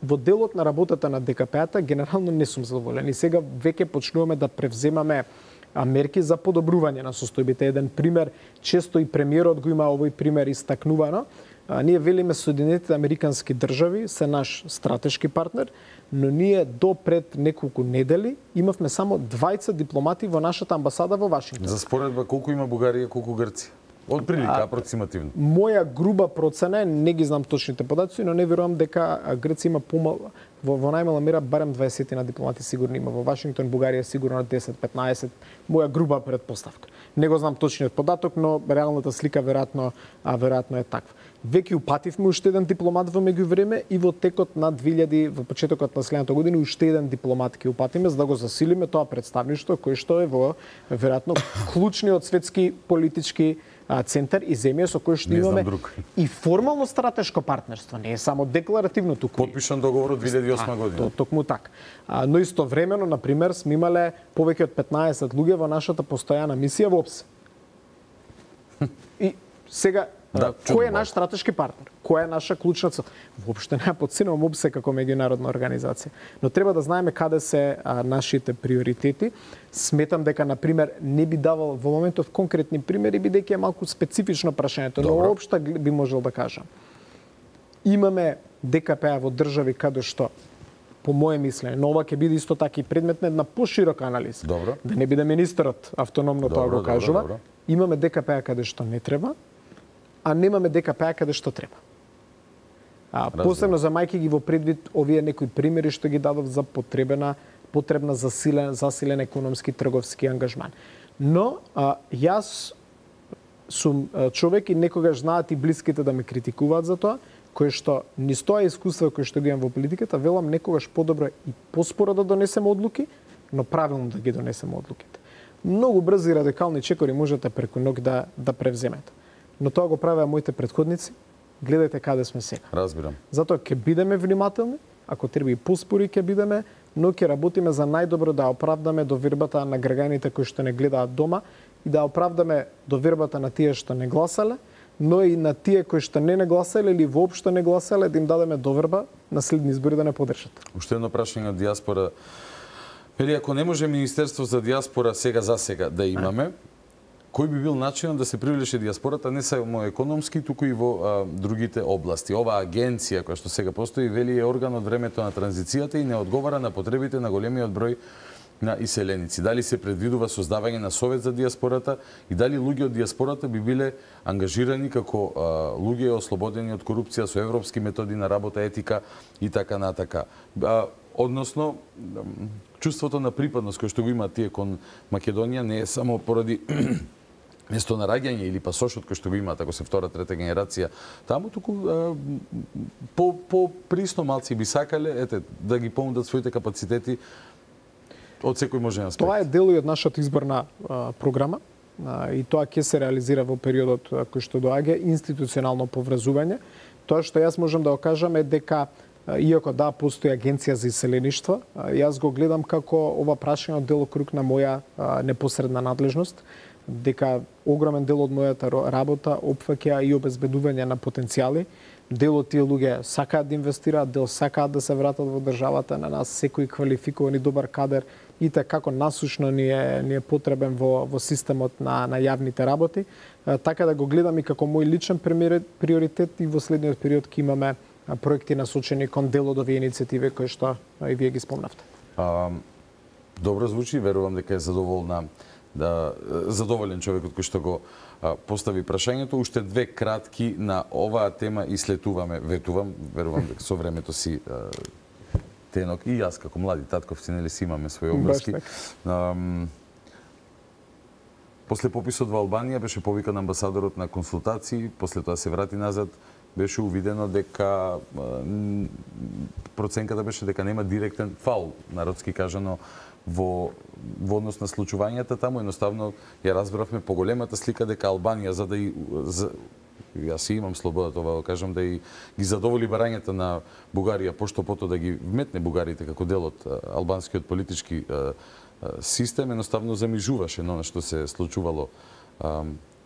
E: во делот на работата на ДКП-та генерално не сум задоволен. И сега веќе почнуваме да превземаме мерки за подобрување на состојбите. Еден пример, често и премиерот го има овој пример истакнувано. А, ние велиме Соединетите Американски држави се наш стратешки партнер, но ние до пред неколку недели имавме само двајца дипломати во нашата амбасада во Вашингтон.
A: За споредба колку има Бугарија, колку Грција? Од прилика, апроксимативно.
E: Моја груба процена е, не ги знам точните податоци, но не верувам дека Грција има помал, во, во најмала мера барем дваесет на дипломати сигурно има. Во Вашингтон, Бугарија сигурно десет-петнаесет. Моја груба предпоставка. Не го знам точниот податок, но реалната слика веројатно, а веројатно е таква. Веќе упативме уште еден дипломат во меѓувреме и во текот на две илјади, во почетокот на следната година, уште еден дипломат ќе упатиме за да го засилиме тоа представништво кое што е во веројатно клучниот светски политички центар и земја со кој што имаме и формално стратешко партнерство, не е само декларативно туку.
A: Подпишан договор од две илјади и осма година.
E: Токму така. Но истовремено, на пример, сме имале повеќе од петнаесет луѓе во нашата постојана мисија во ОПСЕ. И сега да, кој е наш стратешки партнер? Која е наша клучна цел? Воопшто не ја подценувам ОПСЕ како меѓународна организација, но треба да знаеме каде се а, нашите приоритети. Сметам дека на пример не би давал во моментов конкретни примери бидејќи е малку специфично прашањето, но воопшто би можел да кажам. Имаме ДКП во држави каде што по моје мислење, но ова ќе биде исто така и предмет на една поширока анализа.
A: Добро.
E: Да не биде министерот автономно
A: добро,
E: тоа го кажува.
A: Добро, добро.
E: Имаме ДКП каде што не треба, а немаме ДКП каде што треба. А, посебно за мајки ги во предвид овие некои примери што ги дадов за потребена потребна засилен засилен економски трговски ангажман. Но а, јас сум човек и некогаш знаат и блиските да ме критикуваат за тоа, кое што низ тоа искуство кое што ги имам во политиката, велам некогаш подобро и поспоро да донесеме одлуки, но правилно да ги донесеме одлуките. Многу брзи радикални чекори можете преку ног да да превземете. Но тоа го правеа моите претходници. Гледајте каде сме сега.
A: Разбирам.
E: Затоа ќе бидеме внимателни, ако треба и поспори ќе бидеме, но ќе работиме за најдобро да оправдаме довербата на граѓаните кои што не гледаат дома и да оправдаме довербата на тие што не гласале, но и на тие кои што не не гласале или воопшто не гласале, да им дадеме доверба на следни избори да не подржат.
A: Уште едно прашање од дијаспора. Вели, ако не може Министерство за дијаспора сега за сега да имаме, кој би бил начинот да се привлече дијаспората не само економски, туку и во а, другите области? Оваа агенција која што сега постои, вели, е орган од времето на транзицијата и не одговара на потребите на големиот број на иселеници. Дали се предвидува создавање на совет за дијаспората и дали луѓе од дијаспората би биле ангажирани како а, луѓе ослободени од корупција со европски методи на работа, етика и така натака. А, односно, чувството на припадност кој што го има тие кон Македонија не е само поради место на раѓање или пасошот кој што го имаат, ако се втора, трета генерација таму, туку а, по, по присно малци би сакале ете, да ги понудат своите капацитети од секој можен аспект.
E: Тоа е дел и од нашата изборна а, програма а, и тоа ќе се реализира во периодот а, кој што доаѓа, институционално поврзување. Тоа што јас можам да окажам е дека иако да постои агенција за иселеништво, јас го гледам како ова прашање од делокруг на моја а, непосредна надлежност, дека огромен дел од мојата работа опфаќа и обезбедување на потенцијали. Дел од тие луѓе сакаат да инвестираат, дел сакаат да се вратат во државата, на нас секој квалификуван и добар кадер и така како насушно ни е, ни е потребен во, во системот на, на јавните работи. А, така да го гледам и како мој личен приоритет и во следниот период ќе имаме проекти насочени кон дел од овие иницијативи кои што и вие ги спомнавте.
A: А, добро звучи, верувам дека е задоволна да задоволен човекот кој што го а, постави прашањето. Уште две кратки на оваа тема и слетуваме, ветувам, верувам дека со времето си а, тенок и јас како млади татковци нели си имаме своји обврски. После пописот во Албанија беше повикан амбасадорот на консултации, после тоа се врати назад, беше увидено дека проценката беше дека нема директен фаул, народски кажано, во, во однос на случувањата таму. Едноставно ја разбравме по големата слика дека Албанија, за да и за, јас имам слободата ова да кажам, да и ги задоволи барањата на Бугарија, пошто пото да ги вметне бугарите како дел од албанскиот политички систем, едноставно замижуваше на она што се случувало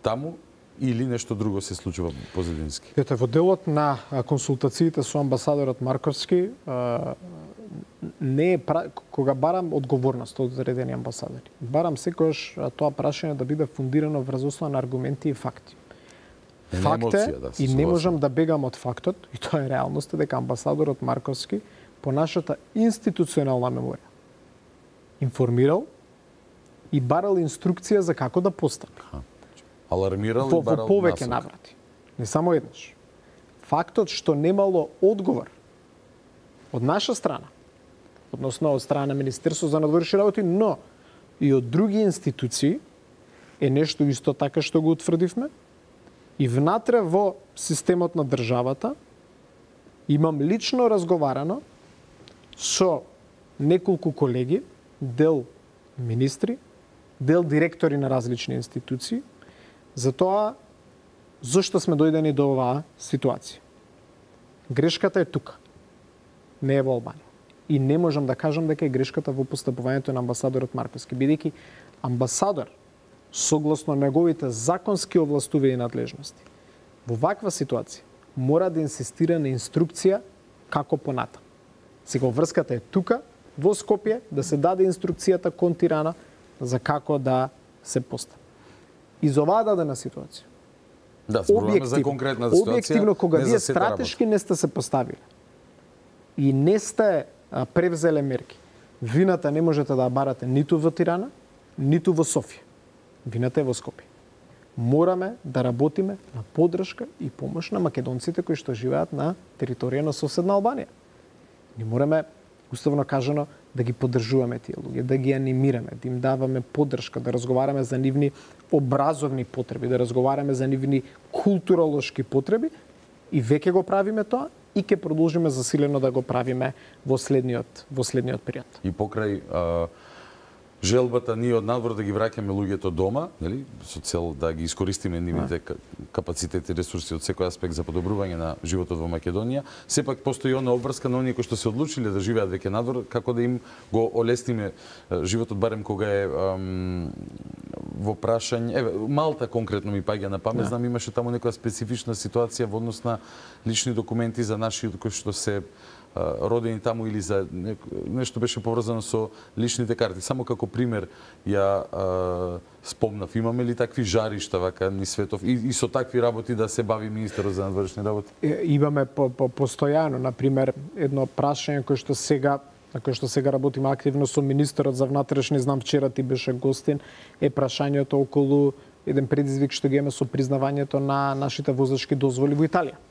A: таму, или нешто друго се случува позадински?
E: Ете, во делот на консултациите со амбасадорот Марковски, не е пра... кога барам одговорност од одредени амбасадори. Барам секогаш тоа прашање да биде фундирано врз основа на аргументи и факти. Факт е, да, и не можам да бегам од фактот, и тоа е реалноста, дека амбасадорот Марковски по нашата институционална меморија информирал и барал инструкција за како да постапи.
A: Алармирал
E: во,
A: и барал
E: во повеќе наврати. Не само еднаш. Фактот што немало одговор од наша страна, односно од страна на Министерството за надворешни работи, но и од други институции, е нешто исто така што го утврдивме. И внатре во системот на државата имам лично разговарано со неколку колеги, дел министри, дел директори на различни институции, за тоа зошто сме дојдени до оваа ситуација. Грешката е тука, не е во Албанија. И не можам да кажам дека е грешката во постапувањето на амбасадорот Марковски, бидејќи амбасадор, согласно неговите законски овластувања и надлежности, во ваква ситуација мора да инсистира на инструкција како понатам. Сега врската е тука, во Скопје, да се даде инструкцијата кон Тирана за како да се постапи. Из оваа дадена ситуација,
A: да, зборуваме за конкретна ситуација,
E: објективно, кога
A: не
E: вие
A: за сета
E: стратешки
A: работа.
E: не сте се поставили и не сте а, превзеле мерки, вината не можете да ја барате ниту во Тирана, ниту во Софија. Вината е во Скопје. Мораме да работиме на поддршка и помош на македонците кои што живеат на територија на соседна Албанија. Ни мораме, уставно кажано, да ги поддржуваме тие луѓе, да ги анимираме, да им даваме поддршка, да разговараме за нивни образовни потреби, да разговараме за нивни културолошки потреби И веќе го правиме тоа и ќе продолжиме засилено да го правиме во следниот во следниот период.
A: И покрај а, желбата ние од надвор да ги враќаме луѓето дома, нели, со цел да ги искористиме нивните капацитети и ресурси од секој аспект за подобрување на животот во Македонија, сепак постои она обврска на оние кои што се одлучиле да живеат веќе надвор, како да им го олесниме животот барем кога е ам, во прашање. Еве, Малта конкретно ми паѓа на памет, знам имаше таму некоја специфична ситуација во однос на лични документи за наши кои што се родени таму или за нешто беше поврзано со личните карти. Само како пример ја а, спомнав, имаме ли такви жаришта вака низ светов и, и со такви работи да се бави министерот за надворешни работи?
E: Имаме по, по, постојано, на пример, едно прашање кој што сега на кој што сега работиме активно со министерот за внатрешни, знам вчера ти беше гостин, е прашањето околу еден предизвик што ги имаме со признавањето на нашите возачки дозволи во Италија.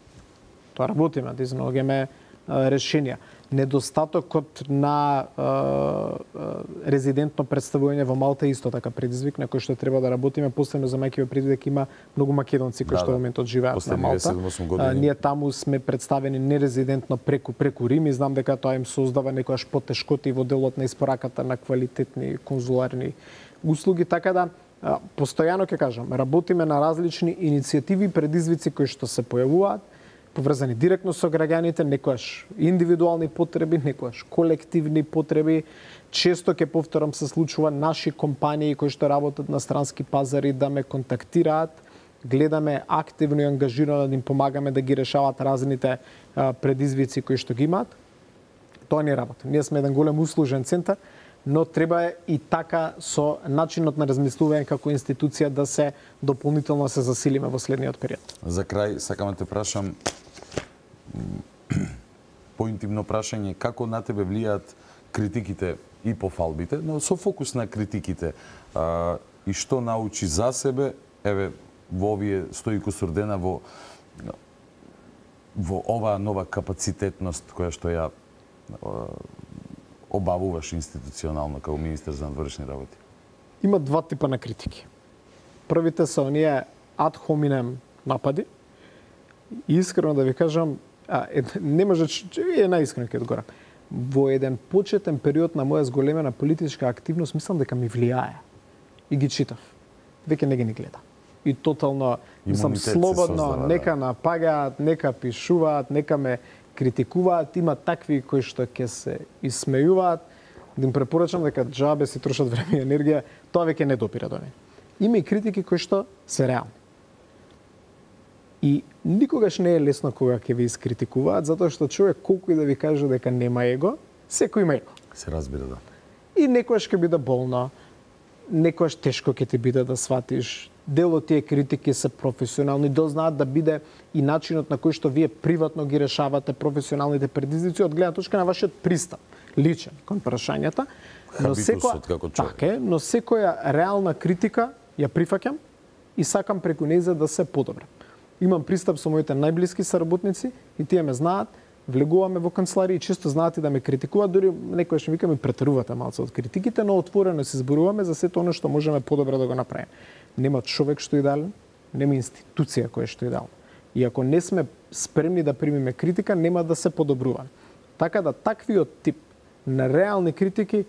E: Тоа работиме, да изнаоѓаме решенија. Недостатокот на е, е, резидентно представување во Малта е исто така предизвик на кој што треба да работиме, посебно замајќи во предвид дека има многу македонци кои да, што во моментот живеат на Малта. А, ние таму сме представени нерезидентно преку преку Рим и знам дека тоа им создава некојаш потешкоти во делот на испораката на квалитетни конзуларни услуги, така да а, постојано ќе кажам, работиме на различни иницијативи и предизвици кои што се појавуваат, поврзани директно со граѓаните, некојаш индивидуални потреби, некојаш колективни потреби. Често ќе повторам се случува наши компании кои што работат на странски пазари да ме контактираат, гледаме активно и ангажирано да им помагаме да ги решават разните а, предизвици кои што ги имаат. Тоа не работи. Ние сме еден голем услужен центар, но треба и така со начинот на размислување како институција да се дополнително се засилиме во следниот период.
A: За крај сакам да те прашам поинтимно прашање, како на тебе влијаат критиките и пофалбите, но со фокус на критиките, а, и што научи за себе, еве, во овие сто и кусур дена во во оваа нова капацитетност која што ја а, обавуваш институционално како министер за надворешни работи?
E: Има два типа на критики. Првите се оние ad hominem напади. И искрено да ви кажам, а, е, не може, е наискрено ќе одговорам. Во еден почетен период на моја зголемена политичка активност, мислам дека ми влијае. И ги читав. Веќе не ги ни гледам. И тотално, мислам, слободно, создава, нека да. Напагаат, нека пишуваат, нека ме критикуваат, има такви кои што ќе се исмејуваат, да им препорачам дека џабе си трошат време и енергија, тоа веќе не допира до мене. Има и критики кои што се реални. И никогаш не е лесно кога ќе ви искритикуваат, затоа што човек колку и да ви каже дека нема его, секој има его.
A: Се разбира, да.
E: И некојаш ќе биде болно, некојаш тешко ќе ти биде да сватиш. Дел од тие критики се професионални, дознаат да биде и начинот на кој што вие приватно ги решавате професионалните предизвици од гледна точка на вашиот пристап, личен кон прашањата. Но секоја, така е, но секоја реална критика ја прифаќам и сакам преку нејза да се подобрам. Имам пристап со моите најблиски соработници и тие ме знаат, влегуваме во канцеларија и често знаат и да ме критикуваат, дури некојаш ми викаме претерувате малку од критиките, но отворено се зборуваме за сето оно што можеме подобро да го направиме. Нема човек што е идеален, нема институција која што е идеална. И ако не сме спремни да примиме критика, нема да се подобруваме. Така да таквиот тип на реални критики,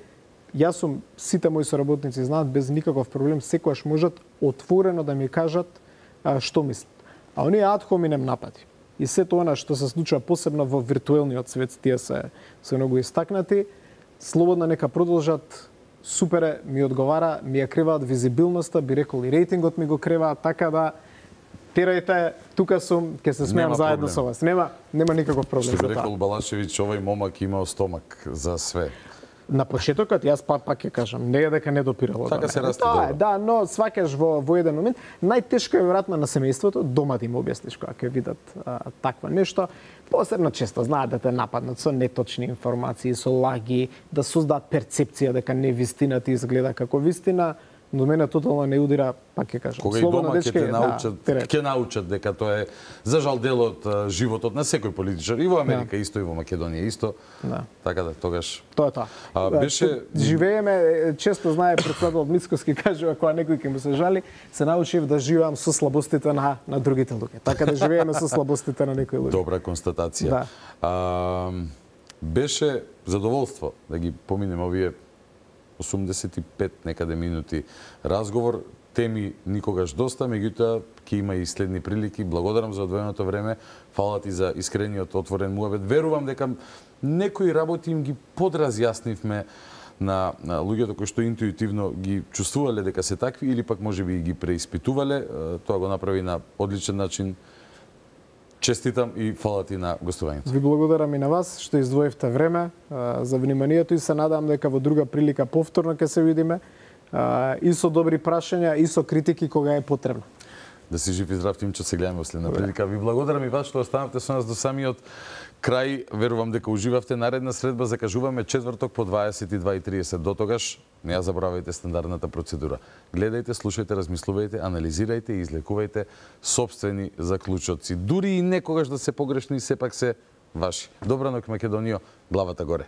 E: јас сум, сите мои соработници знаат без никаков проблем, секогаш можат отворено да ми кажат а, што мислат. А оние ad hominem напади и сето она што се случува посебно во виртуелниот свет, тие се се многу истакнати, слободно нека продолжат. Супер, ми одговара, ми ја креваат визибилноста, би рекол и рейтингот ми го креваат, така да терајте, тука сум, ќе се смеам заедно со вас. Нема нема никаков проблем.
A: Што би рекол Балашевиќ, овој момак имао стомак за све.
E: На почетокот јас па пак ќе кажам, не е дека не допирало.
A: Така се расте
E: добро. Да, но сваќаш во во еден момент, најтешко е веројатно на семејството, дома да им објасниш кога ќе видат а, таква нешто. Посебно често знаат да те нападнат со неточни информации, со лаги, да создадат перцепција дека не вистината изгледа како вистина. до мене тотално не удира, пак ќе кажам.
A: Кога и дома ќе те научат, ќе научат дека тоа е за жал дел од животот на секој политичар и во Америка исто и во Македонија исто. Да. Така да тогаш
E: тоа е тоа.
A: А, беше
E: живееме, често знае председател Мицкоски кажува кога некој ќе му се жали, се научив да живеам со слабостите на на другите луѓе. Така да живееме со слабостите на некои луѓе.
A: Добра констатација.
E: Да.
A: А, беше задоволство да ги поминеме овие осумдесет и пет некаде минути разговор, теми никогаш доста, меѓутоа ќе има и следни прилики. Благодарам за одвоеното време, фала ти за искрениот отворен муабет. Верувам дека некои работи им ги подразјаснивме на, на луѓето кои што интуитивно ги чувствувале дека се такви или пак можеби ги преиспитувале. Тоа го направи на одличен начин. Честитам и фала ти на гостувањето.
E: Ви благодарам и на вас што издвоивте време а, за вниманието и се надам дека во друга прилика повторно ќе се видиме а, и со добри прашања и со критики кога е потребно.
A: Да си жив и здрав, Тимчо, се гледаме во следна прилика. Ви благодарам и вас што останавте со нас до самиот крај. Верувам дека уживавте. Наредна средба закажуваме четврток по дваесет и два и триесет. До тогаш не ја забравајте стандардната процедура. Гледајте, слушајте, размислувајте, анализирајте и излекувајте сопствени заклучоци. Дури и некогаш да се погрешни, сепак се ваши. Добра ноќ, Македонијо, главата горе.